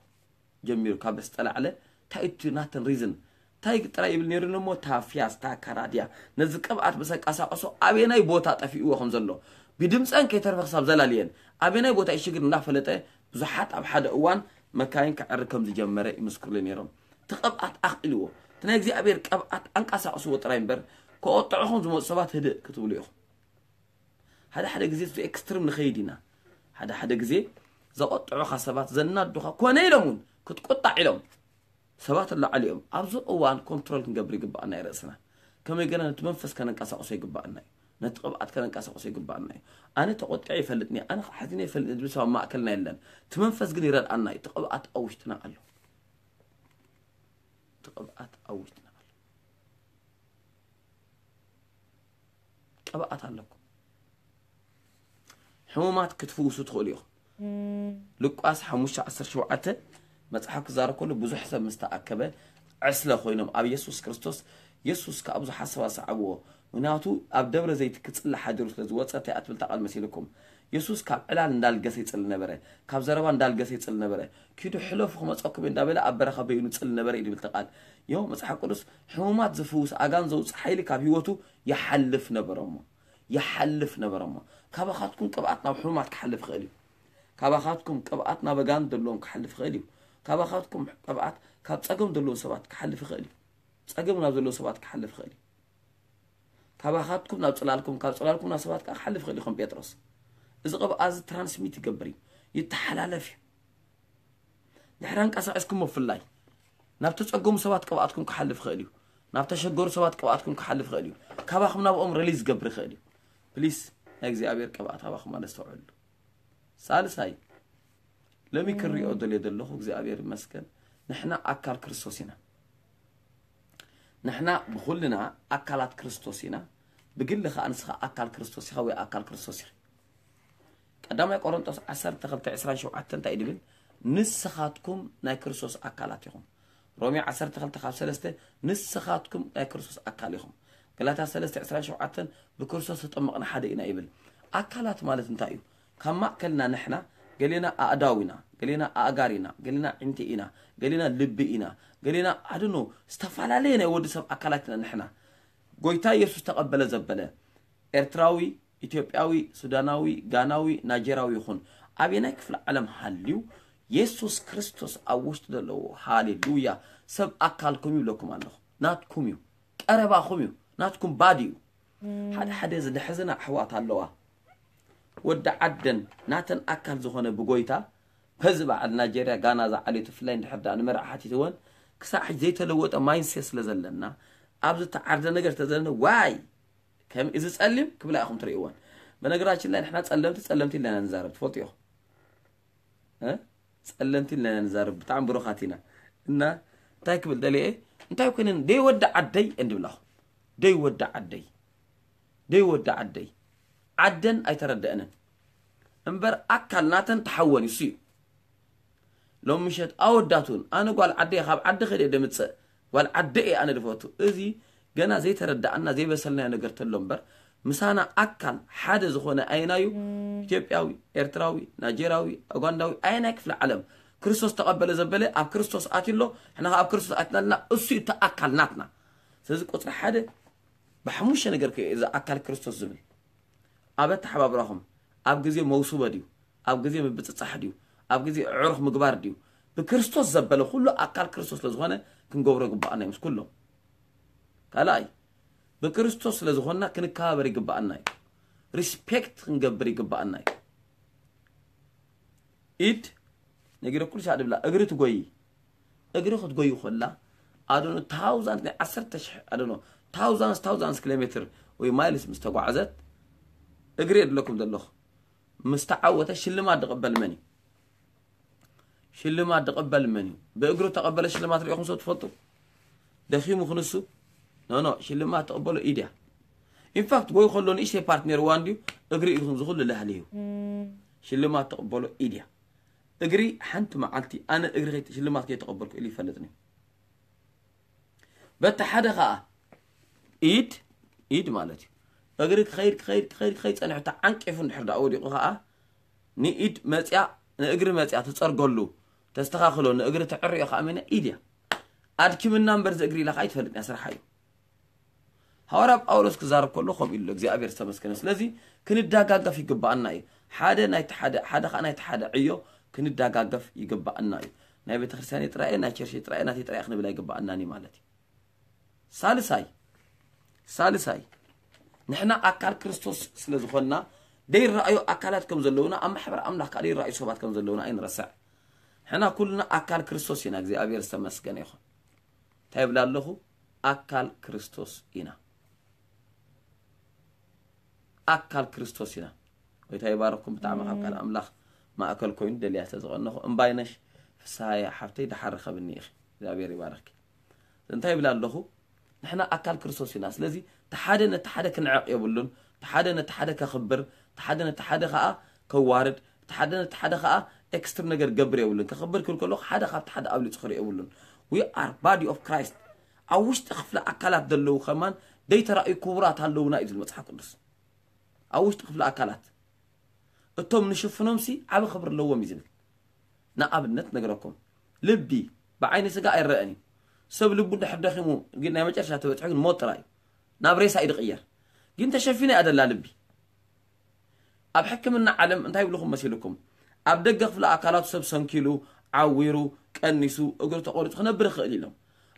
ጀሚሩ። ካብ በስጠላዕለ እንታይ እቲ ናተን ሪዝን እንታይ ጥራይ ይብል ነይሩ እሞ፣ እታ ፊያስታ ካራድያ ነዚ ቅብኣት ብሰንቀሳቀሶ ኣበየናይ ቦታ ጠፊእዎ ከም ዘሎ ብድምፀን ከይተርፈ ክሳብ ዘላልየን ኣበየናይ ቦታ ይሽግር እንዳፈለጠ ብዙሓት ኣብ ሓደ እዋን መካይን ክዕሪ ከም ዝጀመረ ይምስክሩለይ ነይሮም። እቲ ቅብኣት ኣኽኢልዎ፣ እቲ ናይ እግዚኣብሔር ቅብኣት ኣንቀሳቅስዎ ጥራይ እምበር፣ ከቆጥዑኹም ዝመፁ ሰባት ህድእ ክትብሉ ኢኹም። ሓደ ሓደ ግዜ እዚ ኤክስትሪም ንኸይድ ኢና። ሓደ ሓደ ግዜ ዘቆጥዑኻ ሰባት ዘናዱኻ ኮነ ኢሎም እውን ክትቁጣዕ ኢሎም ሰባት ኣለዓሉ እዮም። ኣብዚ እዋን ኮንትሮል ክንገብር ይግባኣና እዩ ርእስና። ከመይ ገና ነቲ መንፈስ ከነንቀሳቕሶ ይግባኣና እዩ። ነቲ ቅብኣት ከነንቀሳቕሶ ይግባኣና እዩ። ኣነ ተቆጢዐ ይፈልጥኒ፣ ኣነ ሓዚነ ይፈልጥኒ ዝብል ሰብ ኣብ ማእከልና የለን። እቲ መንፈስ ግን ይረድኣና እዩ። እቲ ቅብኣት ኣብ ውሽጥና ኣሎ። እቲ ቅብኣት ኣብ ውሽጥና ኣሎ። ቅብኣት ኣለኩም። ሕሙማት ክትፍውሱ ትኽእሉ ኢኹም። ሉቃስ ሓሙሽተ ዓሰርተ ሸውዓተ መጽሓፍ ክዛረብ ከሎ ብዙሕ ሰብ ምስ ተኣከበ ዕስለ ኮይኖም ኣብ የሱስ ክርስቶስ፣ የሱስ ከኣ ብዙሓት ሰባት ሰዓብዎ። ምኽንያቱ ኣብ ደብረ ዘይት ክጽሊ ሓዲሩ ስለ ዝወጸ፣ እንታይ እያ ትብል እታ ቃል መሲልኩም? የሱስ ካብ ዕላል እንዳልገሰ ይጽሊ ነበረ፣ ካብ ዘረባ እንዳልገሰ ይጽሊ ነበረ። ኪዱ ሕለፉ ክመጸኩም እንዳበለ ኣብ በረኻ በይኑ ይጽሊ ነበረ እዩ ዝብል እቲ ቃል። ዮ መጽሓፍ ቅዱስ ሕሙማት ዝፍውስ ኣጋን ዘውጽእ ሓይሊ ካብ ህይወቱ ይሓልፍ ነበረ እሞ ይሓልፍ ነበረ እሞ ካባኻትኩም ቅብኣት ናብ ሕሙማት ክሓልፍ ይኽእል እዩ። ካባኻትኩም ቅብኣት ናብ ኣጋን ዘለዎም ክሓልፍ ይኽእል እዩ። ካባኻትኩም ቅብኣት ካብ ጸገም ዘለዎም ሰባት ክሓልፍ ይኽእል እዩ። ጸገም ናብ ዘለዎም ሰባት ክሓልፍ ይኽእል እዩ። ካባኻትኩም ናብ ጽላልኩም ካብ ጽላልኩም ናብ ሰባት ከዓ ክሓልፍ ይኽእል እዩ። ከም ጴጥሮስ እዚ ቅብኣ እዚ ትራንስሚት ይገብር እዩ፣ ይተሓላለፍ እዩ። ድሕሪ ኣንቀሳቒስኩም ምፍላይ ናብ ተጸገሙ ሰባት ቅብኣትኩም ክሓልፍ ይኽእል እዩ። ናብ ተሸገሩ ሰባት ቅብኣትኩም ክሓልፍ ይኽእል እዩ። ካባኹም ናብኦም ሪሊዝ ዝገብር ይኽእል እዩ። ፕሊስ ናይ እግዚኣብሔር ቅብኣት ካባኹም ኣነስተውዕሉ። ሳልሳይ ሎሚ ክሪኦ ደልየ ዘለኹ እግዚኣብሔር ይመስገን ንሕና ኣካል ክርስቶስ ኢና። ንሕና ብኹልና ኣካላት ክርስቶስ ኢና። ብግሊ ኸኣ ንስኻ ኣካል ክርስቶስ ኢኻ ወይ ኣካል ክርስቶስ ኢኺ። ቀዳማይ ቆሮንጦስ ዓሰርተ ክልተ ዕስራን ሸውዓተን እንታይ እዩ ድብል? ንስኻትኩም ናይ ክርስቶስ ኣካላት ኢኹም። ሮሜ ዓሰርተ ክልተ ካብ ሰለስተ ንስኻትኩም ናይ ክርስቶስ ኣካል ኢኹም። ገላትያ ሰለስተ ዕስራን ሸውዓተን ብክርስቶስ ተጠመቕና ሓደ ኢና ይብል። ኣካላት ማለት እንታይ እዩ? ካብ ማእከልና ንሕና ገሌና ኣእዳው ኢና፣ ገሌና ኣእጋር ኢና፣ ገሌና ዕንቲ ኢና፣ ገሌና ልቢ ኢና፣ ገሌና ኣድኖ ዝተፈላለየ ናይ ወዲ ሰብ ኣካላት ኢና ንሕና። ጎይታ ኢየሱስ ተቐበለ ዘበለ ኤርትራዊ፣ ኢትዮጵያዊ፣ ሱዳናዊ፣ ጋናዊ፣ ናይጀራዊ ይኹን ኣበየናይ ክፍለ ዓለም ሃልዩ የሱስ ክርስቶስ ኣብ ውሽጢ ዘለዎ ሃሌሉያ ሰብ ኣካልኩም ይብለኩም ኣለኹ። ናትኩም እዩ፣ ቀረባኹም እዩ፣ ናትኩም ባዲ እዩ። ሓደ ሓደ ዝደሕዝና ኣሕዋት ኣለዋ ወዲ ዓደን ናተን ኣካል ዝኾነ ብጎይታ በዚ በዓል ናይጀርያ ጋና ዝዓለዩ ብፍላይ እንድሕር ደኣ ንመርዓ ሓቲትወን ክሳዕ ሕጂ ዘይተለወጠ ማይንሴት ስለ ዘለና ኣብዚ ተዓርደ ነገር ተዘለና ዋይ ከም እዚ ጸሊም ክብላ ኢኹም ትርእይወን። በነገራችን ላይ ንሕና ጸለምቲ ጸለምቲ ኢልና ንዛረብ ትፈልጡ ኢኹም። እ? ጸለምቲ ኢልና ንዛረብ ብጣዕሚ ብሩኻት ኢና። እና እንታይ ክብል ደልየ እንታይ ኮይነን ደይ ወዲ ዓደይ እንድብላኹም ደይ ወዲ ዓደይ ደይ ወዲ ዓደይ ዓደን ኣይተረደአንን እምበር ኣካል ናተን ተሓወን ይሱ እዩ። ሎም ምሸት ኣወዳት እውን ኣነ ጓል ዓደየ ካብ ዓዲ ከደ ደምፅእ ጓል ዓደ እየ ኣነ ድፈቱ። እዚ ገና ዘይተረዳኣና ዘይበሰልናዮ ነገር ተሎ እምበር ምሳና ኣካል ሓደ ዝኾነ ኣይናዩ ኢትዮጵያዊ ኤርትራዊ ናይጀራዊ ኡጋንዳዊ ኣይናይ ክፍለ ዓለም ክርስቶስ ተቐበለ ዘበለ ኣብ ክርስቶስ ኣትሎ ሕና ኣብ ክርስቶስ ኣትናልና እሱ እዩ እቲ ኣካል ናትና። ስለዚ ቁፅሪ ሓደ ብሓሙሽተ ነገር ከ እዚ ኣካል ክርስቶስ ዝብል ኣብ ኣተሓባብራኹም ኣብ ግዜ መውስቦ ድዩ ኣብ ግዜ ምብፅፃሕ ድዩ ኣብ ግዜ ዕሩኽ ምግባር ድዩ ብክርስቶስ ዘበለ ኩሉ ኣካል ክርስቶስ ስለዝኾነ ክንገብሮ ይግባኣና እዩ ምስ ኩሎም ካልኣይ ብክርስቶስ ስለዝኾንና ክንከባበር ይግባኣና እዩ ሪስፔክት ክንገብር ይግባኣና እዩ ኢድ ነጊረኩልሽ ኣድብላ እግሪ ትጎይ እግሪ ክትጎይ ኮላ ኣዶኖ ታውዛንድ ናይ ዓሰርተ ሽሕ ኣዶኖ ታውዛንስ ታውዛንስ ኪሎ ሜትር ወይ ማይልስ ምስ ተጓዓዘት እግሪ የድለኩም ዘለኹ ምስ ተዓወተ ሽልማት ዝቕበል መን እዩ ሽልማት ዝቕበል መን እዩ ብእግሪ ተቐበለ ሽልማት ሪኢኹም ሰብ ትፈልጡ ደኺሙ ክንሱ ኖኖ ሽልማት ተቐበሎ ኢድያ ኢንፋክት ጎይ ከሎ ንእሽተይ ፓርት ነርዋ እንድዩ እግሪ ኢኹም ዝኹሉ ላህሊ እዩ ሽልማት ተቐበሎ ኢድያ እግሪ ሓንቲ መዓልቲ ኣነ እግሪ ሽልማት ከይተቐበልኩ ኢሉ ይፈልጥኒ በቲ ሓደ ኸዓ ኢድ ኢድ ማለት እዩ እግሪ ክኸይድ ክኸይድ ክኸይድ ክኸይድ ፀንሑ ተዓንቂፉ እንድሕር ዳኣ ወዲቑ ኸዓ ንኢድ መፅያ ንእግሪ መፅያ ትፀርገሉ ተስተኻኽሎ ንእግሪ ተዕርዮ ከዓ መን ኢድ እያ ኣድኪምና እምበር ዝእግሪ ኢላ ከዓ ይትፈልጥ እያ ስርሓ እዩ ሃዋርያ ጳውሎስ ክዛረብ ከሎ ከምኡ ኢሉ እግዚኣብሔር ዝተመስገነ ስለዚ ክንዳጋገፍ ይግባኣና እዩ ሓደ ናይቲ ሓደ ሓደ ከዓ ናይቲ ሓደ ዕዮ ክንዳጋገፍ ይግባኣና እዩ ናይ ቤተክርስትያን ጥራየ ናይ ቸርሽ ጥራየ ናተይ ጥራየ ክንብል ኣይግባኣናን እዩ ማለት እዩ ሳልሳይ ሳልሳይ ንሕና ኣካል ክርስቶስ ስለ ዝኾንና ደይረኣዩ ኣካላት ከም ዘለውና ኣብ ማሕበር ኣምላኽ ከዓ ደይረኣዩ ሰባት ከም ዘለውና ኣይንረስዕ ሕና ኩልና ኣካል ክርስቶስ ኢና እግዚኣብሔር ዝተመስገነ ይኹን እንታይ ይብላ ኣለኹ ኣካል ክርስቶስ ኢና ኣካል ክርስቶስ ኢና ጎይታ ይባረኩም ብጣዕሚ ካብ ካል ኣምላኽ ማእከል ኮይኑ ደልያ ስለ ዝቐነኹ እምባይነሽ ፍስሃየ ሓፍተይ ደሓር ርከብኒ ኢኺ እግዚኣብሔር ይባረኪ እንታይ ይብላ ኣለኹ ንሕና ኣካል ክርስቶስ ኢና ስለዚ ተሓደ ነቲ ሓደ ክንዕቕ የብሉን ተሓደ ነቲ ሓደ ከኽብር ተሓደ ነቲ ሓደ ከዓ ከዋርድ ተሓደ ነቲ ሓደ ከዓ ኤክስትር ነገር ገብር የብሉን ከኽብር ክብል ከለኹ ሓደ ካብቲ ሓደ ኣብሊፁ ክርኢ የብሉን we are body of Christ ኣብ ውሽጢ ክፍሊ ኣካላት ዘለዉ ከማን ደይተራእዩ ክቡራት ኣለዉና እዩ ዝብል መፅሓፍ ቅዱስ ኣብ ውሽጢ ክፍሊ ኣካላት እቶም ንሽፍኖምሲ ዓቢ ክብሪ ኣለዎም እዩ ዝብል። ንኣብነት ነግረኩም፣ ልቢ ብዓይኒ ስጋ ኣይረአን እዩ። ሰብ ልቡ እንድሕር ደኺሙ ግን ናይ መጨረሻ ተበፅሑ ግን ሞት ጥራይ እዩ። ናብ ሬሳ እዩ ዝቕየር። ግን ተሸፊኑ እያ ደላ ልቢ። ኣብ ሕክምና ዓለም እንታይ ይብልኹም መሲልኩም? ኣብ ደገ ክፍለ ኣካላቱ ሰብ ሰንኪሉ፣ ዓዊሩ፣ ቀኒሱ፣ እግሩ ተቆሪፁ ክነብር ይኽእል ኢሎም።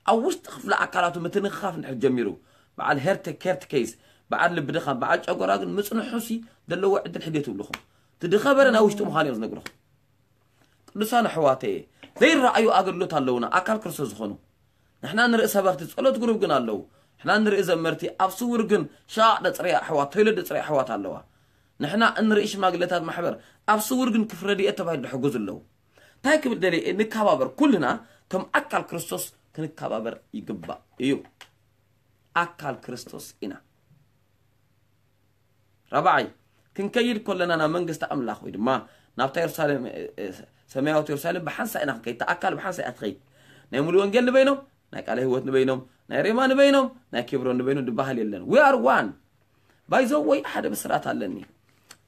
ኣብ ውሽጢ ክፍለ ኣካላቱ ምትንኻፍ እንድሕር ጀሚሩ፣ በዓል ሄርት ኬርት ኬስ፣ በዓል ልቢ ድኻም፣ በዓል ጨጎራ ግን ምፅንሑሲ ዘለዎ ዕድል ሕዴት ይብልኹም። እቲ ድኸበረ ናይ ውሽጢ ምዃኑ እዮም ዝነግርኹም። ቅዱሳን ኣሕዋተየ፣ ዘይረኣዩ ኣገልግሎት ኣለውና፣ ኣካል ክርስቶስ ዝኾኑ። ንሕና ንርኢ ሰበኽቲ ጸሎት ግሩብ ግን ኣለዉ። ንሕና ንርኢ ዘመርቲ ኣብ ስውር ግን ሻቕ ደጽረያ ኣሕዋት፣ ቶይለት ደጽረያ ኣሕዋት ኣለዋ። ንሕና እንርኢ ሽማግለታት ማሕበር ኣብ ስውር ግን ክፍረድየ ተባሂሉ ድሕግዙ ኣለዉ። እንታይ ክብል ደልየ? ንከባበር፣ ኩልና ከም ኣካል ክርስቶስ ክንከባበር ይግባእ እዩ። ኣካል ክርስቶስ ኢና። ራብዓይ፣ ክንከይድ ከለና ናብ መንግስቲ ኣምላኽ ወይ ድማ ናብታ የሩሳሌም፣ እ፣ እ፣ ሰማያዊት የሩሳሌም ብሓንሳእ ኢና ክንከይድ። እታ ኣካል ብሓንሳእ እያ ትኸይድ። ናይ ሙሉ ወንጌል ንበይኖም፣ ናይ ቃለ ህይወት ንበይኖም፣ ናይ ሬማ ንበይኖም፣ ናይ ኬብሮን ንበይኖም ዝበሃል የለን። We are one። By the way፣ ሓደ ብስራት ኣለኒ።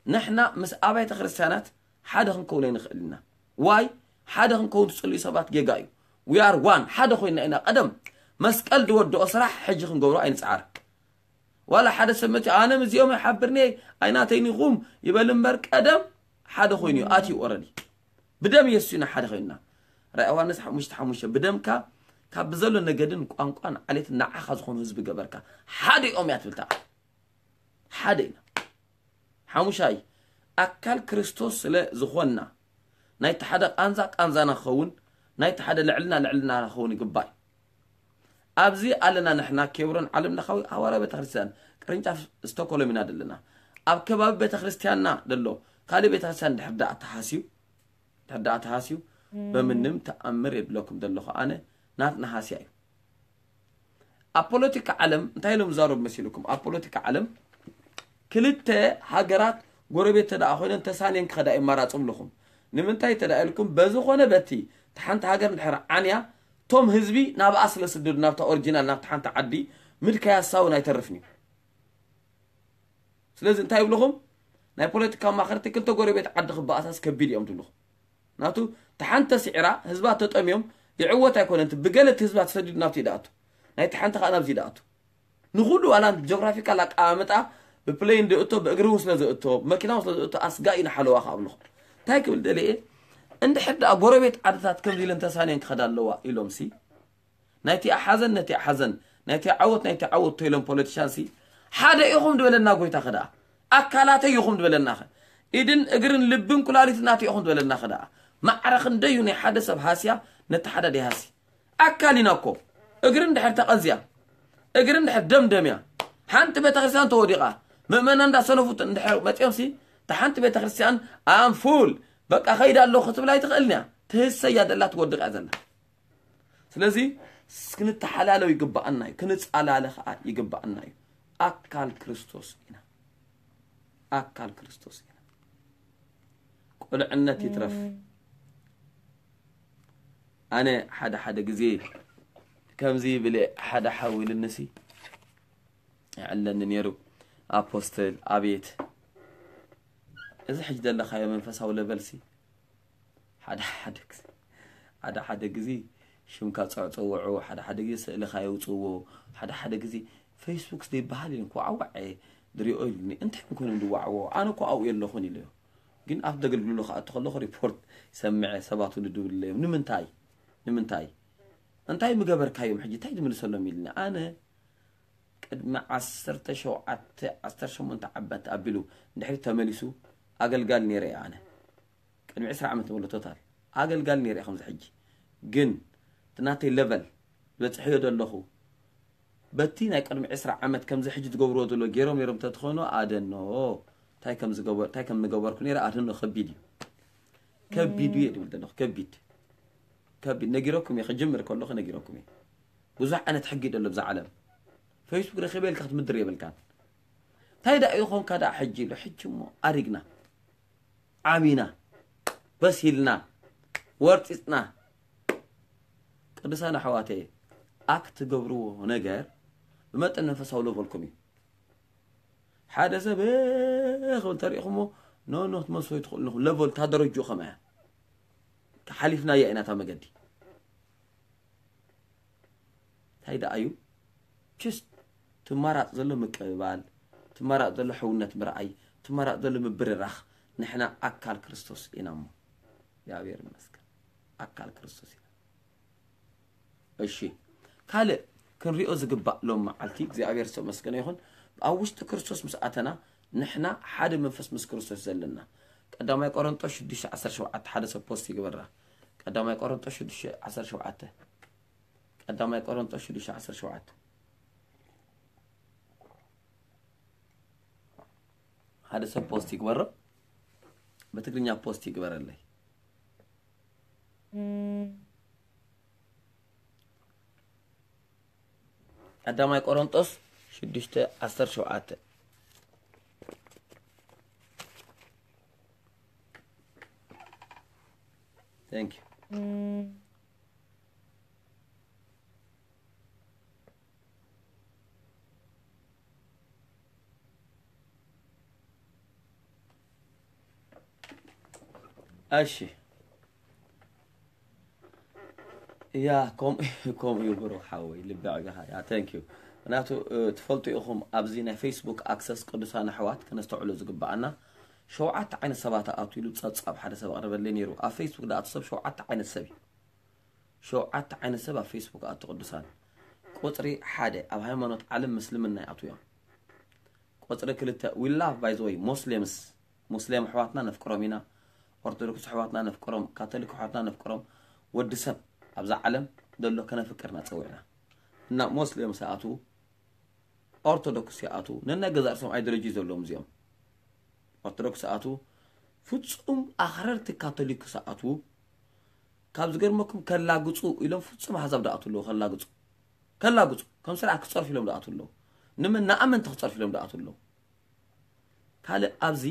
ንሕና ምስ ኣብያተ ክርስቲያናት ሓደ ክንከውን ኣይንኽእል ኢና። ዋይ? ሓደ ክንከውን ትጽልዩ ሰባት ጌጋ እዩ። We are one። ሓደ ኮይና ኢና። ቀደም መስቀል ዝወደኦ ስራሕ ሕጂ ክንገብሮ ኣይንጽዓር። ዋላ ሓደ ሰብ መፂኡ ኣነ ምስዚኦም ኣይሓብርኒ ኣይናተይን ኢኹም ይበል እምበር፣ ቀደም ሓደ ኮይኑ እዩ ኣትዩ። ኦረዲ ብደም የሱስ ኢና ሓደ ኮይንና። ራእይ ዮሃንስ ሓሙሽተ ሓሙሽተ፣ ብደምካ ካብ ብዘሎ ነገድን ቋንቋን ዓሌትን ንዓኻ ዝኾኑ ህዝቢ ገበርካ። ሓደ እዮም እያ ትብል እታ ቃል። ሓደ ኢና። ሓሙሻይ፣ ኣካል ክርስቶስ ስለ ዝኾንና ናይቲ ሓደ ቃንዛ ቃንዛና ክኸውን፣ ናይቲ ሓደ ልዕልና ልዕልናና ክኸውን ይግባእ። ኣብዚ ኣለና ንሕና ኬብሮን ዓለም ለኻዊ ሃዋርያ ቤተክርስትያን ቅርንጫፍ ስቶኮሎም ኢና ዘለና። ኣብ ከባቢ ቤተክርስትያንና ዘሎ ካልእ ቤተክርስትያን ድሕር ደኣ ተሃስዩ፣ ድሕር ደኣ ተሃስዩ፣ በምንም ተኣምር የድለኩም ዘለኹ ኣነ ናትና ሃስያ እዩ። ኣብ ፖለቲካ ዓለም እንታይ ኢሎም ዝዛረቡ መሲልኩም? ኣብ ፖለቲካ ዓለም ክልተ ሃገራት ጎረቤት ተደኣ ኮይነን ተሳንየን ክኸዳ ይመራጽ ኣለኹም። ንምንታይ ተደኣ ኢልኩም፣ በዝኾነ በቲ እታ ሓንቲ ሃገር እንድሕር ዓንያ፣ እቶም ህዝቢ ናብኣ ስለ ስደዱ፣ ናብታ ኦሪጂናል፣ ናብታ ሓንቲ ዓዲ ምድካይ ሃሳውን ኣይተርፍን እዩ። ስለዚ እንታይ ይብልኹም? ናይ ፖለቲካ ኣማኸርቲ ክልተ ጎረቤት ዓዲ ክበኣሳስ ከቢድ እዮም ትብልኹም። ናቱ እታ ሓንቲ ተስዒራ ህዝባ ተጠምዮም ይዕወት ኣይኮነን፣ እቲ ብገለ እቲ ህዝባ ተሰዲዱ ናብቲ ይደኣቱ፣ ናይቲ ሓንቲ ከዓ ናብዚ ይደኣቱ። ንኹሉ ዋላ ጆግራፊካል ኣቀማምጣ ብፕሌን ዝእቶ፣ ብእግሪ እውን ስለ ዝእቶ፣ ብመኪና እውን ስለ ዝእቶ ኣስጋኢ ንሓለዋ ከዓ ኣብልኹም። እንታይ ክብል ደልየ? እንድሕር ደኣ ጎረቤት ዓድታት ከምዚ ኢለን ተሳንየን ክኸዳ ኣለዋ ኢሎምሲ፣ ናይቲ ሓዘን ነቲ ሓዘን፣ ናይቲ ዓወት ናይቲ ዓወት ተይሎም ፖለቲሻንሲ፣ ሓደ ኢኹም ድበለና ጎይታ ኸ ደኣ፣ ኣካላተይ ኢኹም ድበለና ኸ፣ ኢድን እግርን ልብን ኩላሊት ናተይ ኢኹም ድበለና ኸ ደኣ። ማዕረ ክንደዩ ናይ ሓደ ሰብ ሃስያ ነቲ ሓደ ደይሃሲ። ኣካል ኢና እኮ። እግሪ እንድሕር ተቐንዝያ፣ እግሪ እንድሕር ደምደምያ፣ ሓንቲ ቤተክርስትያን ተወዲቓ፣ ምእመናን እንዳሰነፉት እንድሕር መፂኦምሲ፣ እታ ሓንቲ ቤተክርስትያን ኣም ፉል፣ በቃ ኸይዳ ኣለኹ ክትብል ኣይትኽእልን እያ። ትህሰያ ዘላ ትወድቕ እያ ዘላ። ስለዚ ክንተሓላለው ይግባኣና እዩ፣ ክንጻላለ ኸዓ ይግባኣና እዩ። ኣካል ክርስቶስ ኢና፣ ኣካል ክርስቶስ ኢና። ቁልዕነት ይትረፍ። ኣነ ሓደ ሓደ ግዜ ከምዚ ብለ ሓደ ሓው ኢልንሲ ይዕለኒ ነይሩ። ኣፖስትል ኣቤት፣ እዚ ሕጂ ዘለኻዮ መንፈሳዊ ለቨልሲ ሓደ ሓደ ግዜ፣ ሓደ ሓደ ግዜ ሽምካ ጸ-፣ ጸውዑ፣ ሓደ ሓደ ግዜ ስእልኻ የውጽእዎ፣ ሓደ ሓደ ግዜ ፌስቡክ ዘይበሃል ኢሉ ክዋዕዋዕ እየ ዝሪኦ ኢሉኒ። እንታይ እዮም ኮይኖም ዝዋዕዎ? ኣነ እኮ ኣብኡ የለኹን ኢለዮ። ግን ኣብ ዘገልግልሉ ክኣቱ ከለኹ ሪፖርት ይሰምዐ፣ ሰባት እውን ይድውልለዮም። ንምንታይ? ንምንታይ? እንታይ ምገበርካዮም ሕጂ? እንታይ ዝምልሰሎም ኢልኒ። ኣነ ቅድሚ ዓሰርተ ሸውዓተ ዓሰርተ ሸሞንተ ዓመት ኣቢሉ እንድሕሪ ተመሊሱ ኣገልጋሊ ነይረ እየ ኣነ። ቅድሚ ዕስራ ዓመት ንበሎ ቶታል ኣገልጋሊ ነይረ እየ ከምዚ ሕጂ። ግን እቲ ናተይ ለቨል ዝበፅሐዮ ዘለኹ በቲ ናይ ቅድሚ ዕስራ ዓመት ከምዚ ሕጂ ትገብርዎ ዘሎ ገይሮም ነይሮም ተትኾኑ ኣደኖ እንታይ ከም ዝገበር-፣ እንታይ ከም ንገበርኩ ነይረ ኣደኖ ከቢድ እዩ። ከቢድ እዩ ድብል ዘለኹ። ከቢድ፣ ከቢድ። ነጊረኩም እየ፣ ክጅምር ከለኹ ነጊረኩም እየ። ብዙሕ ዓይነት ሕጊ ደሎ ብዛ ዓለም። ፌስቡክ ረኺበ ኢልካ ክትምድር የብልካን። እንታይ ደኣ ይኾንካ ደኣ ሕጂ ኢሉ፣ ሕጂ እሞ ኣሪግና፣ ዓቢና፣ በሲልና፣ ወርጢጽና። ቅዱሳን ኣሕዋተየ፣ ኣክት ትገብርዎ ነገር ብመጠን መንፈሳዊ ለቨልኩም እዩ። ሓደ ሰብ፣ እ፣ ክብል ተሪእኹሞ፣ ኖ ኖ ትመስሎ ትኽእሉ ኣለኹም። ለቨል እታ ደረጅኡ ከመያ ሓሊፍናያ ኢና እታ መገዲ። እንታይ ደኣ እዩ? ችስ ትመራጽ ዘሎ ምቅብባል፣ ትመራጽ ዘሎ ሕውነት ምርኣይ፣ ትመራጽ ዘሎ ምብርራኽ። ንሕና ኣካል ክርስቶስ ኢና እሞ እግዚኣብሔር ይመስገን ኣካል ክርስቶስ ኢና። እሺ፣ ካልእ ክንሪኦ ዝግባእ ሎም መዓልቲ እግዚኣብሔር ዝተመስገነ ይኹን። ኣብ ውሽጢ ክርስቶስ ምስ ኣተና ንሕና ሓደ መንፈስ ምስ ክርስቶስ ዘለና። ቀዳማይ ቆሮንጦስ ሽዱሽተ ዓሰርተ ሸውዓተ ሓደ ሰብ ፖስት ይግበራ። ቀዳማይ ቆሮንጦስ ሽዱሽተ ዓሰርተ ሸውዓተ ቀዳማይ ቆሮንጦስ ሽዱሽተ ዓሰርተ ሸውዓተ ሓደ ሰብ ፖስት ይግበሮ። ብትግርኛ ፖስት ይግበረለይ። ቀዳማይ ቆሮንጦስ ሽዱሽተ ዓሰርተ ሸውዓተ። Thank you. እሺ ያ ከም ከምኡ እዩ ብሩኽ ሓወይ ልቢ ዕጋኻ ያ thank you። ምክንያቱ ትፈልጡ ኢኹም ኣብዚ ናይ ፌስቡክ ኣክሰስ ቅዱሳን ኣሕዋት ከነስተውዕሎ ዝግባኣና ሸውዓተ ዓይነት ሰባት ኣቱ ኢሉ ጸብጻብ ሓደ ሰብ ኣቕርበለይ ነይሩ። ኣብ ፌስቡክ ደኣ ሰብ ሸውዓተ ዓይነት ሰብ እዩ። ሸውዓተ ዓይነት ሰብ ኣብ ፌስቡክ ኣቱ ቅዱሳን። ቁፅሪ ሓደ ኣብ ሃይማኖት ዓለም ምስልምና ይኣቱ እዮም። ቁፅሪ ክልተ we love by the way Muslims ሙስሊም ኣሕዋትና ነፍቅሮም ኢና። ኦርቶዶክስ ኣሕዋትና ነፍቅሮም፣ ካቶሊክ ኣሕዋትና ነፍቅሮም። ወዲ ሰብ ኣብዛ ዓለም ዘሎ ከነፍቅር ኢና ፀዊዕና። እና ሙስሊም ሰኣቱ ኦርቶዶክስ ይኣቱ ነናይ ገዛ ርእሶም ኣይዲዮሎጂ ዘለዎም እዚኦም። ኦርቶዶክስ ሰኣቱ ፍጹም ኣኽረርቲ ካቶሊክ ሰኣቱ ካብ ዝገርመኩም ከላግጹ ኢሎም ፍጹም ኣሕዛብ ደኣቱ ኣለዉ ከላግጹ ከላግጹ ከም ስርዓት ክጸርፉ ኢሎም ደኣቱ ኣለዉ። ንመን ንኣመንቲ ክጸርፉ ኢሎም ደኣቱ ኣለዉ። ካልእ ኣብዚ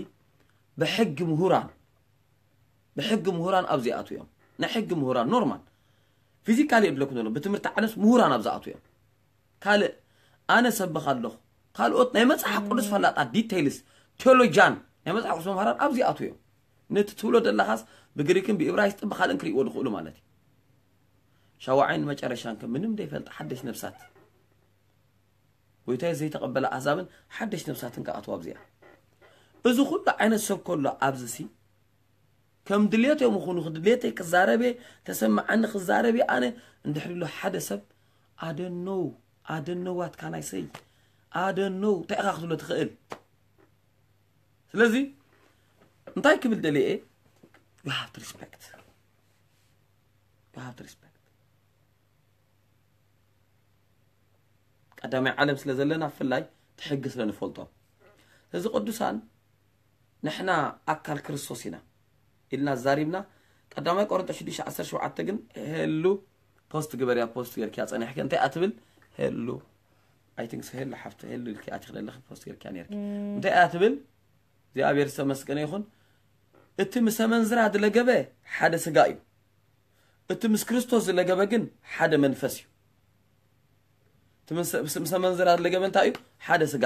ብሕጊ ምሁራን ብሕጊ ምሁራን ኣብዚ ይኣቱ እዮም። ናይ ሕጊ ምሁራን ኖርማል ፊዚካሊ የድለኩም ዘሎ ብትምህርቲ ዓለምስ ምሁራን ኣብዚ ኣቱ እዮም። ካልእ ኣነ ሰብኽ ኣለኹ ካልኦት ናይ መፅሓፍ ቅዱስ ፈላጣት ዲቴይልስ ቴዎሎጂያን ናይ መፅሓፍ ቅዱስ መምሃራን ኣብዚ ኣቱ እዮም። ነቲ ትብሎ ዘለኻስ ብግሪክን ብኢብራይስጥን ብካልእን ክርእይዎ ዝኽእሉ ማለት እዩ። ሻዋዓይን መጨረሻን ከ ምንም ዘይፈልጥ ሓደሽ ነብሳት ጎይታይ ዘይተቐበለ ኣሕዛብን ሓደሽ ነብሳትን ክኣትዋ ኣብዚኣ። እዚ ኩሉ ዓይነት ሰብ ከሎ ኣብዚ ሲ ከም ድሌቶም ይኹኑ ክድሌተይ ክዛረብ እየ ተሰማዓኒ ክዛረብ እየ ኣነ እንድሕር ኢሉ ሓደ ሰብ ኣደነው ኣደነዋት ካናይሰይ ኣደነው እንታይ ኢኻ ክትብሎ ትኽእል? ስለዚ እንታይ ክብል ደልየ you have to respect you have to respect ቀዳማይ ዓለም ስለ ዘለና ብፍላይ እቲ ሕጊ ስለ ንፈልጦ እዚ ቅዱሳን ንሕና ኣካል ክርስቶስ ኢና ኢልና ዛሪብና ቀዳማይ ቆሮንጦስ ሽዱሽተ ዓሰርተ ሸውዓተ ግን ሄሉ ፖስት ግበርያ ፖስት ገርክያ ጸኒሕከ እንታይ ኣትብል ሄሉ I think so ሄሉ ሓፍተ ሄሉ ኢልኪ ኣቲኽ ዘለኺ ፖስት ገርክያ ነርኪ እንታይ ኣትብል እግዚኣብሔር ዝተመስገነ ይኹን እቲ ምስ ኣመንዝራ ዝለገበ ሓደ ስጋ እዩ እቲ ምስ ክርስቶስ ዝለገበ ግን ሓደ መንፈስ እዩ። እቲ ምስ ኣመንዝራ ዝለገበ እንታይ እዩ? ሓደ ስጋ።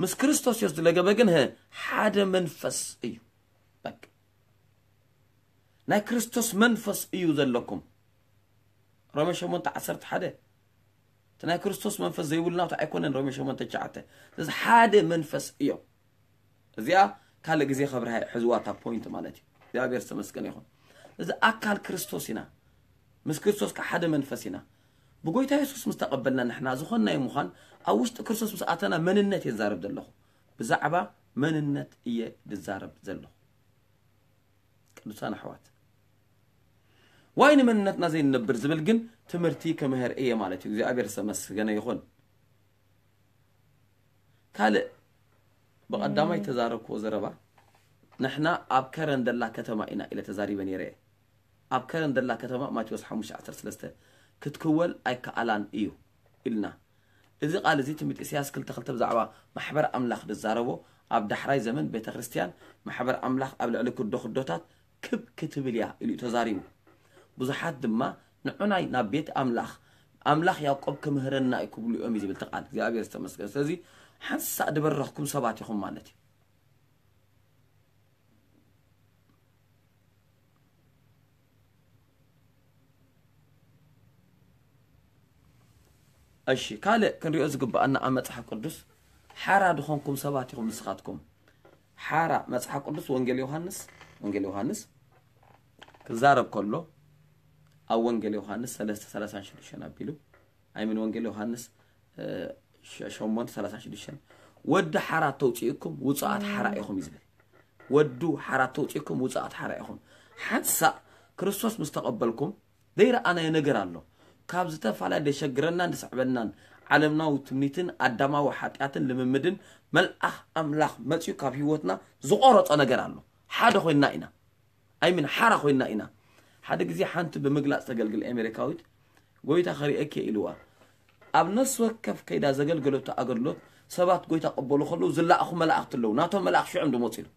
ምስ ክርስቶስ ዮስ ዝለገበ ግን ህ ሓደ መንፈስ እዩ። በቃ ናይ ክርስቶስ መንፈስ እዩ ዘለኩም። ሮሜ ሸሞንተ ዓሰርተ ሓደ እቲ ናይ ክርስቶስ መንፈስ ዘይብሉ ናቱ ኣይኮነን። ሮሜ ሸሞንተ ትሽዓተ ስለዚ ሓደ መንፈስ እዮም። እዚኣ ካልእ ግዜ ከብርሃ ሕዝዋ እታ ፖይንት ማለት እዩ። እግዚኣብሔር ዝተመስገነ ይኹን። እዚ ኣካል ክርስቶስ ኢና። ምስ ክርስቶስ ከዓ ሓደ መንፈስ ኢና። ብጎይታ የሱስ ምስ ተቐበልና ንሕና ዝኾንናዮ ምዃን ኣብ ውሽጢ ክርስቶስ ምስ ኣተና መንነት እየ ዝዛረብ ዘለኹ። ብዛዕባ መንነት እየ ዝዛረብ ዘለኹ። ቅዱሳን ኣሕዋት ዋይ ንመንነትና ዘይንነብር ዝብል ግን ትምህርቲ ክምህር እየ ማለት እዩ። እግዚኣብሔር ዝተመስገነ ይኹን። ካልእ ብቐዳማይ ተዛረብክዎ ዘረባ ንሕና ኣብ ከረን ደላ ከተማ ኢና ኢለ ተዛሪበ ነይረ እየ። ኣብ ከረን ደላ ከተማ ማቴዎስ ሓሙሽተ ዓሰርተ ሰለስተ ክትክወል ኣይከኣላን እዩ ኢልና። እዚ ቃል እዚ ትንቢት ኢሳያስ ክልተ ክልተ ብዛዕባ ማሕበር ኣምላኽ ዝዛረቦ ኣብ ዳሕራይ ዘመን ቤተ ክርስቲያን ማሕበር ኣምላኽ ኣብ ልዕሊ ክዶ ክዶታት ክብ ክትብል እያ ኢሉ እዩ ተዛሪቡ። ብዙሓት ድማ ንዑናይ ናብ ቤት ኣምላኽ ኣምላኽ ያዕቆብ ክምህረና እዩ ክብሉ እዮም እዩ ዝብል እቲ ቃል እግዚኣብሔር ዝተመስገን ስለዚ ሓንሳእ ዝበረኽኩም ሰባት ኢኹም ማለት እዩ እሺ፣ ካልእ ክንሪኦ ዝግብኣና ኣብ መጽሓፍ ቅዱስ ሓራ ድኾንኩም ሰባት ኢኹም ንስኻትኩም። ሓራ መጽሓፍ ቅዱስ ወንጌል ዮሃንስ፣ ወንጌል ዮሃንስ ክዛረብ ከሎ ኣብ ወንጌል ዮሃንስ ሰለስተ ሰላሳን ሽዱሽተን ኣቢሉ፣ ኣይምን ወንጌል ዮሃንስ፣ እ፣ ሸ-፣ ሸሞንተ ሰላሳን ሽዱሽተን፣ "ወዲ ሓራ ተውፅእኩም ውፅኣት ሓራ ኢኹም" እዩ ዝብል። "ወዱ ሓራ ተውፅእኩም ውፅኣት ሓራ ኢኹም." ሓንሳእ ክርስቶስ ምስ ተቐበልኩም ዘይረኣናዮ ነገር ኣሎ። ካብ ዝተፈላለየ ደሸግረናን ድስዕበናን ዓለምናዊ ትምኒትን ኣዳማዊ ሓጢኣትን ልምምድን መልኣኽ ኣምላኽ መፂኡ ካብ ህይወትና ዝቆረጾ ነገር ኣሎ። ሓደ ኮይንና ኢና። ኣይምን ሓራ ኮይንና ኢና። ሓደ ግዜ ሓንቲ ብምግላጽ ተገልግል ኣሜሪካዊት፣ "ጎይታ ከርእየኪ" ኢልዋ። ኣብ ነፍሲ ወከፍ ከይዳ ዘገልገለቶ ኣገልግሎት ሰባት ጎይታ ቀበሉ ከለዉ ዝለኣኹ መላእኽቲ ኣለዉ። ናቶም መላእኽቲ ሽዑም ድመጹ ኢሉ።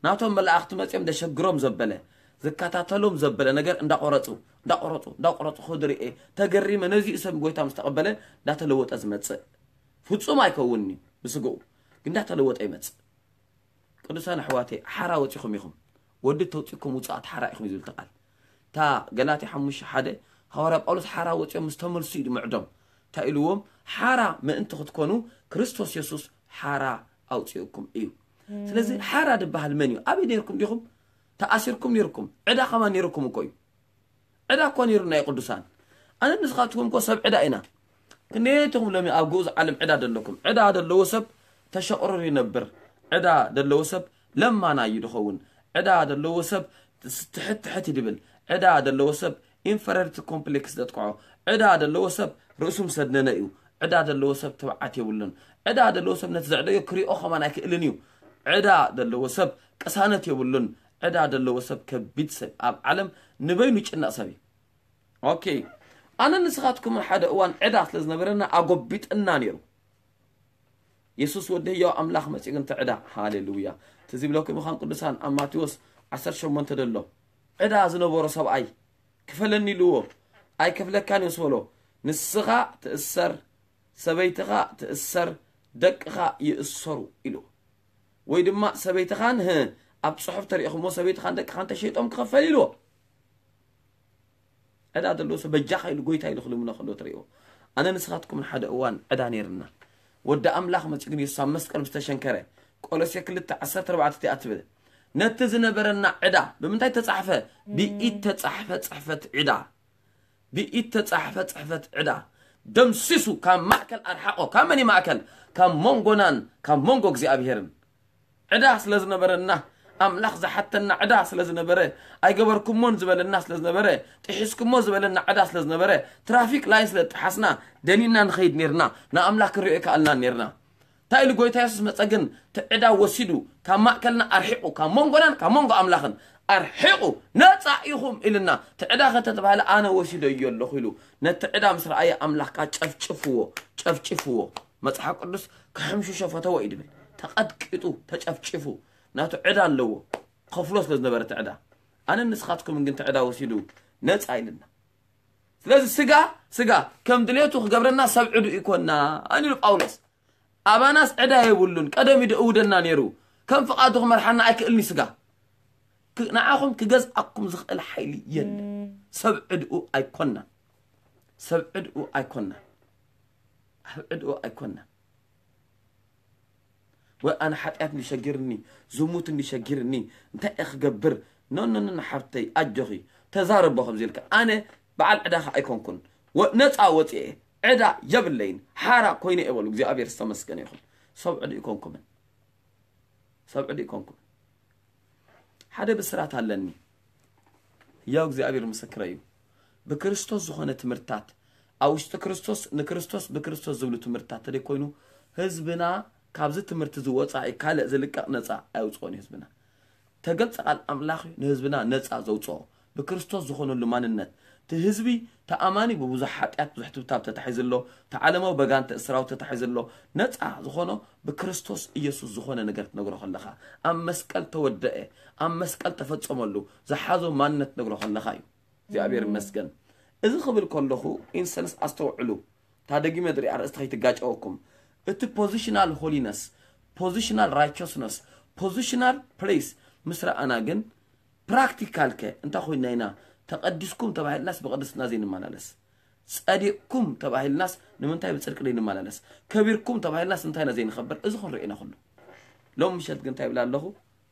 ናቶም መላእኽቲ መጺኦም ደሸግሮም ዘበለ፣ ዝከታተሎም ዘበለ ነገር እንዳቆረጹ፣ እንዳቆረጹ፣ እንዳቆረጹ ክድርኤ ተገሪመ። ነዚኡ ሰብ ጎይታ ምስ ተቐበለ እንዳተለወጠ ዝመጽእ። ፍጹም ኣይከውንን እዩ ብስግኡ፣ ግን እንዳተለወጠ ይመጽእ። ቅዱሳን ኣሕዋተይ፣ ሓራ ወጺኹም ኢኹም። ወዲ ተውጺኩም ውጽኣት ሓራ ኢኹም እዩ ዝብል እቲ ቃል። እታ ገላትያ ሓሙሽተ ሓደ፣ ሃዋርያ ጳውሎስ ሓራ ወጺኦም ምስ ተመልሱ እዩ ድምዕዶም። እንታይ ኢልዎም? ሓራ ምእንቲ ክትኮኑ ክርስቶስ የሱስ ሓራ ኣውጺኡኩም እዩ። ስለዚ ሓራ ድበሃል መን እዩ? ኣበይ ነይርኩም ዲኹም? ተኣሲርኩም ነይርኩም። ዕዳ ከማን ነይርኩም እኮ እዩ። ዕዳ እኮ ነይሩና እዩ ቅዱሳን። ኣነ ንስኻትኩም እኮ ሰብ ዕዳ ኢና። ክንደየትኹም ሎሚ ኣብ ግኡዝ ዓለም ዕዳ ደለኩም? ዕዳ ደለዎ ሰብ ተሸቕርር ይነብር። ዕዳ ደለዎ ሰብ ለማና እዩ ድኸውን። ዕዳ ደለዎ ሰብ ትስ-፣ ትሕት ትሕት ይድብል። ዕዳ ደለዎ ሰብ ኢንፈረርቲ ኮምፕሌክስ ዘጥቅዖ። ዕዳ ደለዎ ሰብ ርእሱ ምሰድነነ እዩ። ዕዳ ደለዎ ሰብ ትብዓት የብሉን። ዕዳ ደለዎ ሰብ ነቲ ዘዕደዮ ክሪኦ ከማን ኣይክእልን እዩ። ዕዳ ደለዎ ሰብ ቅሳነት የብሉን። ዕዳ ደለዎ ሰብ ከቢድ ሰብ ኣብ ዓለም ንበይኑ ይጭነቕ ሰብ እዩ። ኦኬ። ኣነ ንስኻትኩምን ሓደ እዋን ዕዳ ስለ ዝነበረና ኣጎቢጥና ነይሩ። የሱስ ወዲ ህያው ኣምላኽ መጺኡ ግን እቲ ዕዳ፣ ሃሌሉያ። ትዝ ይብለኩም ይኻን ቅዱሳን ኣብ ማቴዎስ ዓሰርተ ሸሞንተ ደሎ ዕዳ ዝነበሮ ሰብኣይ ክፈለኒ ኢልዎ። ኣይከፍለካን እዩ ምስ በሎ፣ ንስኻ ትእሰር፣ ሰበይትኻ ትእሰር፣ ደቅኻ ይእሰሩ ኢልዎ። ወይ ድማ ሰበይትኻን፣ ህ፣ ኣብ ጽሑፍ ተሪእኹሞ ሰበይትኻን ደቅኻን ተሸይጦም ክኸፈል ኢልዎ። ዕዳ ዘለዎ ሰብ በጃኻ ኢሉ ጎይታ ኢሉ ክልምኖ ከሎ ትርእይዎ። ኣነ ንስኻትኩምን ሓደ እዋን ዕዳ ነይርና። ወዲ ኣምላኽ መጺኡ ግን የሱስ ኣብ መስቀል ምስ ተሸንከረ፣ ቆሎሴ ክልተ ዓሰርተ ኣርባዕተ እቲኣ ትብል። ነቲ ዝነበረና ዕዳ ብምንታይ ተጻሕፈ? ብኢድ ተጻሕፈ ጽሕፈት ዕዳ። ብኢድ ተጻሕፈ ጽሕፈት ዕዳ። ደምሲሱ ካብ ማእከል ኣርሓቆ። ካብ መን እዩ ማእከል? ካብ መንጎናን ካብ መንጎ እግዚኣብሄርን። ዕዳ ስለ ዝነበረና፣ ኣምላኽ ዝሓተና ዕዳ ስለ ዝነበረ፣ ኣይገበርኩሞን ዝበለና ስለ ዝነበረ፣ ጥሒስኩሞ ዝበለና ዕዳ ስለ ዝነበረ፣ ትራፊክ ላይን ስለ ዝጠሓስና፣ ደኒና ንኸይድ ኔርና፣ ንኣምላኽ ክንሪኦ ኣይከኣልናን ኔርና። እንታይ ኢሉ ጎይታ የሱስ መጸ ግን፣ እቲ ዕዳ ወሲዱ፣ ካብ ማእከልና ኣርሒቑ፣ ካብ መንጎናን ካብ መንጎ ኣምላኽን ኣርሒቑ፣ "ነጻ ኢኹም" ኢልና። እቲ ዕዳ ከተተባህለ ኣነ ወሲደዮ ኣለኹ ኢሉ። ነቲ ዕዳ ምስ ረኣየ ኣምላኽ ከኣ ጨፍጭፍዎ፣ ጨፍጭፍዎ። መጽሓፍ ቅዱስ ክሕምሽሾ ፈተወ እዩ ድብል። ተቐጥቂጡ፣ ተጨፍጭፉ፣ ናቱ ዕዳ ኣለዎ። ከፍሎ ስለ ዝነበረ እቲ ዕዳ። ኣነ ንስኻትኩም ግን እቲ ዕዳ ወሲዱ ነጻ ኢልና። ስለዚ ስጋ፣ ስጋ ከም ድሌቱ ክገብረና ሰብ ዕዱ ይኮና። ኣን ኢሉ ጳውሎስ። ኣባናስ ዕዳ የብሉን። ቀደም እዩ ደእውደና ነይሩ። ከም ፍቓዱ ክመርሓና ኣይክእልን እዩ ስጋ። ክ-፣ ንዓኹም ክገዝኣኩም ዝኽእል ሓይሊ የለን። ሰብ ዕድኡ ኣይኮናን። ሰብ ዕድኡ ኣይኮናን። ኣብ ዕድኡ ኣይኮናን። ወይ ኣነ ሓጢኣት እንዲሸጊርኒ፣ ዝሙት እንዲሸጊርኒ፣ እንታይ እየ ክገብር? ኖ፣ ኖ፣ ኖ፣ ኖ፣ ሓብተይ፣ ኣጆኺ፣ ተዛረቦ ከምዚ ኢልካ። ኣነ በዓል ዕዳኻ ኣይኮንኩን። ወ-፣ ነፃ ወፂኤ፣ ዕዳ የብለይን፣ ሓራ ኮይነ እየ በሉ። እግዚኣብሔር ዝተመስገነ ይኹን። ሰብ ዕዱ ይኮንኩምን። ሰብ ዕዱ ይኮንኩምን። ሓደ ብስራት ኣለኒ። ያው እግዚኣብሔር ምስክረ እዩ። ብክርስቶስ ዝኾነ ትምህርትታት፣ ኣብ ውሽጢ ክርስቶስ፣ ንክርስቶስ ብክርስቶስ ዝብሉ ትምህርትታት ተደይ ኮይኑ፣ ህዝብና ካብዚ ትምህርቲ ዝወፃኢ ካልእ ዝልቀቕ ነፃ ኣየውፅኦን እዩ ህዝብና። ተገልጸ ቃል ኣምላኽ እዩ ንህዝብና ነፃ ዘውፅኦ። ብክርስቶስ ዝኾነሉ ማንነት፣ እቲ ህዝቢ ተኣማኒ ብብዙሕ ሓጢኣት ብዙሕ ትብታብ ተታሒዙ ኣሎ፣ እቲ ዓለማዊ በጋንተ እስራው ተታሒዙ ኣሎ። ነፃ ዝኾኖ ብክርስቶስ ኢየሱስ ዝኾነ ነገር ትነግሮ ከለኻ፣ ኣብ መስቀል ተወደአ፣ ኣብ መስቀል ተፈጸመሉ፣ ዝሓዞ ማንነት ትነግሮ ከለኻ እዩ። እግዚኣብሔር ይመስገን። እዚ ክብል ከለኹ ኢንሰንስ ኣስተውዕሉ። እታ ደጊመ ድሪ ኣርእስቲ ከይትጋጨወኩም። እቲ ፖዚሽናል ሆሊነስ፣ ፖዚሽናል ራይቸስነስ፣ ፖዚሽናል ፕሌስ ምስ ረኣና ግን ፕራክቲካል ከ እንታይ ኮይና ኢና ተቐዲስኩም ተባሂልናስ ብቕድስና ዘይንመላለስ? ጸዲቕኩም ተባሂልናስ ንምንታይ ብጽድቂ ዘይንመላለስ? ከቢርኩም ተባሂልናስ እንታይ ኢና ዘይንኸብር? እዚ ክንርኢ ኢና ኩሉ። ሎም ምሸት ግን እንታይ ይብል ኣለኹ?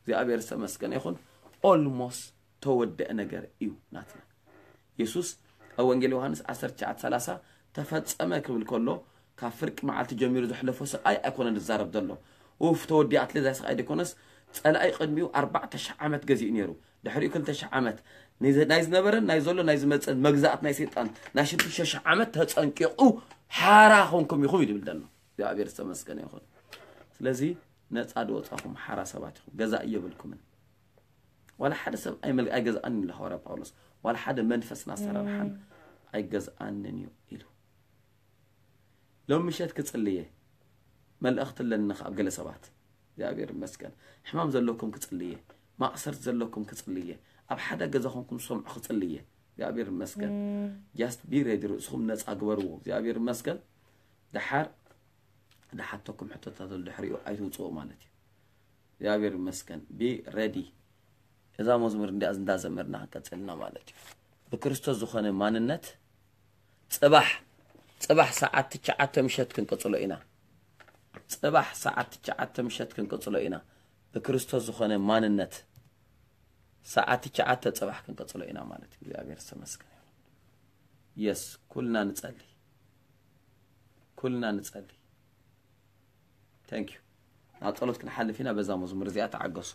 እግዚኣብሔር ዝተመስገነ ይኹን። ኦልሞስ ተወደአ ነገር እዩ ናትና። የሱስ ኣብ ወንጌል ዮሃንስ ዓሰርተ ትሽዓተ ሰላሳ ተፈጸመ ክብል ከሎ፣ ካብ ፍርቂ መዓልቲ ጀሚሩ ዘሕለፎ ስቓይ ኣይኮነን ዝዛረብ ዘሎ። ኡፍ፣ ተወዲኣትለ እዛ ስቓይ ደይኮነስ፣ ጸላኢ ቅድሚኡ ኣርባዕተ ሽሕ ዓመት ገዚኡ ነይሩ። ድሕሪኡ ክልተ ሽሕ ዓመት ናይ ዝነበረን ናይ ዘሎ ናይ ዝመጽእን መግዛእት ናይ ሰይጣን ናይ ሽዱሽተ ሽሕ ዓመት ተጸንቂቑ ሓራ ኾንኩም ኢኹም እዩ ዝብል ዘሎ። እግዚኣብሔር ዝተመስገነ ይኹን። ስለዚ ነጻ ዝወጻኹም ሓራ ሰባት ኢኹም። ገዛእ የብልኩምን። ዋላ ሓደ ሰብ ኣይመል-፣ ኣይገዝኣንን ኢሉ ሃዋርያ ጳውሎስ። ዋላ ሓደ መንፈስን ኣሰራርሓን ኣይገዝኣንን እዩ ኢሉ። ሎም ምሸት ክጽልየ መልእኽቲ ኣለኒ ካብ ገለ ሰባት። እግዚኣብሔር ይመስገን። ሕማም ዘለኩም ክጽልየ፣ ማእሰርት ዘለኩም ክጽልየ፣ ኣብ ሓደ ገዛ ኮንኩም ዝሰምዑ ክጽልየ። እግዚኣብሔር ይመስገን። ጃስት ቢ ሬዲ፣ ርእስኹም ነጻ ግበርዎ። እግዚኣብሔር ይመስገን። ደሓር ዝሓተኩም ሕቶታት ኣሎ፣ ድሕሪኡ ኣይትውጽኡ ማለት እዩ። እግዚኣብሔር ይመስገን። ቢ ሬዲ። እዛ መዝሙር እንዲኣ እንዳዘመርና ክንቀጽልና ማለት እዩ። ብክርስቶስ ዝኾነ ማንነት ጽባሕ፣ ጽባሕ ሰዓት ትሽዓተ ምሸት ክንቀጽሎ ኢና። ጽባሕ ሰዓት ትሽዓተ ምሸት ክንቀጽሎ ኢና። ብክርስቶስ ዝኾነ ማንነት ሰዓት ትሽዓተ ጽባሕ ክንቀጽሎ ኢና ማለት እዩ። እግዚኣብሔር ዝተመስገነ ይሁን። የስ፣ ኩልና ንጸሊ። ኩልና ንጸሊ። ታንክ ዩ። ናብ ጸሎት ክንሓልፍ ኢና። በዛ መዝሙር እዚኣ ተዓገሱ።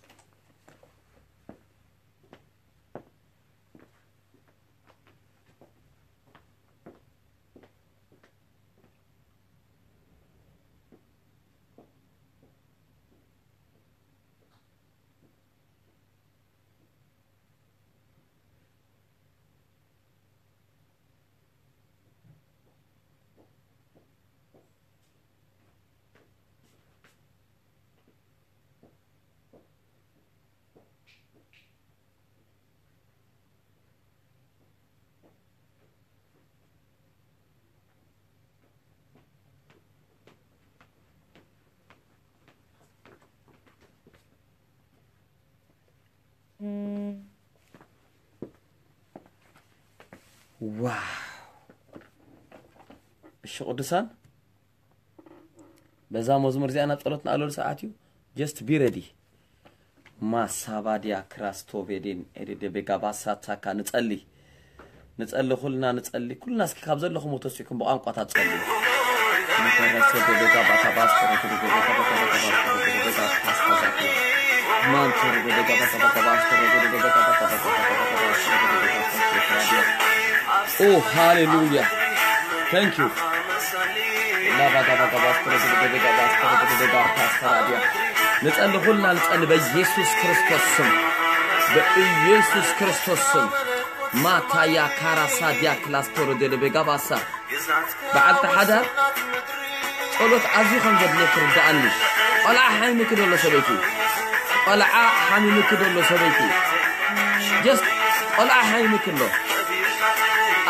ዋው! እሺ ቅዱሳን፣ በዛ መዝሙር እዚኣ ናብ ጸሎት ንኣለሉ ሰዓት እዩ። ጀስት ቢ ረዲ። ማሳባዲያ ክራስቶቬዴን ኤዴዴቤጋ ባሳታካ ንጸሊ። ንጸሊ፣ ኩልና ንጸሊ። ኩልና እስኪ ካብ ዘለኹም ተሲእኩም ብቋንቋታት ጸልዩ። ኦ ሃሌሉያ። Thank you። ንጸሊ፣ ኩልና ንጸሊ በኢየሱስ ክርስቶስ ስም፣ በኢየሱስ ክርስቶስ ስም። ማታያ ካራሳ ዲያ ክላስተሮ ደለቤጋ ባሳ። በዓልቲ ሓዳር ጸሎት ኣዝዩ ከም ዘድልየኪ ርድኣኒ። ቆልዓ ሓሚምኪ ደሎ ሰበይቲ፣ ቆልዓ ሓሚምኪ ደሎ ሰበይቲ፣ ጀስት ቆልዓ ሓሚምኪ ኣሎ።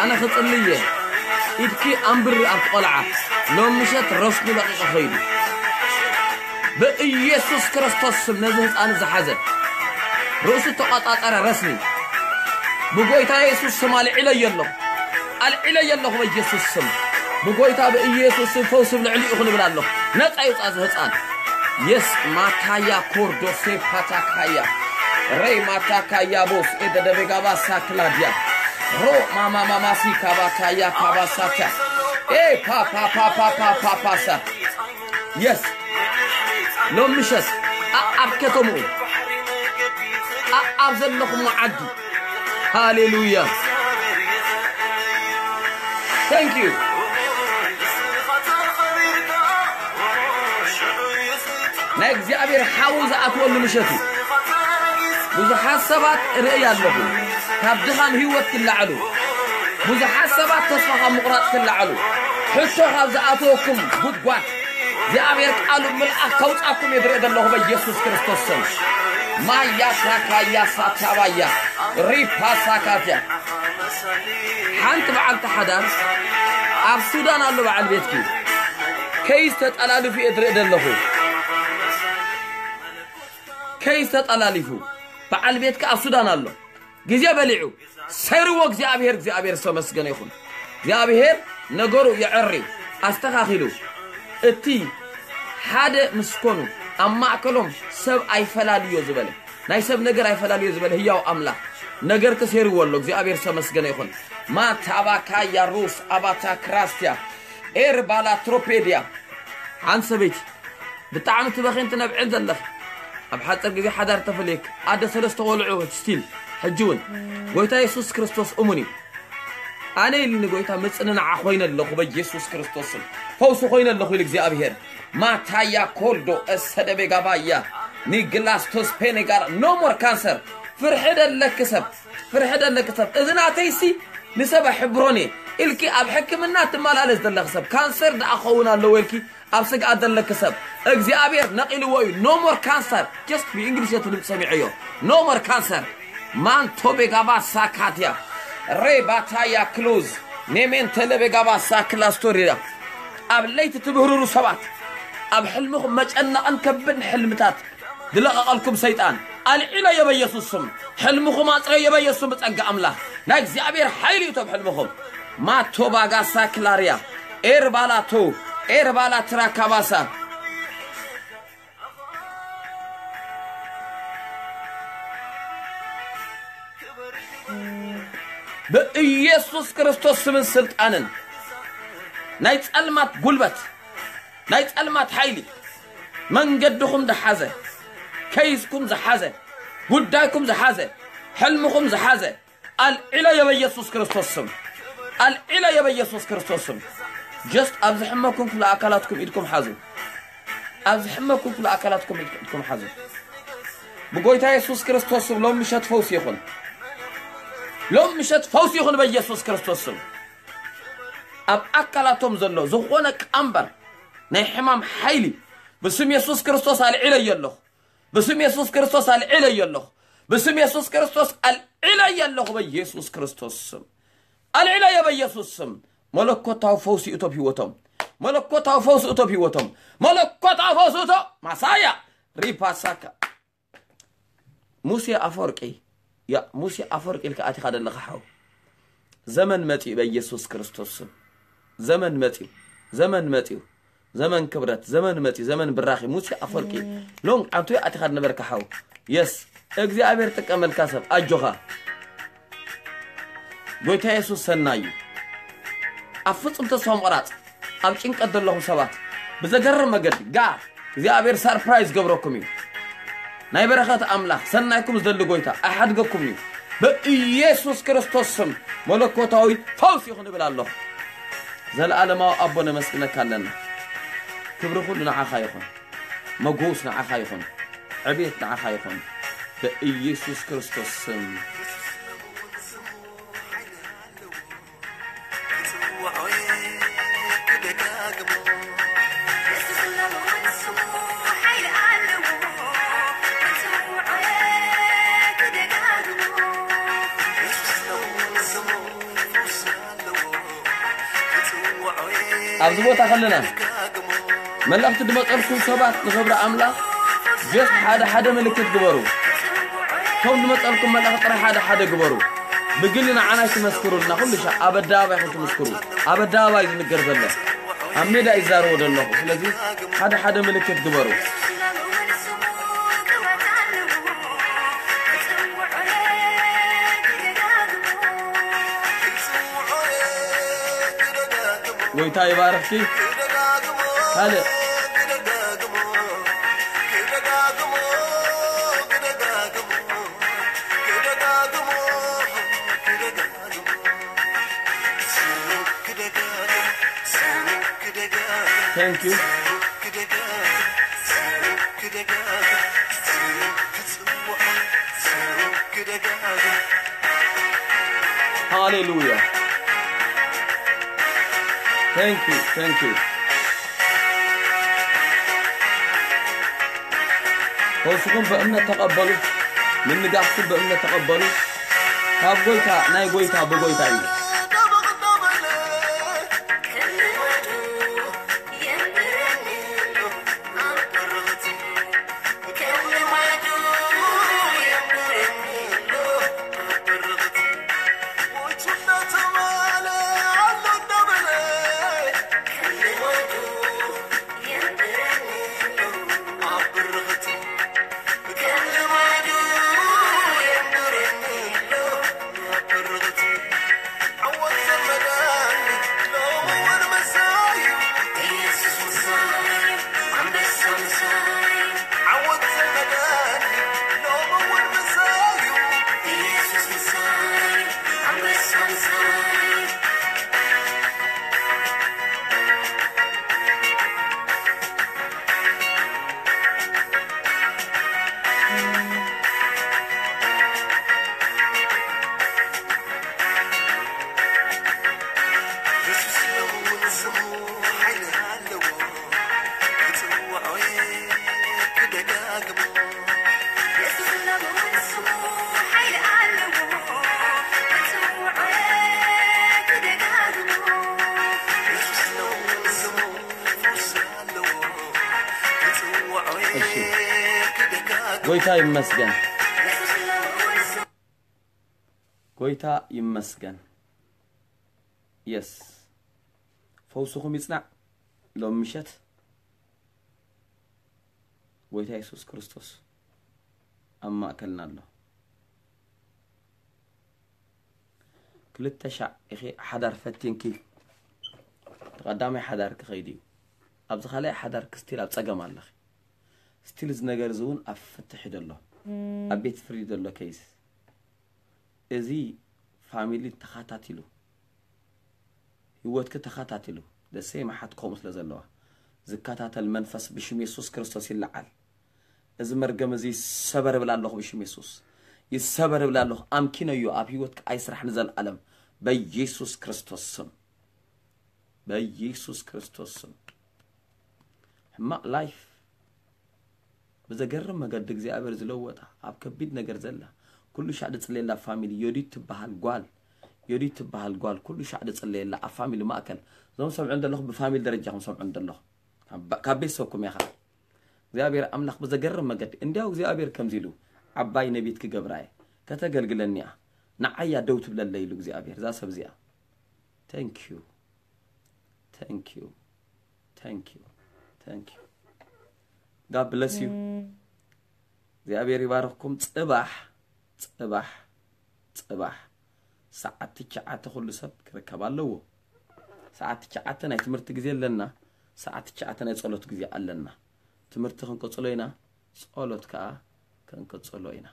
ኣነ ክጽልየ፣ ኢድኪ ኣንብሪ ኣብቲ ቆልዓ። ሎም ምሸት ረስኑ ለቒቑ ኸይዱ። ብኢየሱስ ክርስቶስ ስም ነዚ ህፃን ዝሓዘ ርእሱ ተቋጻጸረ ረስኒ ብጎይታ የሱስ ስም ኣልዒለዮ ኣለኹ። ኣልዒለዮ ኣለኹ በኢየሱስ ስም። ብጎይታ ብኢየሱስ ስም ፈውሲ ኣብ ልዕሊኡ ይኹን እብል ኣለኹ። ነፃ ይውፃ እዚ ህፃን። የስ ማካያ ኮርዶሴ ፓታካያ ሬ ማታካያ ቦስ ኤደደቤጋባ ሳክላዲያ ሮ ማማማማሲ ካባካያ ካባሳካ ኤ ፓፓፓፓፓፓሳ የስ ሎም ምሸት ኣኣብ ከተምኡ ኣኣብ ዘለኹም ዓዲ ሃሌሉያ። Thank you። ናይ እግዚኣብሔር ሓዊ ዝኣትወሉ ምሸት እዩ። ብዙሓት ሰባት ርእይ ኣለኹ ካብ ድኻም ህይወት ክለዓሉ፣ ብዙሓት ሰባት ተስፋ ካብ ምቑራፅ ክለዓሉ፣ ሕቶ ካብ ዝኣተወኩም ጉድጓድ እግዚኣብሔር ቃሉ ምልኣኽ ከውፃኩም እየ ዝርኢ ዘለኹ በኢየሱስ ክርስቶስ ስም። ማያ ሳካያ ሳታባያ ሪፓ ሳካትያ ሓንቲ በዓልቲ ሓዳር ኣብ ሱዳን ኣሎ በዓል ቤትኪ ከይስ ተጠላልፉ እየ ዝርኢ ዘለኹ። ከይስ ተጠላሊፉ በዓል ቤትኪ ኣብ ሱዳን ኣሎ። ግዜ በሊዑ ሰይርዎ እግዚኣብሔር፣ እግዚኣብሔር ዝተመስገነ ይኹን። እግዚኣብሔር ነገሩ የዐሪ ኣስተኻኺሉ። እቲ ሓደ ምስ ኮኑ ኣብ ማእከሎም ሰብ ኣይፈላልዮ ዝበለ፣ ናይ ሰብ ነገር ኣይፈላልዮ ዝበለ ህያው ኣምላኽ ነገር ተሰይርዎ ኣሎ። እግዚኣብሔር ዝተመስገነ ይኹን። ማታባካያ ሩስ ኣባታ ክራስትያ ኤርባላ ትሮፔድያ። ሓንቲ ሰበይቲ ብጣዕሚ ትበኺን ትነብዕን ዘለኽ፣ ኣብ ሓፂር ግዜ ሓዳር ተፈልየክ፣ ኣደ ሰለስተ ቆልዑ ስቲል ሕጂ እውን ጎይታ የሱስ ክርስቶስ እሙን እዩ። ኣነ ኢልኒ ጎይታ፣ ምጽንናዓ ኮይነ ኣለኹ በኢየሱስ ክርስቶስ ስም። ፈውሲ ኮይነ ኣለኹ ኢሉ እግዚኣብሔር። ማታያ ኮልዶ እሰደቤ ጋባያ ኒግላስ ቶስፔኔ ጋር ኖ ሞር ካንሰር። ፍርሒ ደለኪ ሰብ፣ ፍርሒ ደለኪ ሰብ። እዚ ናተይሲ ንሰብ ኣሕብሮን እየ ኢልኪ ኣብ ሕክምና ትመላለስ ዘለኺ ሰብ፣ ካንሰር ደኣ ክኸውን ኣለዎ ኢልኪ ኣብ ስግኣት ዘለኪ ሰብ እግዚኣብሔር ነቒልዎ እዩ። ኖ ሞር ካንሰር። ጀስት ብእንግሊዝ እቲ ድምፂ ሰሚዐዮ። ኖ ሞር ካንሰር። ማንቶ ቤጋባ ሳካትያ ሬባታያ ክሎዝ ኔሜን ተለ ቤጋባ ሳክላ ስቶሪያ። ኣብ ለይቲ ትብህርሩ ሰባት፣ ኣብ ሕልምኹም መጨነቕን ከብድን ሕልምታት ዝለቐቐልኩም ሰይጣን ኣልዒለዮ በኢየሱስ ስም። ሕልምኹም ኣፅረዮ በኢየሱስ ስም። ብፀጋ ኣምላኽ ናይ እግዚኣብሔር ሓይሊ እዩ እቶም ሕልምኹም። ማቶ ባጋሳ ክላርያ ኤርባላቶ ኤርባላ ትራካባሳ ብኢየሱስ ክርስቶስ ስምን ስልጣንን ናይ ጸልማት ጉልበት፣ ናይ ጸልማት ሓይሊ መንገድኹም ዝሓዘ፣ ከይስኩም ዝሓዘ፣ ጉዳይኩም ዝሓዘ፣ ሕልምኹም ዝሓዘ ኣልዒለዮ በኢየሱስ ክርስቶስ ስም። ኣልዒለዮ በኢየሱስ ክርስቶስ ስም። ጀስት ኣብ ዝሕመኩም ክፍለ ኣካላትኩም ኢድኩም ሓዙ። ኣብ ዝሕመኩም ክፍለ ኣካላትኩም ኢድኩም ሓዙ። ብጎይታ የሱስ ክርስቶስ ስም ሎም ምሸት ፈውሲ ይኹን። ሎም ምሸት ፈውሲ ይኹን በኢየሱስ ክርስቶስ ስም። ኣብ ኣካላቶም ዘሎ ዝኾነ ቀንበር ናይ ሕማም ሓይሊ ብስም የሱስ ክርስቶስ ኣልዒለዮ ኣለኹ። ብስም የሱስ ክርስቶስ ኣልዒለዮ ኣለኹ። ብስም የሱስ ክርስቶስ ኣልዒለዮ ኣለኹ በኢየሱስ ክርስቶስ ስም። ኣልዒለዮ በኢየሱስ ስም። መለኮታዊ ፈውሲ እቶ ኣብ ህይወቶም። መለኮታዊ ፈውሲ እቶ ኣብ ህይወቶም። መለኮታዊ ፈውሲ እቶ ማሳያ ሪፓሳካ። ሙሴ ኣፈወርቂ፣ ያ ሙሴ ኣፈወርቂ ኢልካ ኣቲኻ ዘለኻ ሓው። ዘመን መጺኡ በኢየሱስ ክርስቶስ ስም። ዘመን መጺኡ። ዘመን መጺኡ። ዘመን ክብረት፣ ዘመን መጺኡ፣ ዘመን ብራኺ። ሙሴ ኣፈወርቂ ሎንግ ዓንቱ ኣቲኻ ዝነበርካ ሓው። የስ፣ እግዚኣብሔር ጥቀመልካ ሰብ፣ ኣጆኻ። ጎይታ የሱስ ሰናይ እዩ። ኣብ ፍጹም ተስፋ ምቑራጽ፣ ኣብ ጭንቀት ዘለኹም ሰባት፣ ብዘገርም መገዲ፣ ጋር እግዚኣብሔር ሰርፕራይዝ ገብረኩም እዩ። ናይ በረኸት ኣምላኽ፣ ሰናይኩም ዝደሊ ጎይታ፣ ኣይሓድገኩም እዩ። ብኢየሱስ ክርስቶስ ስም፣ መለኮታዊ ፈውሲ ይኹን እብል ኣለኹ። ዘለኣለማዊ ኣቦ ነመስግነካ ኣለና። ክብሪ ኩሉ ንዓኻ ይኹን። መጎስ ንዓኻ ይኹን። ዕቤት ንዓኻ ይኹን። ብኢየሱስ ክርስቶስ ስም። ኣብዚ ቦታ ከለና መልእኽቲ ዝመፀልኩም ሰባት ንኽብሪ ኣምላኽ ጀስት ሓደ ሓደ ምልክት ግበሩ። እቶም ዝመፀልኩም መልእኽቲ ጥራይ ሓደ ሓደ ግበሩ። ብግሊ ንዓና ኣይትመስክሩልና፣ ኩሉ ሻዕ ኣብ ኣደባባይ ኢኹም ትምስክሩ። ኣብ ኣደባባይ ዝንገር ዘሎ ኣብ ሜዳ ይዛረቦ ዘለኹ። ስለዚ ሓደ ሓደ ምልክት ግበሩ። ጎይታ ይባርኽኪ። ካልእ Thank you. Hallelujah. Thank you. Thank you. ፈውስኹም ብእምነት ተቐበሉ። ምንጋፍኩም ብእምነት ተቐበሉ። ካብ ጎይታ፣ ናይ ጎይታ፣ ብጎይታ እዩ። ሓይሊ ኣለዎ ክጽውዖ ክደጋግሞ። የሱስ ነው ስሙ ሓይሊ ኣለዎ ክጽውዖ ክደጋግሞ። የሱስ ነው ስሙ ፈውስ ኣለዎ ክጽውዖ እሺ። ክደጋግሞ። ጎይታ ይመስገን። የሱስ ነው ስሙ ጎይታ ይመስገን። የስ፣ ፈውስኹም ይጽናዕ። ሎም ምሸት ጎይታ የሱስ ክርስቶስ ኣብ ማእከልና ኣሎ። ክልተ ሻዕ ኢኺ ሓዳር ፈቲንኪ፣ እቲ ቀዳማይ ሓዳር ክኸይድ እዩ። ኣብዚ ካልኣይ ሓዳር ክስቲል ኣብ ጸገም ኣለኺ። ስቲል እዚ ነገር እዚ እውን ኣብ ፍትሒ ዘሎ፣ ኣብ ቤት ፍርዲ ዘሎ ኬይስ። እዚ ፋሚሊ ተኸታቲሉ፣ ህይወትኪ ተኸታቲሉ፣ ደሰይ መሓት ከምኡ ስለ ዘለዋ ዝከታተል መንፈስ ብሽም የሱስ ክርስቶስ ይለዓል። እዚ መርገም እዚ ይሰበር እብል ኣለኹ ብሽም የሱስ። ይሰበር እብል ኣለኹ። ኣምኪነዮ ኣብ ህይወትኪ ኣይስራሕ ንዘለኣለም በኢየሱስ ክርስቶስ ስም። በኢየሱስ ክርስቶስ ስም። ሕማቕ ላይፍ ብዘገርም መገዲ እግዚኣብሔር ዝለወጣ ኣብ ከቢድ ነገር ዘላ ኩሉ ሻዕ ድጽለየላ ፋሚሊ ዮዲት ትበሃል ጓል ዮዲት ትበሃል ጓል ኩሉ ሻዕ ድጽለየላ ኣብ ፋሚሊ ማእከል እዞም ሰምዑ እንደለኹ ብፋሚሊ ደረጃ ከም ሰምዑ እንደለኹ ካብ ቤተሰብኩም ኢኻ እግዚኣብሔር ኣምላኽ ብዘገርም መገዲ እንዲያው እግዚኣብሔር ከምዚ ኢሉ ዓባይ ነቢት ክገብራ እየ ከተገልግለኒ እያ ንዓያ ደው ትብለለይ ኢሉ እግዚኣብሔር እዛ ሰብ እዚኣ thank you thank you thank you thank you God bless you እግዚኣብሔር ይባርኽኩም ጽባሕ ጽባሕ ጽባሕ ሰዓት ትሽዓተ ኩሉ ሰብ ክርከብ ኣለዎ ሰዓት ትሽዓተ ናይ ትምህርቲ ግዜ ኣለና ሰዓት ትሽዓተ ናይ ጸሎት ግዜ ኣለና ትምህርቲ ክንቀጽሎ ኢና ጸሎት ከዓ ክንቀጽሎ ኢና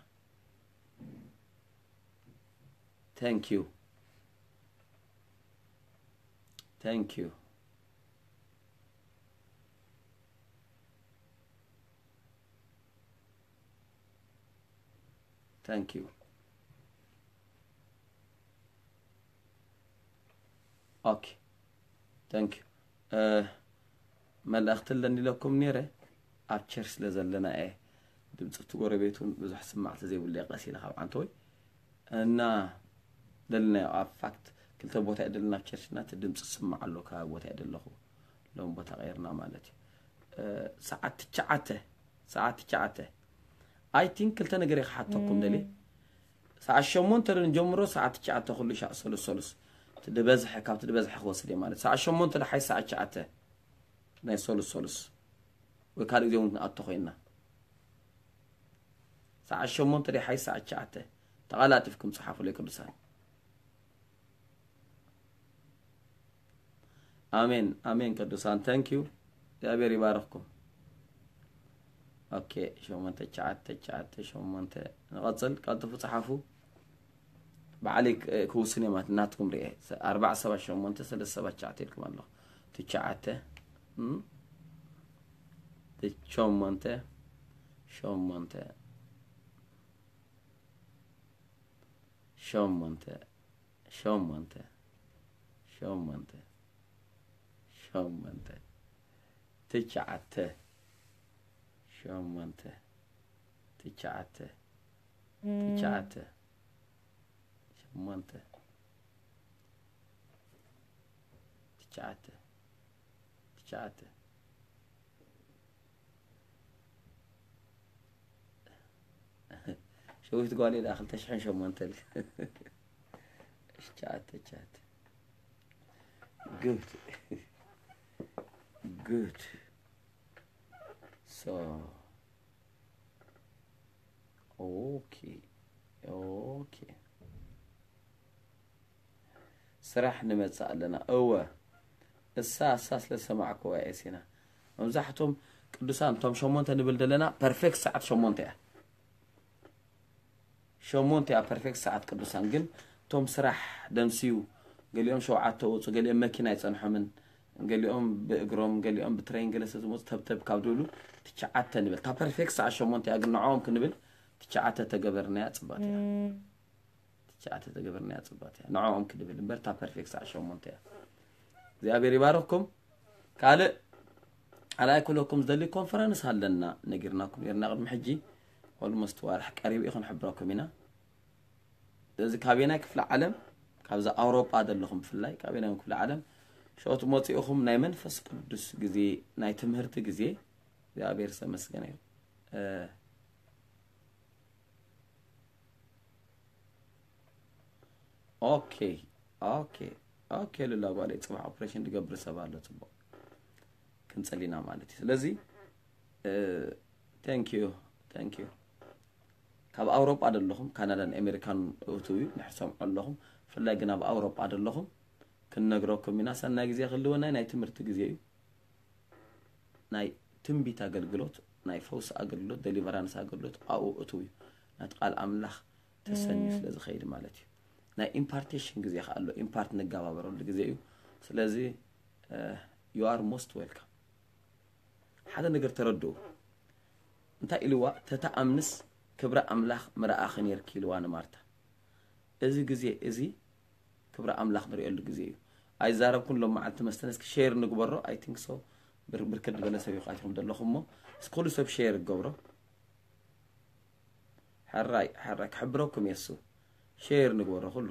thank you thank you thank you okay thank you መልእኽቲ ኣለኒ ኢለኩም ነይረ ኣብ ቸርች ስለ ዘለና እየ ድምፂ እቲ ጎረቤት እውን ብዙሕ ስማዕ ስለዘይብሉ እየ ቀስ ኢለ ካብ ዓንተወይ እና ደለናዮ ኣብ ፋክት ክልተ ቦታ እየ ደለና ኣብ ቸርች እና እቲ ድምፂ ዝስማዕ ኣሎ ከባቢ ቦታ እየ ደለኹ ሎም ቦታ ቀይርና ማለት እዩ ሰዓት ትሽዓተ ሰዓት ትሽዓተ I think ክልተ ነገር እየ ክሓተኩም ደልየ ሰዓት ሸሞንተ ዶ ንጀምሮ ሰዓት ትሽዓተ ኩሉ ሻዕ ሰሉስ ሰሉስ እቲ ድበዝሐ ካብቲ ድበዝሐ ክወስድ እየ ማለት ሰዓት ሸሞንተ ዶ ሓይሽ ሰዓት ትሽዓተ ናይ ሰሉስ ሰሉስ ወይ ካልእ ግዜ እውን ክንኣቶ ኮይንና ሰዓት ሸሞንተ ዶ ሓይሽ ሰዓት ትሽዓተ ተቐላጢፍኩም ጸሓፉለይ ቅዱሳን ኣሜን ኣሜን ቅዱሳን thank you እግዚኣብሔር ይባርኽኩም okay ሸሞንተ ትሽዓተ ትሽዓተ ሸሞንተ ንቐጽል ቀልጥፉ ጸሓፉ ባዕለይ ክውስን እየ ማለት ናትኩም ርኤ ኣርባዓ ሰባት ሸሞንተ ሰለስተ ሰባት ትሽዓተ ኢልኩም ኣለኹ ትሽዓተ ሸሞንተ ሸሞንተ ሸሞንተ ሸሞንተ ሸሞንተ ሸሞንተ ትሽዓተ ሸሞንተ ትሽዓተ ትሽዓተ ሸሞንተ ትሽዓተ ትሽዓተ ሸዊት ጓል ኢላ ክልተ ሽሕን ሸሞንተ ትሽዓተ ትሽዓተ good good so okay okay ስራሕ ንመጽእ ኣለና እወ እሳ እሳ ስለ ዝሰማዕክዋ እየ ሲና መብዛሕቶም ቅዱሳን እቶም ሸሞንተ ንብል ዘለና perfect ሰዓት ሸሞንተ እያ ሸሞንተ እያ perfect ሰዓት ቅዱሳን ግን እቶም ስራሕ ደምስዩ ገሊኦም ሸውዓተ ወፁ ገሊኦም መኪና ኣይፀንሖምን ገሊኦም ብእግሮም ገሊኦም ብትሬን ገለ ስለ ዝመፁ ተብተብ ካብ ዝብሉ ትሽዓተ ንብል እታ perfect ሰዓት ሸሞንተ እያ ግን ንዕኦም ክንብል ትሽዓተ ተገበርናያ ፅባት እያ ትሽዓተ ተገበርናያ ፅባት እያ ንዕኦም ክንብል እምበር እታ perfect ሰዓት ሸሞንተ እያ እግዚኣብሔር ይባርኽኩም። ካልእ ኣላይ ክብለኩም ዝደሊ ኮንፈረንስ ኣለና ነጊርናኩም ነርና ቅድሚ ሕጂ። ኦልሞስት ዋርሕ ቀሪቡ እዩ ክንሕብረኩም ኢና። እዚ ካበየናይ ክፍለ ዓለም? ካብዛ ኣውሮጳ ዘለኹም ብፍላይ ካበየናይ ክፍለ ዓለም ሸኦት መፂኡኹም ናይ መንፈስ ቅዱስ ግዜ ናይ ትምህርቲ ግዜ እግዚኣብሔር ዝተመስገነ እዩ። ኦኬ ኦኬ ኦኬ ሉላ ጓለይ ፅባሕ ኦፕሬሽን ዝገብር ሰብ ኣሎ። ፅቡቅ ክንፅል ኢና ማለት እዩ። ስለዚ thank you thank you ካብ ኣውሮጳ ዘለኹም ካናዳን ኣሜሪካን እትው እዩ ንሕሰምዖ ኣለኹም። ብፍላይ ግን ኣብ ኣውሮጳ ዘለኹም ክንነግረኩም ኢና። ሰናይ ግዜ ክልወና ናይ ትምህርቲ ግዜ እዩ። ናይ ትንቢት ኣገልግሎት ናይ ፈውሲ ኣገልግሎት ደሊቨራንስ ኣገልግሎት ኣብኡ እትው እዩ። ናቲ ቃል ኣምላኽ ተሰንዩ ስለ ዝኸይድ ማለት እዩ። ናይ ኢምፓርቴሽን ግዜ ከ ኣሎ። ኢምፓርት ንጋባበረሉ ግዜ እዩ። ስለዚ you are most welcome። ሓደ ነገር ተረድኡ። እንታይ ኢልዋ? ተተኣምንስ ክብሪ ኣምላኽ ምረኣኺ ነርኪ ኢልዋ ንማርታ። እዚ ግዜ እዚ ክብሪ ኣምላኽ ንርእየሉ ግዜ እዩ። ኣይዛረብኩን ሎም መዓልቲ መስተን እስኪ ሼር ንግበሮ። I think so ብርክት ዝበለ ሰብ ይቃትኹም ዘለኹም እሞ እስኪ ኩሉ ሰብ ሼር ይገብሮ። ሕራይ ሕራይ ክሕብረኩም የሱ ሼር ንግበሮ ኩሉ።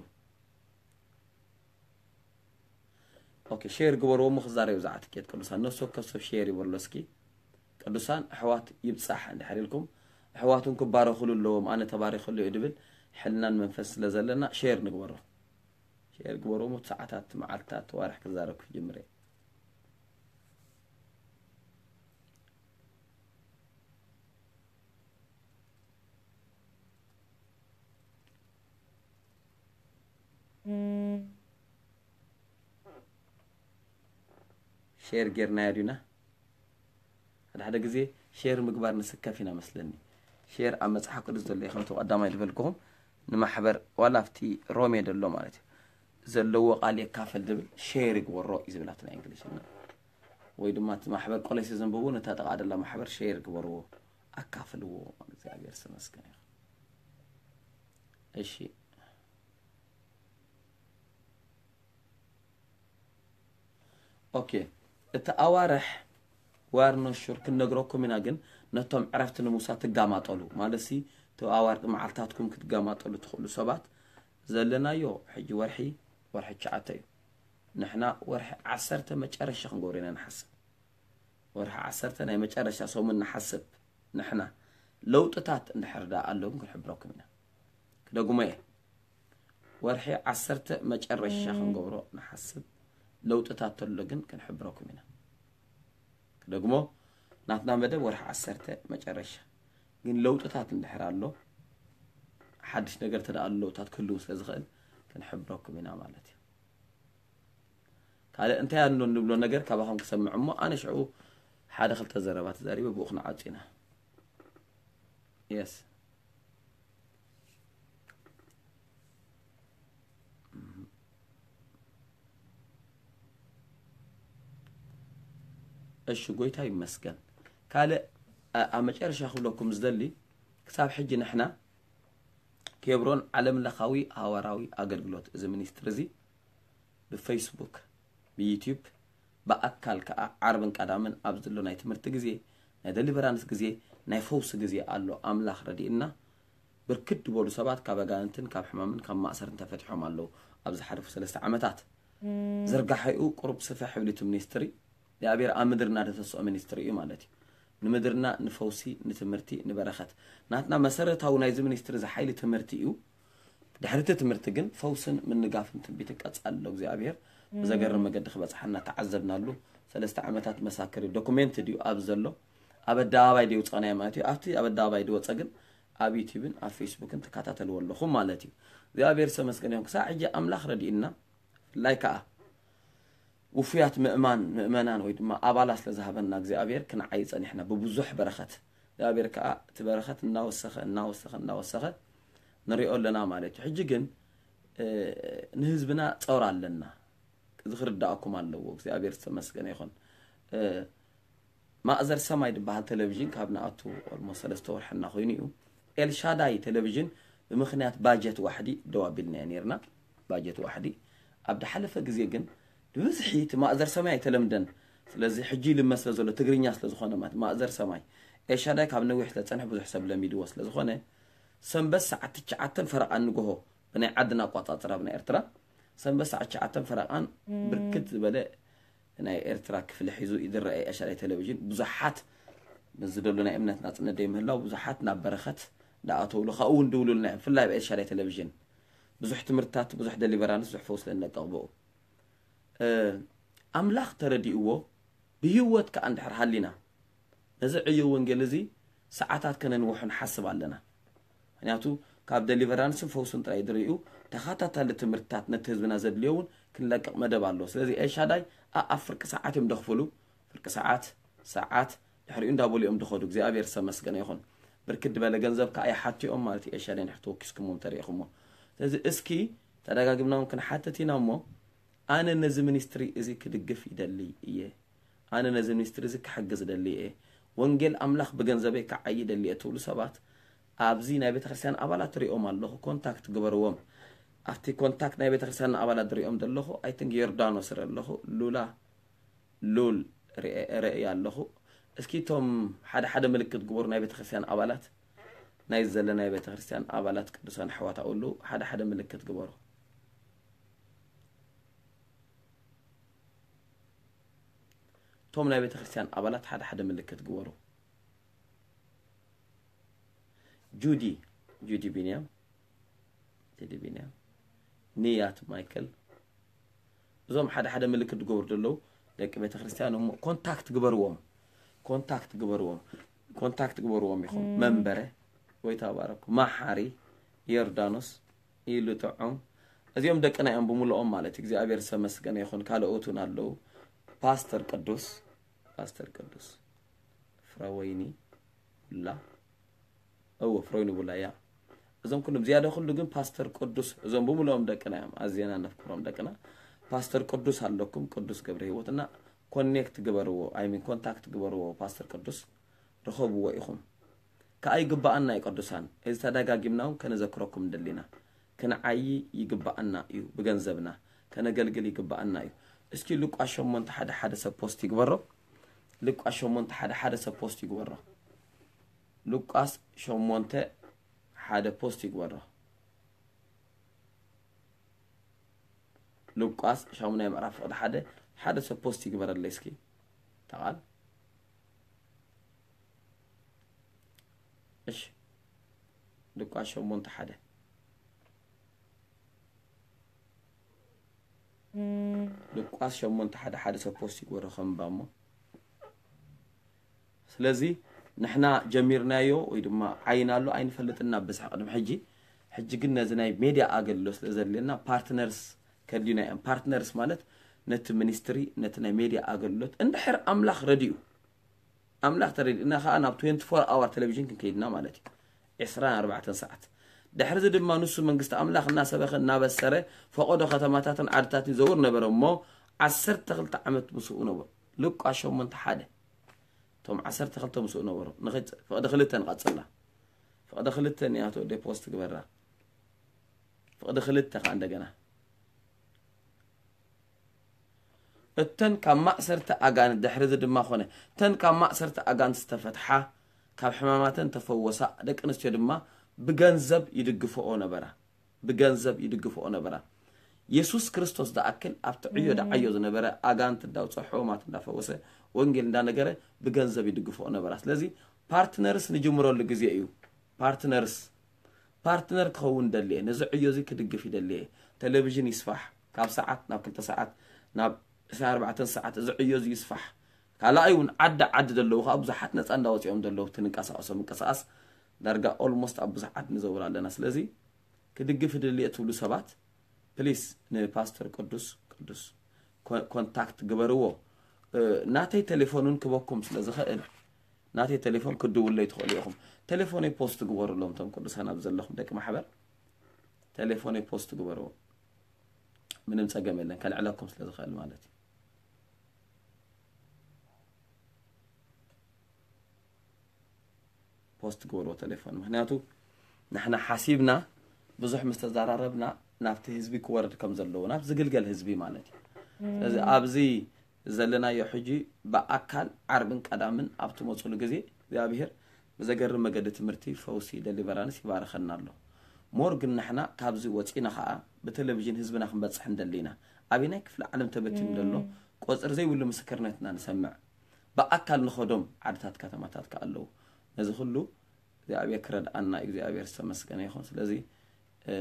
ኦኬ ሼር ግበርዎ እሞ ክዛረብ ብዛዕባ ትኬት ቅዱሳን ነፍሲ ወከፍ ሰብ ሼር ይበሎ እስኪ። ቅዱሳን ኣሕዋት ይብጻሕ እንድሕር ኢልኩም ኣሕዋትን ክባረኹሉ ኣለዎም። ኣነ ተባሪኹሉ እየ ድብል ሕልናን መንፈስ ስለ ዘለና ሼር ንግበሮ። ሼር ግበርዎ እሞ ሰዓታት መዓልታት ዋርሕ ክዛረብ ክጅምር እየ። ሼር ጌርናዮ ዲና? ሓደ ሓደ ግዜ ሼር ምግባር ንስከፍ ኢና መስለኒ። ሼር ኣብ መጽሓፍ ቅዱስ ዘሎ እዩ ከምቲ ቀዳማይ ዝበልኩኹም ንማሕበር ዋላ ኣብቲ ሮሜ ዘሎ ማለት እዩ ዘለዎ ቃል የካፈል ዝብል ሼር ይግበሮ እዩ ዝብል ኣብቲ ናይ እንግሊዝኛ። ወይ ድማ እቲ ማሕበር ቆለሴ ዘንብቡ ነታ ጥቓ ደላ ማሕበር ሼር ግበርዎ ኣካፍልዎ። እግዚኣብሔር ዝተመስገነ ይኹን። እሺ ኦኬ እቲ ኣዋርሕ ዋር ነሹር ክንነግረኩም ኢና ግን ነቶም ዕረፍቲ ንምውሳድ ትጋማጠሉ ማለት ሲ እቲ ኣዋርቂ መዓልታትኩም ክትጋማጠሉ ትኽእሉ ሰባት ዘለናዮ ሕጂ ወርሒ ወርሒ ትሽዓተ እዩ። ንሕና ወርሒ ዓሰርተ መጨረሻ ክንገብሮ ኢና ንሓስብ። ወርሒ ዓሰርተ ናይ መጨረሻ ሰሙን ንሓስብ። ንሕና ለውጥታት እንድሕር ደኣ ኣሎ ግን ክንሕብረኩም ኢና። ክደግሞ እየ። ወርሒ ዓሰርተ መጨረሻ ክንገብሮ ንሓስብ። ለውጥታት ተሎ ግን ክንሕብረኩም ኢና። ክደግሞ ናትና መደብ ወርሒ ዓሰርተ መጨረሻ ግን ለውጥታት እንድሕር ኣሎ ሓድሽ ነገር ተደኣ ለውጥታት ክህልው ስለ ዝኽእል ክንሕብረኩም ኢና ማለት እዩ። ካልእ እንታይ ኣሎ እንብሎ ነገር ካባኹም ክሰምዕ እሞ ኣነ ሽዑ ሓደ ክልተ ዘረባ ተዛሪበ ብኡ ክንዓጹ ኢና። የስ እሺ ጎይታ ይመስገን። ካልእ ኣብ መጨረሻ ክብለኩም ዝደሊ ክሳብ ሕጂ ንሕና ኬብሮን ዓለም ለኻዊ ሃዋራዊ ኣገልግሎት እዚ ሚኒስትሪ እዚ ብፌስቡክ ብዩትዩብ ብኣካል ከዓ ዓርብን ቀዳምን ኣብ ዘሎ ናይ ትምህርቲ ግዜ ናይ ደሊቨራንስ ግዜ ናይ ፈውሲ ግዜ ኣሎ። ኣምላኽ ረዲእና ብርክት ዝበሉ ሰባት ካብ ኣጋንንትን ካብ ሕማምን ካብ ማእሰርን ተፈቲሖም ኣለዉ። ኣብ ዝሓለፉ ሰለስተ ዓመታት ዝርጋሐኡ ቁሩብ ስፍሕ ይብል እቲ ሚኒስትሪ እግዚኣብሔር ኣብ ምድርና ዘተስኦ ሚኒስትሪ እዩ ማለት እዩ። ንምድርና ንፈውሲ ንትምህርቲ ንበረኸት ናትና መሰረታዊ ናይዚ ሚኒስትሪ እዚ ሓይሊ ትምህርቲ እዩ። ድሕሪ እቲ ትምህርቲ ግን ፈውስን ምንጋፍን ትንቢትን ቀጻሊ ኣሎ እግዚኣብሔር ብዘገርም መገዲ ክበጽሓና ተዓዘብናሉ። ሰለስተ ዓመታት መሳክር እዩ ዶኩሜንት ድዩ ኣብ ዘሎ ኣብ ኣደባባይ ድውፀናዮ ማለት እዩ። ኣብቲ ኣብ ኣደባባይ ድወፀ ግን ኣብ ዩቲብን ኣብ ፌስቡክን ትከታተልዎ ኣለኹም ማለት እዩ። እግዚኣብሔር ዝተመስገነ ይኹን ክሳብ ሕጂ ኣምላኽ ረዲእና ብፍላይ ከዓ ውፉያት ምእማን ምእመናን ወይ ድማ ኣባላት ስለ ዝሃበና እግዚኣብሔር ክንዓይ ፀኒሕና ብብዙሕ በረኸት እግዚኣብሔር ከዓ እቲ በረኸት እናወሰኸ እናወሰኸ እናወሰኸ ንሪኦ ኣለና ማለት እዩ። ሕጂ ግን ንህዝብና ፀውር ኣለና። እዚ ክርዳእኩም ኣለዎ። እግዚኣብሔር ዝተመስገነ ይኹን። ማእዘር ሰማይ ዝበሃል ቴሌቪዥን ካብ ንኣቱ ኦልሞስት ሰለስተ ወርሕና ኮይኑ እዩ። ኤልሻዳይ ቴሌቪዥን ብምኽንያት ባጀት ዋሕዲ ደው ኣቢልናዮ ነርና። ባጀት ዋሕዲ ኣብ ዝሓለፈ ግዜ ግን ብብዝሒ እቲ ማእዘር ሰማይ ኣይተለምደን። ስለዚ ሕጂ ይልመድ ስለ ዘሎ ትግርኛ ስለ ዝኾነ ማለት ማእዘር ሰማይ ኤልሻዳይ ካብ ነዊሕ ስለ ዝጸንሐ ብዙሕ ሰብ ለሚድዎ ስለ ዝኾነ ሰንበት ሰዓት ትሽዓተን ፈረቓን ንግሆ ብናይ ዓድና ኣቋጻጽራ ብናይ ኤርትራ ሰንበት ሰዓት ትሽዓተን ፈረቓን ብርክት ዝበለ ናይ ኤርትራ ክፍሊ ሒዙ ይድረአ ኤሻዳይ ቴሌቪዥን ብዙሓት ንዝደሉ ናይ እምነት ናጽነት ደይምህላው ብዙሓት ናብ በረኸት ዳኣተውሉ ካብኡ እውን ድውሉልና እዮም። ብፍላይ ኣብ ኤሻዳይ ቴሌቪዥን ብዙሕ ትምህርትታት ብዙሕ ደሊቨራንስ ብዙሕ ፈውስ ለንለቀቕ ብኡ ኣምላኽ ተረዲእዎ ብህይወት ከኣ እንድሕር ሃሊና ነዚ ዕዮ ወንጌል እዚ ሰዓታት ከነንውሖ ንሓስብ ኣለና። ምክንያቱ ካብ ደሊቨራንስን ፈውስን ጥራይ ድርእዩ ተኸታታሊ ትምህርትታት ነቲ ህዝብና ዘድልዮ እውን ክንለቅቕ መደብ ኣሎ። ስለዚ ኤልሻዳይ ኣኣብ ፍርቂ ሰዓት እዮም ደኽፍሉ። ፍርቂ ሰዓት፣ ሰዓት፣ ድሕሪኡ እንዳበሉ እዮም ድኸዱ። እግዚኣብሔር ዝተመስገነ ይኹን። ብርክት ዝበለ ገንዘብ ከዓ ይሓቱ እዮም ማለት እዩ። ኤልሻዳይ ንድሕር ተወኪስኩሞ እንተሪኢኹሞ። ስለዚ እስኪ ተደጋግምና እውን ክንሓትት ኢና እሞ ኣነ ነዚ ሚኒስትሪ እዚ ክድግፍ ይደሊ እየ። ኣነ ነዚ ሚኒስትሪ እዚ ክሕግዝ ደሊ እየ። ወንጌል ኣምላኽ ብገንዘበይ ክዓይ ደሊ እየ ትብሉ ሰባት ኣብዚ ናይ ቤተ ክርስቲያን ኣባላት ሪኦም ኣለኹ። ኮንታክት ግበርዎም። ኣብቲ ኮንታክት ናይ ቤተ ክርስቲያን ኣባላት ሪኦም ዘለኹ ኣይ ቲንክ ዮርዳኖስ ርኢ ኣለኹ። ሉላ ሉል ርኢ ኣለኹ። እስኪ እቶም ሓደ ሓደ ምልክት ግበሩ ናይ ቤተ ክርስቲያን ኣባላት ናይ ዘለናይ ቤተ ክርስቲያን ኣባላት ቅዱሳን ኣሕዋት ኣለዉ ሓደ ሓደ ምልክት ግበሩ። እቶም ናይ ቤተ ክርስቲያን ኣባላት ሓደ ሓደ ምልክት ግበሩ። ጁዲ ጁዲ ቢንያም ቴዲ ቢንያም ንያት ማይክል እዞም ሓደ ሓደ ምልክት ዝገብሩ ዘለዉ ደቂ ቤተ ክርስቲያን እሞ ኮንታክት ግበርዎም። ኮንታክት ግበርዎም። ኮንታክት ግበርዎም ኢኹም። መንበረ ወይ ተባረኩ መሓሪ ዮርዳኖስ ኢሉ ጥዑም እዚኦም ደቅና እዮም ብምልኦም ማለት እዩ። እግዚኣብሔር ዝተመስገነ ይኹን። ካልኦት እውን ኣለዉ። ፓስተር ቅዱስ ፓስተር ቅዱስ ፍረወይኒ ቡላ እዎ ፍረወይኒ ቡላ እያ። እዞም ኩሎም ዝያዳ ኩሉ ግን ፓስተር ቅዱስ እዞም ብምልኦም ደቅና እዮም። ኣዝና ነፍቅሮም ደቅና። ፓስተር ቅዱስ ኣለኩም ቅዱስ ገብረ ህይወት እና ኮኔክት ግበርዎ ኣይሚን ኮንታክት ግበርዎ ፓስተር ቅዱስ ርኸብዎ ኢኹም። ከኣ ይግብኣና እዩ ቅዱሳን፣ እዚ ተደጋጊምና እውን ከነዘክረኩም እንደሊና። ክንዓዪ ይግብኣና እዩ፣ ብገንዘብና ከነገልግል ይግብኣና እዩ። እስኪ ሉቃስ ሸሞንተ ሓደ ሓደ ሰብ ፖስት ይግበሮ። ሉቃስ ሸሞንተ ሓደ ሓደ ሰብ ፖስት ይግበሮ። ሉቃስ ሸሞንተ ሓደ ፖስት ይግበሮ። ሉቃስ ሻሙናይ ምዕራፍ ፍቕዲ ሓደ ሓደ ሰብ ፖስት ይግበረለይ እስኪ ተቓል እሺ ሉቃስ ሸሞንተ ሓደ ሉቃስ ሸሞንተ ሓደ ሓደ ሰብ ፖስት ይግበሮ ከንባ እሞ ስለዚ ንሕና ጀሚርናዮ ወይ ድማ ዓይና ኣሎ ኣይንፈልጥና ብዝሕ ቅድሚ ሕጂ ሕጂ ግን ነዚ ናይ ሜድያ ኣገልግሎት ስለ ዘድልየና ፓርትነርስ ከድዩና እዮም ፓርትነርስ ማለት ነቲ ሚኒስትሪ ነቲ ናይ ሜድያ ኣገልግሎት እንድሕር ኣምላኽ ረድኡ ኣምላኽ ተረድእና ከዓ ናብ ትዌንቲ ፎር ኣወር ቴሌቪዥን ክንከይድና ማለት እዩ ዕስራን ኣርባዕተን ሰዓት ድሕርዚ ድማ ንሱ መንግስቲ ኣምላኽ እናሰበኸ እናበሰረ ፈቐዶ ከተማታትን ዓድታትን ይዘውር ነበረ እሞ ዓሰርተ ክልተ ዓመት ምስኡ ነበሩ ሉቃስ ሸሞንተ ሓደ እቶም ዓሰርተ ክልተ ምስኡ ነበሩ ፍቕዲ ክልተ ንቐፅላ ፍቕዲ ክልተ እኒኣቶ ወደ ፖስት ግበራ ፍቕዲ ክልተ ከዓ እንደገና እተን ካብ ማእሰርቲ ኣጋንንት ድሕሪ እዚ ድማ ኾነ እተን ካብ ማእሰርቲ ኣጋንንት ዝተፈትሓ ካብ ሕማማተን ተፈወሳ ደቂ ኣንስትዮ ድማ ብገንዘብ ይድግፍኦ ነበራ ብገንዘብ ይድግፍኦ ነበራ የሱስ ክርስቶስ ዝኣክል ኣብቲ ዕዮ ደዓዮ ዝነበረ ኣጋንንት እንዳውፅኦ ሕሙማት እንዳፈወሰ ወንጌል እንዳነገረ ብገንዘብ ይድግፍኦ ነበራ ስለዚ ፓርትነርስ ንጅምረሉ ግዜ እዩ ፓርትነርስ ፓርትነር ክኸውን ደልየ ነዚ ዕዮ እዚ ክድግፍ ይደልየ ቴሌቪዥን ይስፋሕ ካብ ሰዓት ናብ ክልተ ሰዓት ናብ ዕስራን ኣርባዕተን ሰዓት እዚ ዕዮ እዚ ይስፋሕ ካልኣይ እውን ዓዲ ዓዲ ዘለዉ ከዓ ብዙሓት ነፃ እንዳወፂኦም ዘለዉ እቲ ንንቀሳቀሶ ምንቅስቃስ ዳርጋ ኦልሞስት ኣብ ብዙሓት ንዘውር ኣለና ስለዚ ክድግፍ ይደልየ ትብሉ ሰባት ፕሊስ ንፓስተር ቅዱስ ቅዱስ ኮንታክት ግበርዎ ናተይ ቴሌፎን እውን ክበኩም ስለ ዝኽእል ናተይ ቴሌፎን ክትድውሉለይ ትኽእሉ ኢኹም። ቴሌፎነይ ፖስት ግበሩሎም እቶም ቅዱሳን ኣብዚ ዘለኹም ደቂ ማሕበር ቴሌፎነይ ፖስት ግበርዎ። ምንም ጸገም የለን ከልዕለኩም ስለ ዝኽእል ማለት እዩ። ፖስት ግበርዎ ቴሌፎን ምክንያቱ ንሕና ሓሲብና ብዙሕ ምስ ተዘራረብና ናብቲ ህዝቢ ክወርድ ከም ዘለዎ ናብ ዝግልገል ህዝቢ ማለት እዩ። ስለዚ ኣብዚ ዘለናዮ ሕጂ ብኣካል ዓርብን ቀዳምን ኣብ ትመፁሉ ግዜ እግዚኣብሔር ብዘገርም መገዲ ትምህርቲ፣ ፈውሲ፣ ደሊቨራንስ ይባርኸና ኣሎ። ሞር ግን ንሕና ካብዚ ወፂና ከዓ ብቴሌቪዥን ህዝብና ክንበፅሕ ንደሊ ኢና። ኣበየናይ ክፍሊ ዓለም ተበቲኑ ዘሎ ቆፅሪ ዘይብሉ ምስክርነትና ንሰምዕ። ብኣካል ንኸዶም ዓድታት ከተማታት ከዓ ኣለዉ። ነዚ ኩሉ እግዚኣብሔር ክረድኣና እዩ። እግዚኣብሔር ዝተመስገነ ይኹን። ስለዚ እ፣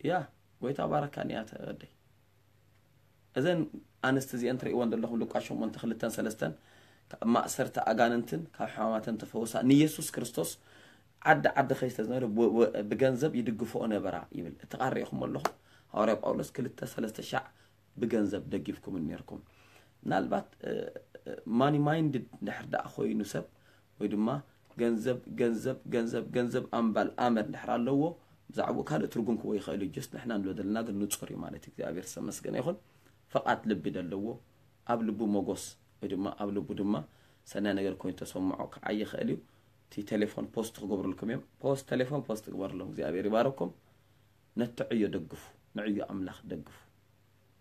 ያ ጎይታ ባረካኒ እያ ተወደይ። እዘን ኣንስቲ እዚአን ትርእይወን ዘለኹም ሉቃስ ሸሞንተ ክልተን ሰለስተን ካብ ማእሰርቲ ኣጋንንትን ካብ ሕማማትን ተፈውሳ ንኢየሱስ ክርስቶስ ዓዲ ዓዲ ከይስተ ዝነበረ ብ- ብ- ብገንዘብ ይድግፍኦ ነበራ ይብል። እቲ ቃል ርኢኹም ኣለኹም። ሃዋርያ ጳውሎስ ክልተ ሰለስተ ሻዕ ብገንዘብ ደጊፍኩም ነርኩም። ምናልባት ማኒ ማይንድ ድሕር ደኣ ኮይኑ ሰብ ወይ ድማ ገንዘብ ገንዘብ ገንዘብ ገንዘብ ኣምባል ኣመል ድሕር ኣለዎ ብዛዕባኡ ካልእ ትርጉም ክቦ ይኽእል እዩ። ጀስት ንሕና ንብሎ ዘለና ግን ንጹር እዩ ማለት እዩ። እግዚኣብሔር ዝተመስገነ ይኹን። ፈቓድ ልቢ ደለዎ ኣብ ልቡ ሞጎስ ወይ ድማ ኣብ ልቡ ድማ ሰናይ ነገር ኮይኑ ተሰምዖ ክዓይ ይኽእል እዩ። እቲ ቴሌፎን ፖስት ክገብሩልኩም እዮም። ፖስት ቴሌፎን ፖስት ግበሩሎም። እግዚኣብሔር ይባረኩም። ነቲ ዕዮ ደግፉ፣ ንዕዮ ኣምላኽ ደግፉ።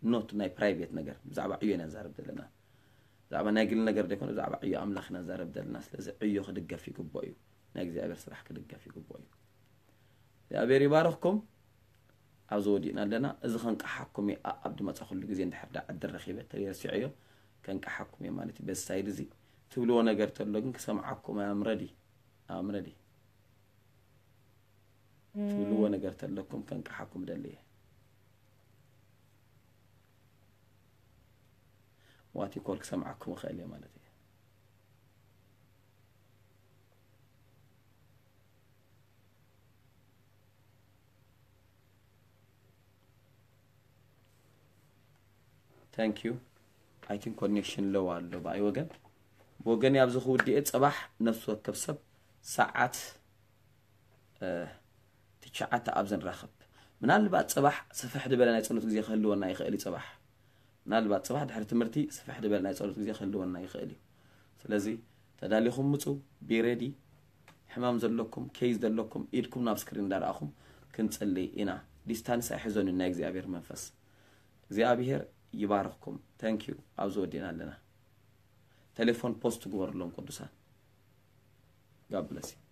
ኖት ናይ ፕራይቬት ነገር ብዛዕባ ዕዮ ኢና ንዛረብ ዘለና። ብዛዕባ ናይ ግሊ ነገር ደይኮነ ብዛዕባ ዕዮ ኣምላኽ ኢና ንዛረብ ዘለና። ስለዚ ዕዮ ክድገፍ ይግብኦ እዩ። ናይ እግዚኣብሔር ስራሕ ክድገፍ ይግብኦ እዩ። እግዚኣብሔር ይባርኽኩም። ኣብዚ ወዲእና ኣለና። እዚ ከንቀሓኩም እየ። ኣ- ኣብ ድመፃ ኩሉ ግዜ እንድሕር ዳ ዕድል ረኺበ ተሪረሲዐዮ ከንቀሓኩም እየ ማለት እዩ። በዚ ሳይድ እዚ ትብልዎ ነገር ተሎ ግን ክሰምዓኩም ኣምረዲ ኣምረዲ ትብልዎ ነገር ተለኩም ከንቀሓኩም ደሊ እየ። ዋቲኮር ክሰምዓኩም እኽእል እየ ማለት እየ። Thank you. I think connection low ኣሎ ብኣይ ወገን። ብወገን ኣብዚ ክውድእ እየ። ፅባሕ ነፍሲ ወከፍ ሰብ ሰዓት እ፣ ትሽዓተ ኣብዚ ንራኸብ። ምናልባት ፅባሕ ስፍሕ ዝበለ ናይ ፀሎት ግዜ ክህልወና ይኽእል እዩ። ፅባሕ ምናልባት ፅባሕ ድሕሪ ትምህርቲ ስፍሕ ዝበለ ናይ ፀሎት ግዜ ክህልወና ይኽእል እዩ። ስለዚ ተዳሊኹም ምፁ። ቢ ሬዲ። ሕማም ዘለኩም ኬዝ ዘለኩም ኢድኩም ናብ ስክሪን እንዳረኣኹም ክንፅሊ ኢና። ዲስታንስ ኣይሕዘኑ ናይ እግዚኣብሔር መንፈስ እግዚኣብሔር ይባርኽኩም። Thank you። ኣብዚ ወዲእና ኣለና። ቴሌፎን ፖስት ግበሩሎም ቅዱሳን። God bless you።